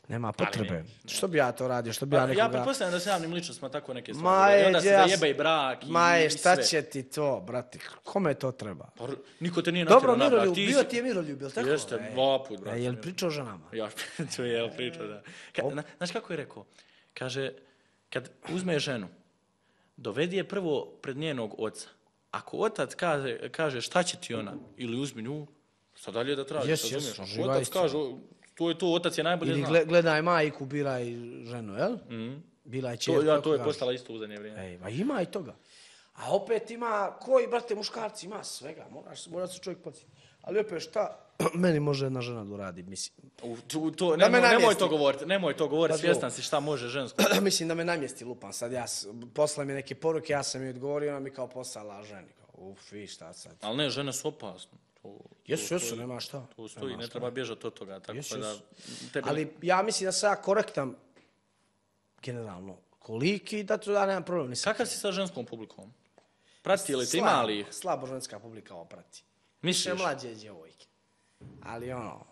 Nema potrebe. ne, Što bi ja to radio, što bi ja Pa, nekoga... ja pretpostavljam da se javnim ličnostima tako neke Ma stvari. događaju. I je, onda se ja s- zajebe i brak i, Ma je, i šta sve. će ti to, brate? Kome to treba? Pa, niko te nije Dobro, natjerao na brak. Miroljub, Ti bio si- ti je Miroljub, jel tako? Jeste, E, dva put, brate. e, Jel pričao o ženama? Ja ću jel pričao, da. Ka, na, znaš kako je rekao? Kaže, kad uzme ženu, dovedi je prvo pred njenog oca. Ako otac kaže, kaže šta će ti ona, ili uzmi nju, šta dalje da tražiš, Jes, razumiješ? jes, Ako živa otac istina. kaže, to je to, otac je najbolje Ili zna. gle- gledaj majku, biraj ženu, jel? Mhm. Bila je To, čerka. ja, kako to je kažu. postala isto u zadnje vrijeme. Ej, ma ima i toga. A opet ima, koji, brate, muškarci, ima svega, moraš, mora se čovjek podsjetiti. Ali opet šta meni može jedna žena da uradi, mislim. U, tu, to, Da nemoj, me nemoj namjesti. to govoriti, nemoj to govoriti, Pa svjestan si šta može žensko. mislim da me namjesti lupan, sad ja, s- posla mi neke poruke, ja sam joj odgovorio, ona mi kao poslala ženi. Kao, uf, i šta sad. Ali ne, žene su opasne. To, Jesu, to jesu, stoji. nema šta. To stoji, Nema ne šta. treba bježati od toga. Tako Jesu, da, jesu. tebi Ali ja mislim da sam ja korektan, generalno, koliki, da tu ja nemam problem. Nisam Kakav si sa ženskom publikom? Prati li te, slabo, ima li ih? Slabo ženska publika ovo prati. Misliš? Više mlađe djevojke. Ali ono,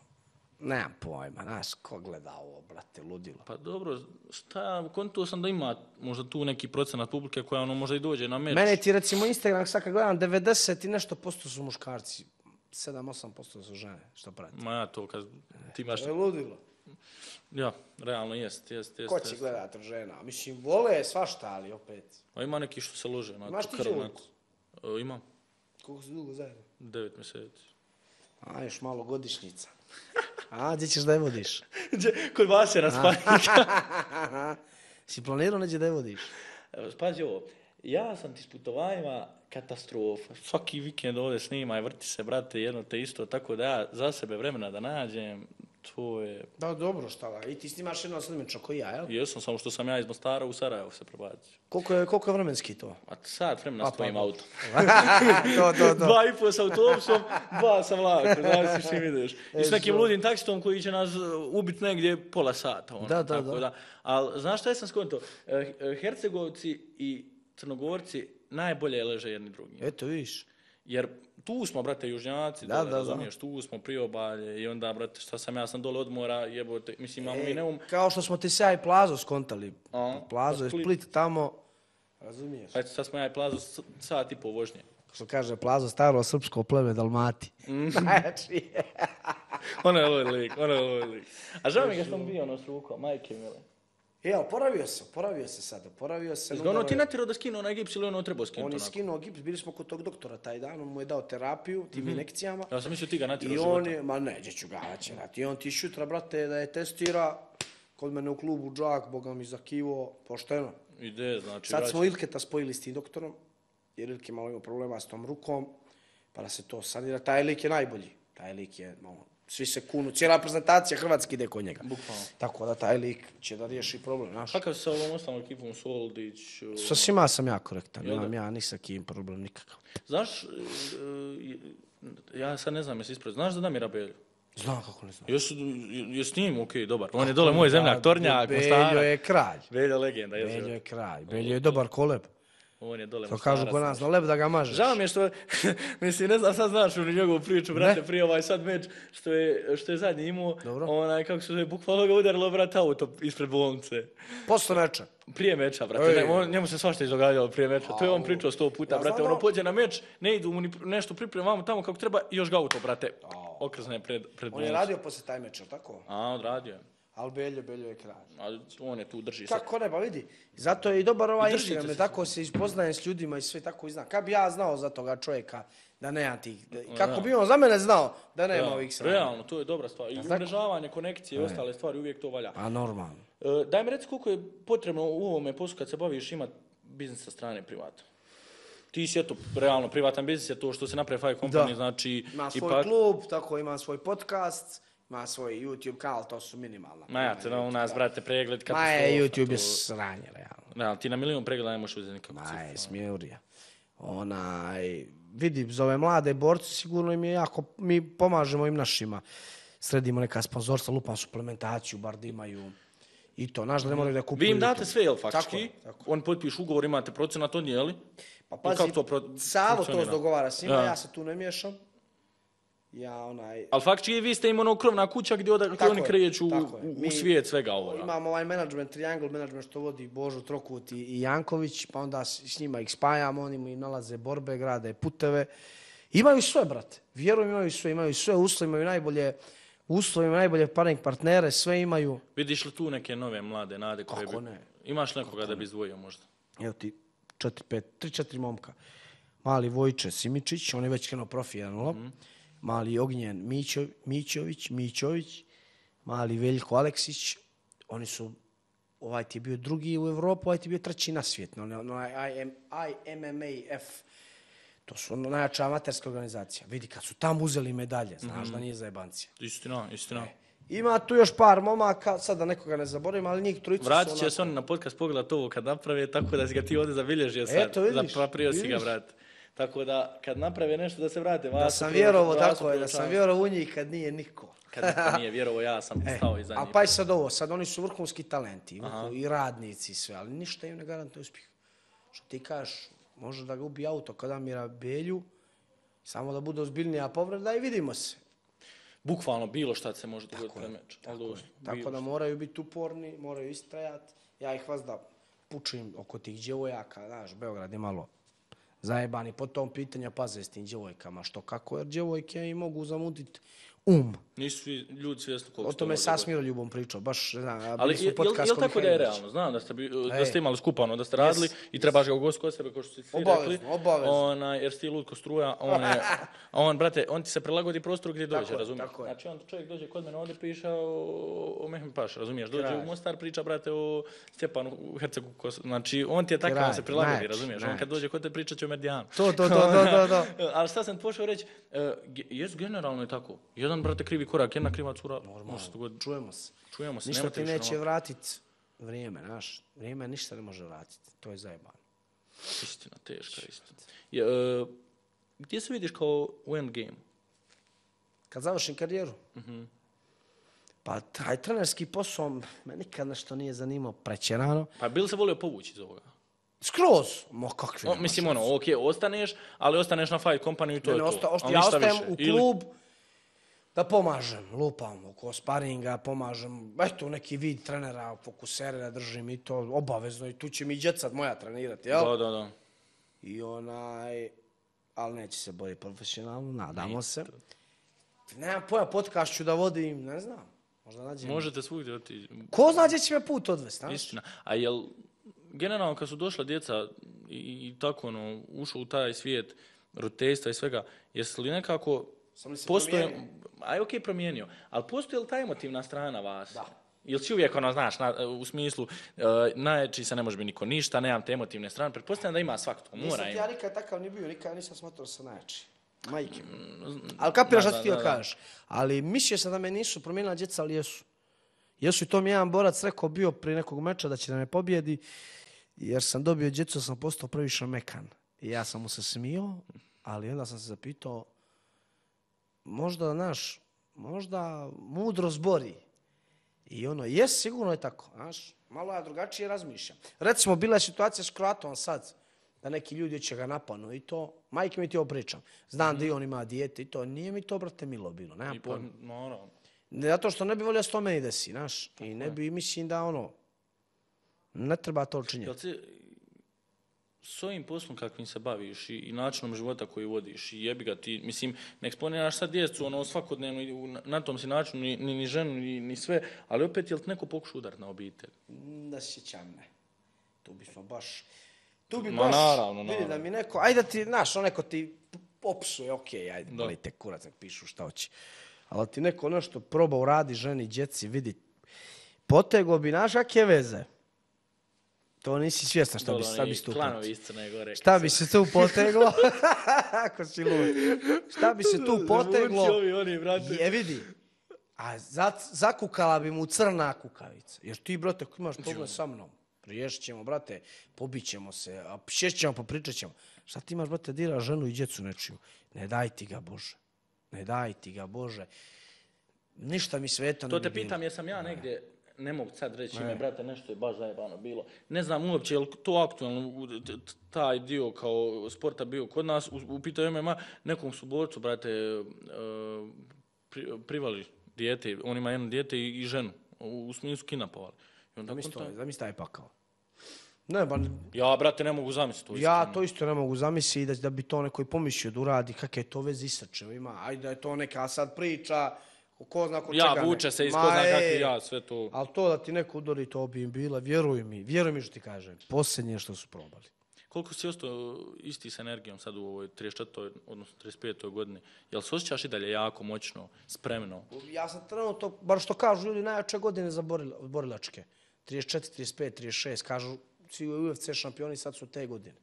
nemam pojma, znaš, ko gleda ovo, brate, ludilo. Pa dobro, šta, kontuo sam da ima možda tu neki procenat publike koja ono možda i dođe na meč. Mene ti recimo Instagram, sad kad gledam, devedeset i nešto posto su muškarci, sedam osam posto su žene, što prati. Ma ja to kad ti imaš... To je ludilo. Ja, realno jest, jest, jest. Ko će jest. gledat od žena? Mislim, vole svašta, ali opet. A ima neki što se lože na Imaš to ti krv. djevojku? onako. E, Imam, Koliko su dugo zajedno? devet mjeseci. A, još malo godišnjica. A, gdje ćeš da je vodiš? Kod vas je na spanika. Si planirao neđe da je vodiš? Pazi ovo, ja sam ti s putovanjima katastrofa. Svaki vikend ovdje snima i vrti se, brate, jedno te isto, tako da ja za sebe vremena da nađem, to je... Da, dobro, šta da. I ti snimaš jedno slimično koji ja, jel? Jesam, samo što sam ja iz Mostara u Sarajevo se prebacio. Koliko je, koliko je vremenski to? A sat vremena A, s tvojim pa, autom. to, to, to. Dva i po sa autobusom, dva sa vlakom, znaš s čim ideš. I s E, nekim zo. ludim taksitom koji će nas ubiti negdje pola sata. Ono, Da, da, tako da. Ali znaš šta sam skonto? E, Hercegovci i Crnogorci najbolje leže jedni drugim. Eto, vidiš. Jer tu smo, brate, južnjaci, Da, dole, da, da. razumiješ, tu smo priobalje i onda, brate, šta sam ja sam dole od mora, jebote, mislim, imamo mi E, neum... kao što smo ti se ja i Plazo skontali. A, Plazo na je Split. Split tamo. Razumiješ? Ajde, sad smo ja i plazu s- sat i po vožnje. Što kaže Plazo, staro srpsko pleme Dalmati. Mm. Znači, Ono je loj lik, ono je loj lik. A žao mi ga što sam bio ono s rukom, majke mile. e, oporavio se, oporavio se sad, oporavio se. Jesi ga ono udaro ti je- natjerao da skinu onaj gips ili ono trebao skinuti On je onako? skinuo gips, bili smo kod tog doktora taj dan, on mu je dao terapiju, tim injekcijama. Ja sam mislio ti ga natjerao I života. on je, ma ne, gdje ću ga natjerati. I on ti šutra, brate, da je testira kod mene u klubu Džak, boga mi za kivo, pošteno. Ide, znači, Sad vraća. smo Ilketa spojili s tim doktorom, jer Ilke malo ima problema s tom rukom, pa da se to sanira. Taj lik je najbolji. Taj lik je, malo, svi se kunu, cijela prezentacija Hrvatske ide kod njega. Bukvalno. Tako da taj lik će da riješi problem, znaš. Kakav si sa ovom ostalom ekipom, Soldić? uh, Sa svima sam ja korektan, Jel da? nemam ja ni sa kim problem nikakav. Znaš, uh, ja sad ne znam jesi ispred, znaš za Damira Belju? Znam kako ne znam. Jes, jes s njim, okej, dobar. On je dole moj zemljak, Tornjak, Beljo Mostara. je kralj. Beljo legenda, Beljo jesu. je kralj. Beljo je dobar koleb. On je dole To kažu kod nas, na lep da ga mažeš. Žao mi je što, mislim, ne znam, sad znaš onu njegovu priču, brate, prije ovaj sad meč, što je, što je zadnji imao, Dobro. onaj, kako se zove, bukvalno ga udarilo, brate, auto ispred bolnice. Posle meča. Prije meča, brate, ne, on, njemu se svašta izdogađalo prije meča, to je on pričao sto puta, Ja brate, znam ono da- pođe na meč, ne idu mu ni nešto pripremamo tamo kako treba i još ga auto, brate, okrzne pred, pred On bolnicu. je radio posle taj meč, jel tako? A, odradio je. Ali Beljo, Beljo je kralj. A on je tu, drži sad. Kako ne, pa vidi. Zato je i dobar ovaj I držite Instagram, jer se tako se ispoznajem s ljudima i sve tako i znam. Kad bi ja znao za toga čovjeka da nema tih, da- kako bi on za mene znao da nema Da, ovih sranja. realno, to je dobra stvar. I umrežavanje, konekcije i ostale stvari, uvijek to valja. A normalno. E, daj mi reci koliko je potrebno u ovome poslu kad se baviš imati biznis sa strane privatno. Ti si eto, realno, privatan biznis je to što se napravi Five Company, Da. znači... Ima svoj ipak, klub, tako ima svoj podcast, ima svoj YouTube kanal, to su minimalna. Ma ja, te u nas, brate, pregled, Ma katastrofa. je, YouTube je to- sranje, realno. Da, ti na milion pregleda ne možeš uzeti nikakvu Ma cifru. je, smijurija. Onaj, vidi, za ove mlade borce sigurno im je jako, mi pomažemo im našima. Sredimo neka sponzorstva, lupa suplementaciju, bar da imaju i to. Znaš da ne moraju da kupuju. Vi im to. date sve, jel, Tako faktički? je, tako. On potpiš ugovor, imate procenat, on je, li? Pa I pazi, kako to pro- Savo to funkcionira? dogovara s njima, Ja. ja se tu ne miješam. Ja onaj... Ali faktički vi ste im ono krovna kuća gdje, oda, gdje Tako oni je, kreću tako je. u, u Mi svijet svega ovoga. Imamo ovaj management, triangle management što vodi Božo Trokut i i Janković, pa onda s, s njima ih spajamo, oni mu i nalaze borbe, grade puteve. Imaju sve, brate. Vjerujem, imaju sve, imaju sve uslove, imaju najbolje uslove, imaju najbolje paring partnere, sve imaju. Vidiš li tu neke nove mlade nade koje Kako bi... ne? Imaš nekoga da bi izdvojio možda? Evo ti, četiri, pet, tri, četiri momka. Mali Vojče Simičić, on je već krenuo profi jedan ulog. Mali Ognjen Mićo, Mićović, Mićović, mali Veljko Aleksić, oni su, ovaj ti je bio drugi u Evropu, ovaj ti je bio treći na svijet, ono, ono, I M M A F, to su ono najjača amaterska organizacija. Vidi, kad su tamo uzeli medalje, znaš da nije zajebancija. Istina, istina. Ima tu još par momaka, sad da nekoga ne zaboravim, ali njih trojica su Vratit će onako- se oni na podcast pogledat ovo kad naprave, tako da si ga ti ovdje zabilježio sad. Eto, vidiš, Zapaprio si ga, vidiš. brate. Tako da, kad naprave nešto da se vrate, vas Da su sam pro- vjerovo, vas su tako je, da sam proučavali. vjerovo u njih kad nije niko. Kad niko nije vjerovo, ja sam stao iza A njih. pa i sad ovo, sad oni su vrhunski talenti vrhu, i radnici i sve, ali ništa im ne garantuje uspjeh. Što ti kažeš, može da ga ubije auto kada mira Belju, samo da bude ozbiljnija povreda i vidimo se. Bukvalno bilo šta se može dogoditi na meč. Ali doslovno, Tako bilo da moraju biti uporni, moraju istrajati. Ja ih vas da pučim oko tih djevojaka, znaš, Beograd je malo zajebani po tom pitanju, paze s tim djevojkama, što kako, jer djevojke im mogu zamutiti um. Nisu svi ljudi svjesni koliko O se to tome može sa dogoditi. Smiroljubom pričao, baš, ne znam, Ali bili je, smo je, podcast je kod tako da je Mihajlovića. realno? Znam da ste, bi, da Ej. ste imali skupano, da ste radili Yes, i trebaš ga ugostiti kod sebe, kao što si ti Obavezno, rekli. obavezno. Onaj, jer si ti lutko struja, on je, a on, brate, on ti se prilagodi prostoru gdje dođe, Tako je, razumiješ? tako je. Znači, on čovjek dođe kod mene, ovdje priča o, o Mehmet Paša, razumiješ? Dođe Kralj. u Mostar, priča, brate, o Stjepanu u Hercegu. Kos- Znači, on ti je takav, on Kralj, se prilagodi, najjači, razumiješ? On kad najjači. dođe kod te pričat će o Medijanu. To, to, to, to, to, to. Ali šta sam pošao reći, uh, jes generalno je tako. Jedan, brate, krivi korak, jedna kriva cura, može se dogoditi. Čujemo se. Čujemo se, Ništa nemojte ti više neće ono- vratiti vrijeme, znaš. Vrijeme ništa ne može vratiti. To je zajebano. Istina, teška istina. Je, uh, gdje se vidiš kao u endgame? Kad završim karijeru, Mhm. pa taj trenerski posao me nikad nešto nije zanimao prećerano. Pa bi li se volio povući iz ovoga? Skroz. Mo, kakvi. O, mislim, ono, ok, ostaneš, ali ostaneš na Fight Company i to Ne, je ne, to. osta, osta, Ali ja ništa ostajem više. u Ili- klub da pomažem, lupam oko sparinga, pomažem, eto neki vid trenera, fokusere da držim i to obavezno i tu će mi djecat moja trenirati, jel? Da, da, da. I onaj, ali neće se boriti profesionalno, nadamo se. Nemam pojma, podcast ću da vodim, ne znam, možda nađem. Možete svugdje otići. Ko zna gdje će me put odvesti, znaš? Istina. A jel, generalno kad su došla djeca i, i tako ono, ušlo u taj svijet roditeljstva i svega, jesi li nekako Sam li se postoje, promijenio? aj ok promijenio, ali postoji li ta emotivna strana vas? Da. Ili si uvijek ono, znaš, na, u smislu, uh, najjači se ne može biti niko ništa, nemam te emotivne strane, pretpostavljam da ima svako, mora Nisam ti ima. ja nikad takav ni bio, nikad nisam smatrao da sam najjači. Majke. Ali kapiraš Da, što da, ti da, htio da. kažeš. Ali mislio sam da me nisu promijenila djeca, ali jesu. Jesu i to mi jedan borac rekao bio prije nekog meča da će da me pobjedi, jer sam dobio djecu, sam postao previše mekan. I ja sam mu se smio, ali onda sam se zapitao, možda, znaš, možda mudro zbori. I ono, jes, sigurno je tako, znaš, malo ja drugačije razmišljam. Recimo, bila je situacija s Kroatom sad, da neki ljudi će ga napanu i to. Majke mi ti ovo pričam. Znam mm-hmm. da i on ima dijete i to. Nije mi to, brate, milo bilo. Nemam pa, naravno. Zato što ne bi volio s to meni desi, znaš. I ne bi, mislim da ono, ne treba to činjeti. S ovim poslom kakvim se baviš i, i načinom života koji vodiš i jebi ga ti, mislim, ne eksponiraš sad djecu ono svakodnevno na, na tom si načinu, ni, ni, ni ženu, ni, ni sve, ali opet je li neko pokušao udariti na obitelj? Da sjećam, ne. Tu bismo baš, tu bi Ma, baš, naravno, vidi naravno. da mi neko, ajde da ti, znaš, on neko ti opsuje, okej, okay, ajde, boli te kurac, nek pišu šta hoće. Ali ti neko nešto proba uradi ženi, djeci, vidi, potego bi, znaš, kakve veze? To nisi svjestan šta bi, šta bi se tu gore. Šta bi se tu poteglo? Ako si lud. Šta bi se tu poteglo? Ovi, oni, brate. Je, vidi. A za, zakukala bi mu crna kukavica. Jer ti, brate, ako imaš problem sa mnom, riješit ćemo, brate, pobit ćemo se, a šest ćemo, popričat ćemo. Šta ti imaš, brate, dira ženu i djecu nečiju? Ne daj ti ga, Bože. Ne daj ti ga, Bože. Ništa mi sveta ne bi bilo. To te pitam, jesam ja negdje, ne mogu sad reći ime, brate, nešto je baš zajebano bilo. Ne znam uopće, je li to aktualno, taj dio kao sporta bio kod nas, u, u pitanju M M A, nekom su borcu, brate, pri, privali dijete, on ima jedno dijete i, i ženu, u, u smislu kidnapovali. Zamisli taj pakao. Ne, ba, ja, brate, ne mogu zamisliti to. Ja to isto ne mogu zamisliti da, da bi to neko i pomislio da uradi, kakve to veze isrčeva ima. Ajde da je to neka sad priča, ko zna ko čega ne. Ja, vuče se iz ko zna kakvi ja, sve to. Ali to da ti neko udori, to bi im bila, vjeruj mi, vjeruj mi što ti kažem, posljednje što su probali. Koliko si ostao isti s energijom sad u ovoj trideset četvrtoj odnosno trideset petoj godini? Jel se osjećaš i dalje jako, moćno, spremno? Ja sam trenutno, bar što kažu ljudi, najjače godine za borilačke. trideset četiri, trideset pet, trideset šest, kažu svi U F C šampioni sad su te godine.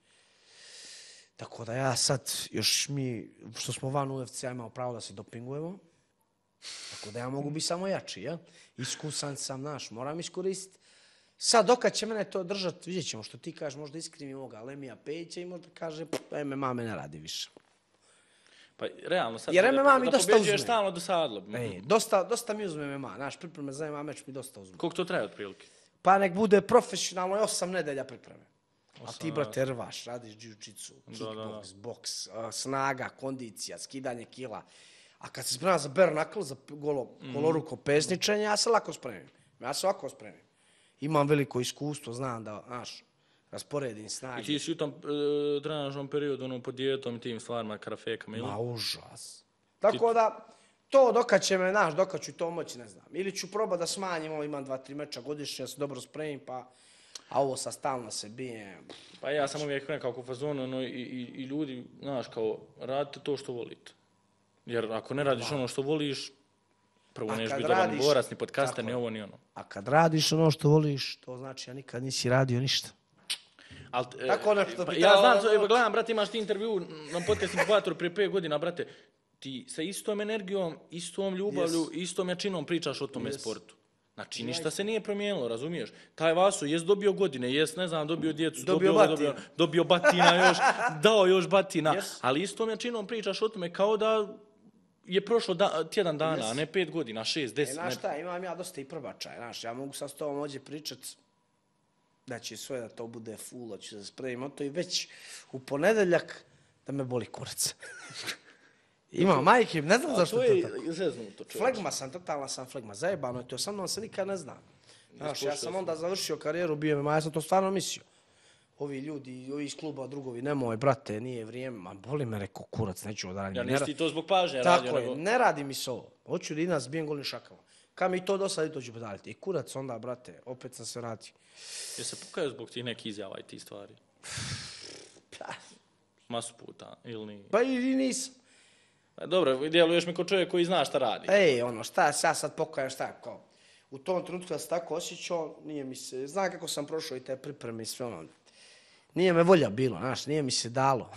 Tako da ja sad, još mi, što smo van U F C-a, imamo pravo da se dopingujemo. Tako da ja mogu biti samo jači, jel? Iskusan sam, naš, moram iskoristiti. Sad, dokad će mene to držati, vidjet ćemo što ti kažeš, možda iskrivi moga Lemija Pejića i možda kaže, M M A me ne radi više. Pa realno, sad jer M M A mi da dosta pobeđuješ uzme. stalno dosadlo. Ej, dosta, dosta mi uzme M M A, naš pripreme za M M A meč mi dosta uzme. Koliko to traje otprilike? Pa nek bude profesionalno i osam nedelja pripreme. A ti, brate, rvaš, radiš jiu-jitsu, kickbox, boks, snaga, kondicija, skidanje kila. A kad se spremam za bare knuckle, za golo, goloruko pesničenje, ja se lako spremim. Ja se ovako spremim. Imam veliko iskustvo, znam da, znaš, rasporedim snage. I ti si u tom e, trenažnom periodu, ono, pod dijetom i tim stvarima, karafekama, ili? Ma, užas. Tako ti... da, to dokad će me, znaš, dokad ću to moći, ne znam. Ili ću probati da smanjim, ovo imam dva, tri meča godišnje, ja se dobro spremim, pa... A ovo sa stalno se bijem. Pa ja sam uvijek nekako u fazonu, ono, i, i, i ljudi, znaš, kao, radite to što volite. Jer ako ne radiš ono što voliš, prvo neš biti dobar borac, ni podcaster, ni ovo, ni ono. A kad radiš ono što voliš, to znači ja nikad nisi radio ništa. Al, tako nešto pa, bi ja znam, evo, gledam, brate, imaš ti intervju na podcastim Kvatoru prije pet godina, brate, ti sa istom energijom, istom ljubavlju, yes. istom jačinom pričaš o tome yes. sportu. Znači, ništa se nije promijenilo, razumiješ? Taj Vaso jest dobio godine, jest, ne znam, dobio djecu, dobio, dobio, batina. dobio, dobio batina još, dao još batina, yes. ali istom jačinom pričaš o tome kao da je prošlo da, tjedan dana, yes. a ne pet godina, šest, deset. E, znaš šta, imam ja dosta i prvačaj, znaš, ja mogu sad s tobom ovdje pričat da će sve da to bude full, da ću se spremim to i već u ponedeljak da me boli kurac. Imam, majke, ne znam zašto to je to tako. Zeznuto, flegma sam, totalna sam flegma, zajebano je to, sa mnom se nikad ne zna. Znaš, ja sam onda završio karijeru, bio me, ja sam to stvarno mislio. Ovi ljudi, ovi iz kluba, drugovi, nemoj, brate, nije vrijeme, ma boli me, rekao, kurac, neću da radim. Ja nisi ti to zbog pažnje radio. Tako je, ne radi mi se ovo. Hoću da i nas bijem golnim šakama. Kad mi to dosadi, to ću podaliti. I kurac onda, brate, opet sam se vratio. Je se pokajao zbog tih nekih izjava i tih stvari? Masu puta, ili nije? Pa i nisam. Dobro, djeluješ mi kao čovjek koji zna šta radi. Ej, ono, šta, ja sad pokajem, šta, kao. U tom trenutku da se tako osjećao, nije mi se, znam kako sam prošao i te pripreme i sve ono. Nije me volja bilo, znaš, nije mi se dalo.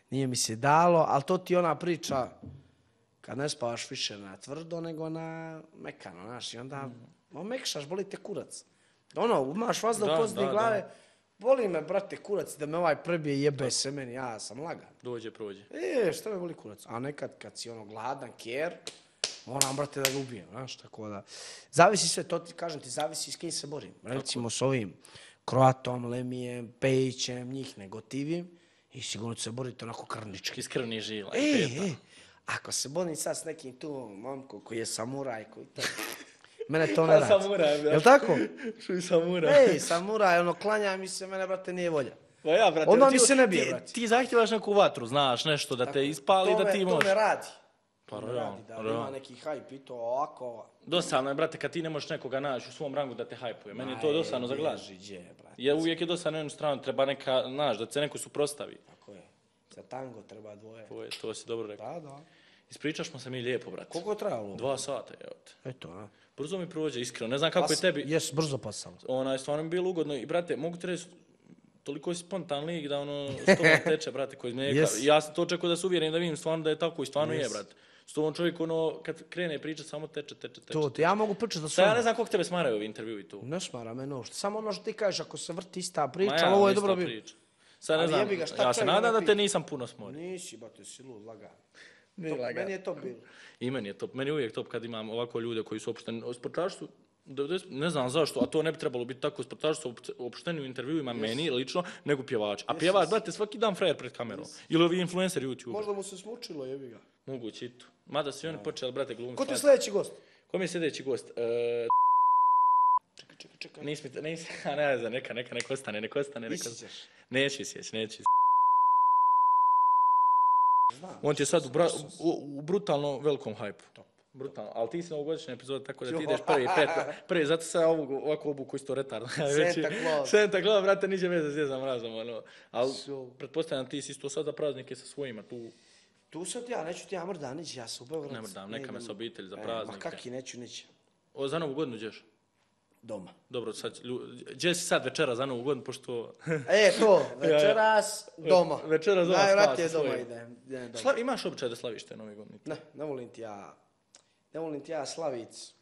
Nije mi se dalo, ali to ti ona priča, kad ne spavaš više na tvrdo, nego na mekano, znaš, i onda mm. omekšaš, boli te kurac. Ono, imaš vazda u pozadini glave, da. Boli me, brate, kurac, da me ovaj prebije jebe se meni, ja sam lagan. Dođe, prođe. E, šta me boli kurac? A nekad, kad si ono gladan, kjer, moram, brate, da ga ubijem, znaš, tako da. Zavisi sve, to ti kažem ti, zavisi s kim se borim. Recimo s ovim Kroatom, Lemijem, Pejićem, njih ne gotivim i sigurno ću se boriti onako krvnički. Iz krvnih žila. E, i peta. e, ako se borim sad s nekim tu momkom koji je samuraj, koji to... Mene to ne A, radi. samuraj, da. Jel tako? Čuj, samuraj. Ej, samuraj, ono, klanja mi se, mene, brate, nije volja. Pa ja, brate, Odmah ti- mi se ne bije, ti- brate. Ti zahtjevaš neku vatru, znaš, nešto da te ispali, to da me, ti To možeš. me radi. Pa, To me realno, radi, da realno. ima neki hajp i to ovako. Dosadno je, brate, kad ti ne možeš nekoga naći u svom rangu da te hajpuje. Meni je to Aj, dosadno za glas. bježi, gdje, brate. Jer uvijek je dosadno na jednu stranu, treba neka, znaš, da se neko suprostavi. Tako je. Za tango treba dvoje. To, je, to si dobro rekao. Da, da. Ispričaš se mi lijepo, brate. Koliko je trajalo? Dva sata, evo te. Eto, a. Brzo mi prođe, iskreno. Ne znam kako je tebi. Jes, brzo pasalo. Onaj, stvarno mi bilo ugodno. I, brate, mogu ti reći, toliko si spontan lik da ono, s tobom teče, brate, koji mlijeka. Yes. Ja sam to očekuo da se uvjerim da vidim stvarno da je tako i stvarno Yes. je, brate. S tobom čovjek, ono, kad krene pričat, samo teče, teče, teče. To, to, ja mogu pričati da Sad ja ne sam... znam koliko tebe smaraju ovi intervjui tu. Ne smara me nošta. Samo ono što ti kažeš, ako se vrti ista Ma priča, ja, ali ovo je ista dobro bilo. priča. Sad ne Ali znam, jebi ga, šta ja se čovjek nadam da da te pita? nisam puno smorio. Nisi, ba, ti si lud, lagan. Nije To- lagan. Meni je to bilo. I meni je top. Meni je uvijek top kad imam ovako ljude koji su opušteni. Sportaši su, devedeset ne znam zašto, a to ne bi trebalo biti tako, sportaši su opušteni u intervjuima meni lično, nego pjevač. A pjevač, brate, svaki dan frajer pred kamerom. Ili ovi influenceri YouTube. Možda mu se smučilo, jebi ga. Moguće i to. Mada su i oni počeli, brate, glumiti. Ko ti je sljedeći gost? Ko mi je sljedeći gost? E, Čekaj, čekaj, čekaj. nis mi, nis, a ne znam, neka, neka, neka ostane, neka ostane, neka. Ići ćeš. Neću sjeć, neću. Znam. On ti je sad u, bra, u, u brutalno velikom hajpu. Brutalno, ali ti si novogodišnja epizoda, tako da ti ideš prvi, pet, prvi, zato sam ja ovu, ovako obuku isto retardno. Santa Claus. Santa Claus, brate, niđe veze s Djedom Mrazom, ono. Ali, So. pretpostavljam ti si isto sad za praznike sa svojima, tu Tu sad ja, neću ti ja mrdam, nići, ja sam u Beograd. ne mrdam, neka me idem- sa obitelji za E, praznike. Ma kaki, neću nići. O, za novu godinu ćeš? Doma. Dobro, sad, lju- gdje si sad večera za novu godinu, pošto... E, to, večeras doma. Večeras doma Najvratije spava sa doma svojim. idem. idem doma. Sla, imaš običaj da slaviš te nove godine? Ne, ne volim ti ja, ne volim ti ja slavic,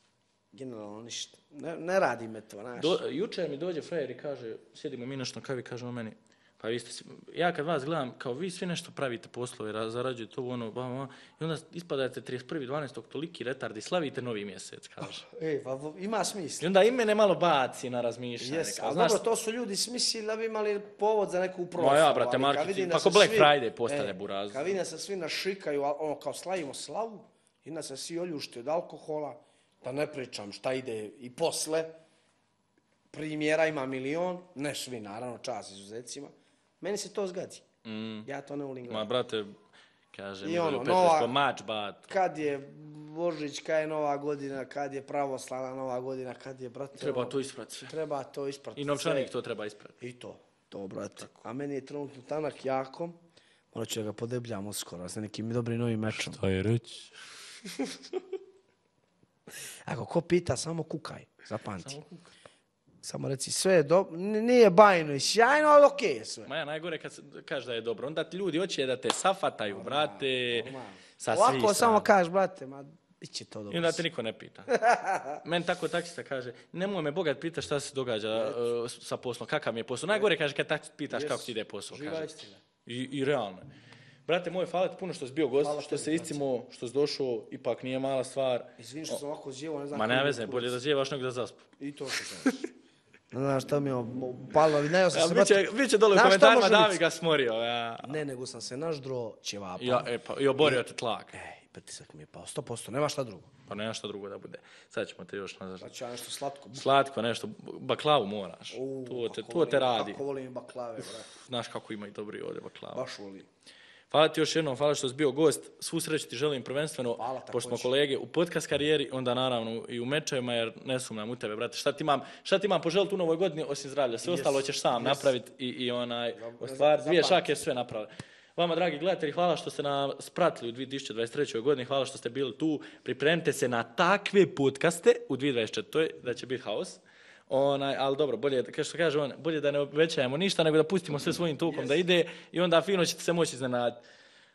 generalno ništa. Ne, ne radi me to, znaš. Do, jučer mi dođe frajer i kaže, sjedimo mi nešto na kavi, kaže on meni, pa vi ste, svi- ja kad vas gledam, kao vi svi nešto pravite poslove, ra- zarađujete ovo, ono, ba, ba, i onda ispadate trideset prvi dvanaestog toliki retardi, slavite novi mjesec, kaže. E, pa vo- ima I smisla. onda i mene malo baci na razmišljanje. Jes, kao, ali znaš, dobro, to su ljudi smislili da bi imali povod za neku proslavu. Ma ja, brate, ali kad marketing, vidim da pa se ko Black svi- Friday postavlja e, buraz. Kad vidim da se svi našikaju, a- ono, kao slavimo slavu, i da se svi oljušte od alkohola, da ne pričam šta ide i posle, primjera ima milion, ne svi, naravno, čas izuzecima, meni se to zgadi. Mm, Ja to ne volim ma, gledati. brate, kaže, I mi ono, ono, nova- pa mač, bat. Kad je Božić, kad je Nova godina, kad je pravoslavna Nova godina, kad je, brate, Treba ono, to isprati sve. treba to ispratiti. I novčanik sve. to treba isprati. I to, to, brate. A meni je trenutno tanak jako, morat ću da ga podebljam uskoro, sa nekim dobrim novim mečom. To je reći. Ako ko pita, samo kukaj, zapamti. Samo reci, sve je dobro, nije bajno i sjajno, ali okej je sve. Ma ja, najgore kad se- kažeš da je dobro, onda ti ljudi hoće da te safataju, brate, Normalno. sa svih Ovako samo strana. kažeš, brate, ma, bit će to I dobro. onda te niko ne pita. Meni tako taksista kaže, nemoj me bogat pita šta se događa uh, sa poslom, kakav mi je posao. Najgore kaže kad taksist pitaš Yes. kako ti ide posao. Živa Kaže. istina. I, I realno. Brate moj, hvala ti puno što si bio gost, Hvala što tebi, se brate. iscimo, što si došao, ipak nije mala stvar. Izvini što sam ovako zjevo, ne znam... Ma koji ne mi je veze, kurac. bolje da zjevaš nego da zaspu. I to što kažeš. Ne znam šta mi je palo, ali ne, sam Ja, se... biće, brate- biće dole u Znaš šta komentarima može da biti? bi ga smorio. Ja. Ne, nego sam se naždro ćevapa. Ja, e, pa, I oborio te tlak. Ej, pritisak mi je pao, sto posto, nema šta drugo. Pa nema šta drugo da bude. Sad ćemo te još nazad. Pa ću ja nešto slatko. Slatko nešto, baklavu moraš. U, to, te, kako to te volim- radi. Kako volim baklave, brate. Znaš kako ima i dobri ovdje baklava. Baš volim. Hvala ti još jednom, hvala što si bio gost. Svu sreću ti želim prvenstveno, Hvala, pošto smo također. kolege u podcast karijeri, onda naravno i u mečevima, jer ne sumnjam u tebe, brate. Šta ti imam, šta ti imam poželiti u novoj godini osim zdravlja? Sve Yes, ostalo ćeš sam yes. napraviti i, i onaj, Za- ostvar, dvije zapamti. šake sve napravili. Vama, dragi gledatelji, hvala što ste nas pratili u dvije tisuće dvadeset trećoj godini, hvala što ste bili tu. Pripremite se na takve podcaste u dvije tisuće dvadeset četvrtoj da će biti haos. Onaj, ali dobro, bolje, kao što kaže on, bolje da ne obećajemo ništa, nego da pustimo sve svojim tokom da ide i onda fino ćete se moći iznenaditi.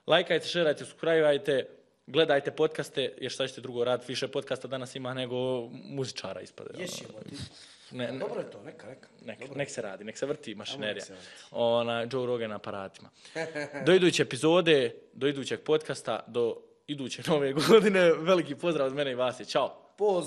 Lajkajte, šerajte, subscribeajte, gledajte podcaste, jer šta ćete drugo raditi, više podcasta danas ima nego muzičara ispade. Jesi, jebote. Ne, ne, Dobro je to, neka, neka. nek, nek se radi, nek se vrti mašinerija. se vrti. Ona, Joe Rogan aparatima. Do iduće epizode, do idućeg podcasta, do iduće nove godine, veliki pozdrav od mene i vas. Ćao! Poz.